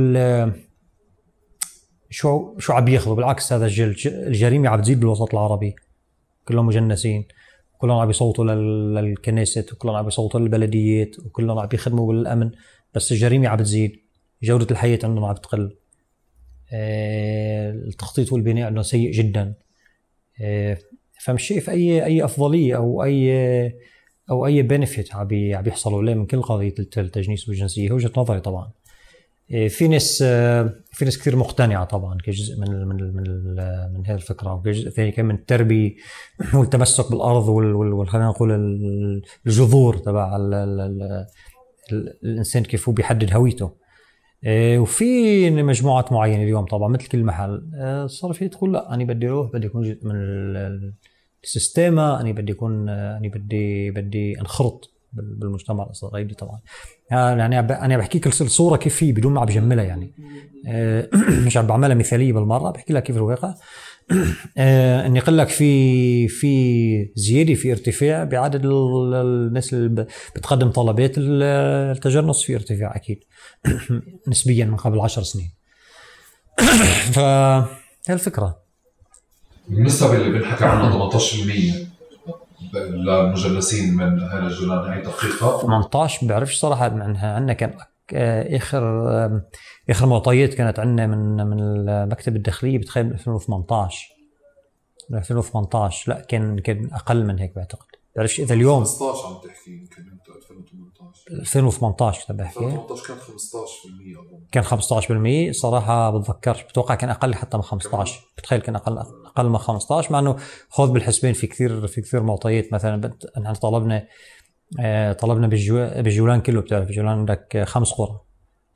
شو شو عم ياخذوا. بالعكس هذا الجريمة عم تزيد بالوسط العربي، كلهم مجنسين، كلهم عم يصوتوا للكنيسة، وكلهم عم يصوتوا للبلديات، وكلهم عم يخدموا بالأمن، بس الجريمة عم تزيد، جودة الحياة عندهم عم تقل، اه التخطيط والبناء عندهم سيء جدا. اه فمش شايف أي أي أفضلية أو أي أو أي بنفيت عم بيحصلوا له من كل قضية التجنيس والجنسية. وجهة نظري طبعا. في ناس في ناس كثير مقتنعه طبعا كجزء من من من, من هذه الفكره، وكجزء ثاني كمان من التربيه والتمسك بالارض وال خلينا نقول الجذور تبع الانسان كيف هو بيحدد هويته. وفي مجموعات معينه اليوم طبعا مثل كل محل صار في تقول لا انا بدي اروح بدي اكون جزء من السيستما، انا بدي اكون انا بدي بدي انخرط بالمجتمع الإسرائيلي طبعا. يعني أنا بحكيك الصورة كيف هي بدون ما عم بجملها يعني، مش عم بعملها مثالية بالمرة، بحكي لك كيف الواقع. إني أقول لك في في زيادة في ارتفاع بعدد الناس اللي بتقدم طلبات التجنس، في ارتفاع أكيد نسبيا من قبل عشر سنين. فهي الفكرة. النسبة اللي بنحكي عنها ثمانية عشر بالمئة للمجنسين من هذا الجولان، هي دقيقة؟ ثمانية عشر بعرفش صراحة. عنها عندنا كان آخر آخر معطيات كانت عندنا من من المكتب الداخلية بتخيل من ألفين وثمانية عشر من ألفين وثمانية عشر. لا كان كان أقل من هيك بعتقد. بعرفش إذا اليوم خمسة عشر عم تحكي يمكن أنت ألفين وثمانية عشر ألفين وثمانية عشر كنت بحكي. ألفين وثمانية عشر كان خمسة عشر بالمئة أظن. كان خمسة عشر بالمئة صراحة بتذكرش، بتوقع كان أقل حتى من خمسة عشر. بتخيل كان أقل أقل من خمسة عشر، مع إنه خذ بالحسبين في كثير في كثير معطيات. مثلا نحن طلبنا طلبنا بالجولان كله، بتعرف الجولان عندك خمس قرى،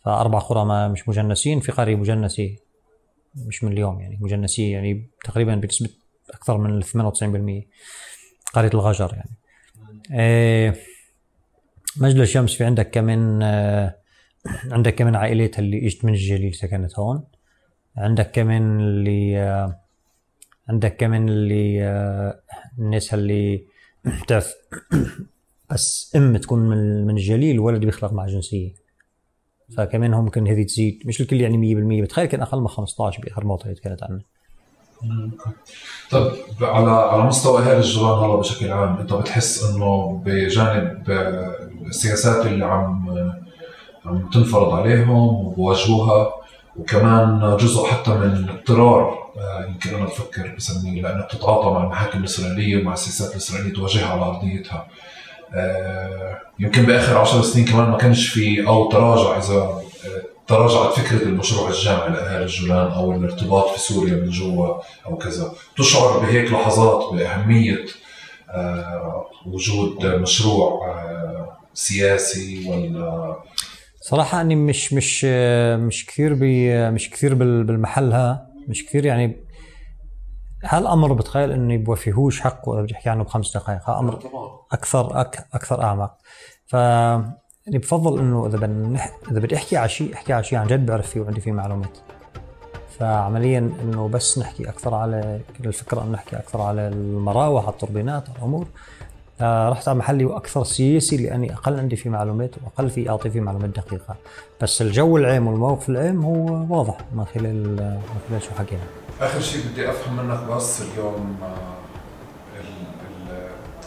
فأربع قرى ما مش مجنسين، في قرية مجنسة مش من اليوم يعني مجنسية يعني تقريبا بنسبة أكثر من ثمانية وتسعين بالمئة، قرية الغجر يعني. آه مجلس الشمس في عندك كمان آه عندك كمان عائلات اللي اجت من الجليل سكنت هون. عندك كمان اللي آه عندك كمان اللي آه الناس اللي بتعرف بس ام تكون من من الجليل والولد بيخلق مع جنسية، فكمان هم ممكن هذه تزيد. مش الكل يعني مية بالمية، بتخيل كان اقل من خمسة عشر باخر معطيات كانت عندنا. طب على على مستوى اهالي الجولان هلا بشكل عام، انت بتحس انه بجانب السياسات اللي عم عم تنفرض عليهم وبواجهوها، وكمان جزء حتى من اضطرار يمكن انا بفكر بسميه لانك تتعاطى مع المحاكم الاسرائيليه ومع السياسات الاسرائيليه تواجهها على ارضيتها، يمكن باخر عشر سنين كمان ما كانش في او تراجع اذا تراجعت فكرة المشروع الجامعي لأهالي الجولان أو الارتباط في سوريا من جوا أو كذا. تشعر بهيك لحظات بأهمية وجود مشروع سياسي ولا؟ صراحة أني مش مش مش كثير مش كثير بالمحلها، مش كثير يعني. هالأمر بتخيل إني بوفيهوش حقه إذا بدي أحكي عنه بخمس دقائق. هالأمر أكثر أك أكثر أعمق. ف يعني بفضل انه اذا بدي اذا بدي احكي على شيء احكي على شيء عن جد بعرف فيه وعندي فيه معلومات. فعمليا انه بس نحكي اكثر على كل الفكره انه نحكي اكثر على المراوح على التوربينات على الامور. رحت على محلي واكثر سياسي لاني اقل عندي فيه معلومات واقل في اعطي فيه معلومات دقيقه، بس الجو العام والموقف العام هو واضح من خلال من خلال شو حكينا. اخر شيء بدي افهم منك بس اليوم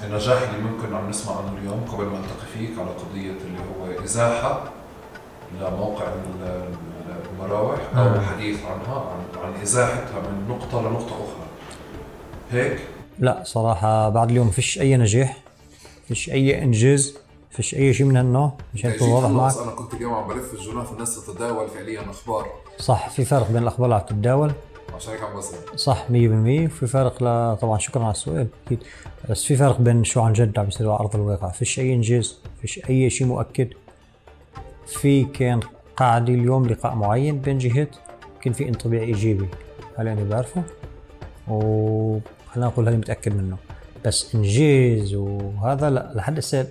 النجاح اللي ممكن عم نسمع عنه اليوم قبل ما التقي فيك على قضيه اللي هو ازاحه لموقع المراوح او الحديث عنها عن, عن ازاحتها من نقطه لنقطه اخرى هيك؟ لا صراحه بعد اليوم فيش اي نجاح، فيش اي انجاز، فيش اي شيء من هالنوع. مشان اكون واضح معك، انا كنت اليوم عم بلف الجولان فالناس تتداول فعليا اخبار. صح، في فرق بين الاخبار اللي عم تتداول عشان هيك عم بسأل. صح مية بالمية. وفي فرق ل... طبعا شكرا على السؤال اكيد، بس في فرق بين شو عن جد عم يصير على ارض الواقع. فيش اي انجاز، فيش اي شيء مؤكد، في كان قاعدة اليوم لقاء معين بين جهات، كان في انطباع إيجابي هل أنا بعرفه، وخلينا نقول هذا متأكد منه. بس إنجاز وهذا لا، لحد هسه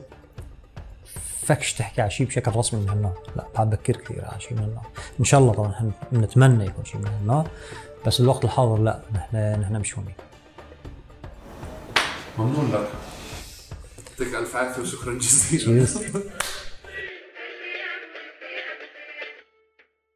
فكش تحكي على شيء بشكل رسمي من هالنوع، لا بعد بكير كثير على شيء من هالنوع. إن شاء الله طبعا نتمنى يكون شيء من هالنوع، بس الوقت الحاضر لا، نحن نحن مش هون. ممنون لك، يعطيك ألف عافية وشكرا جزيلا.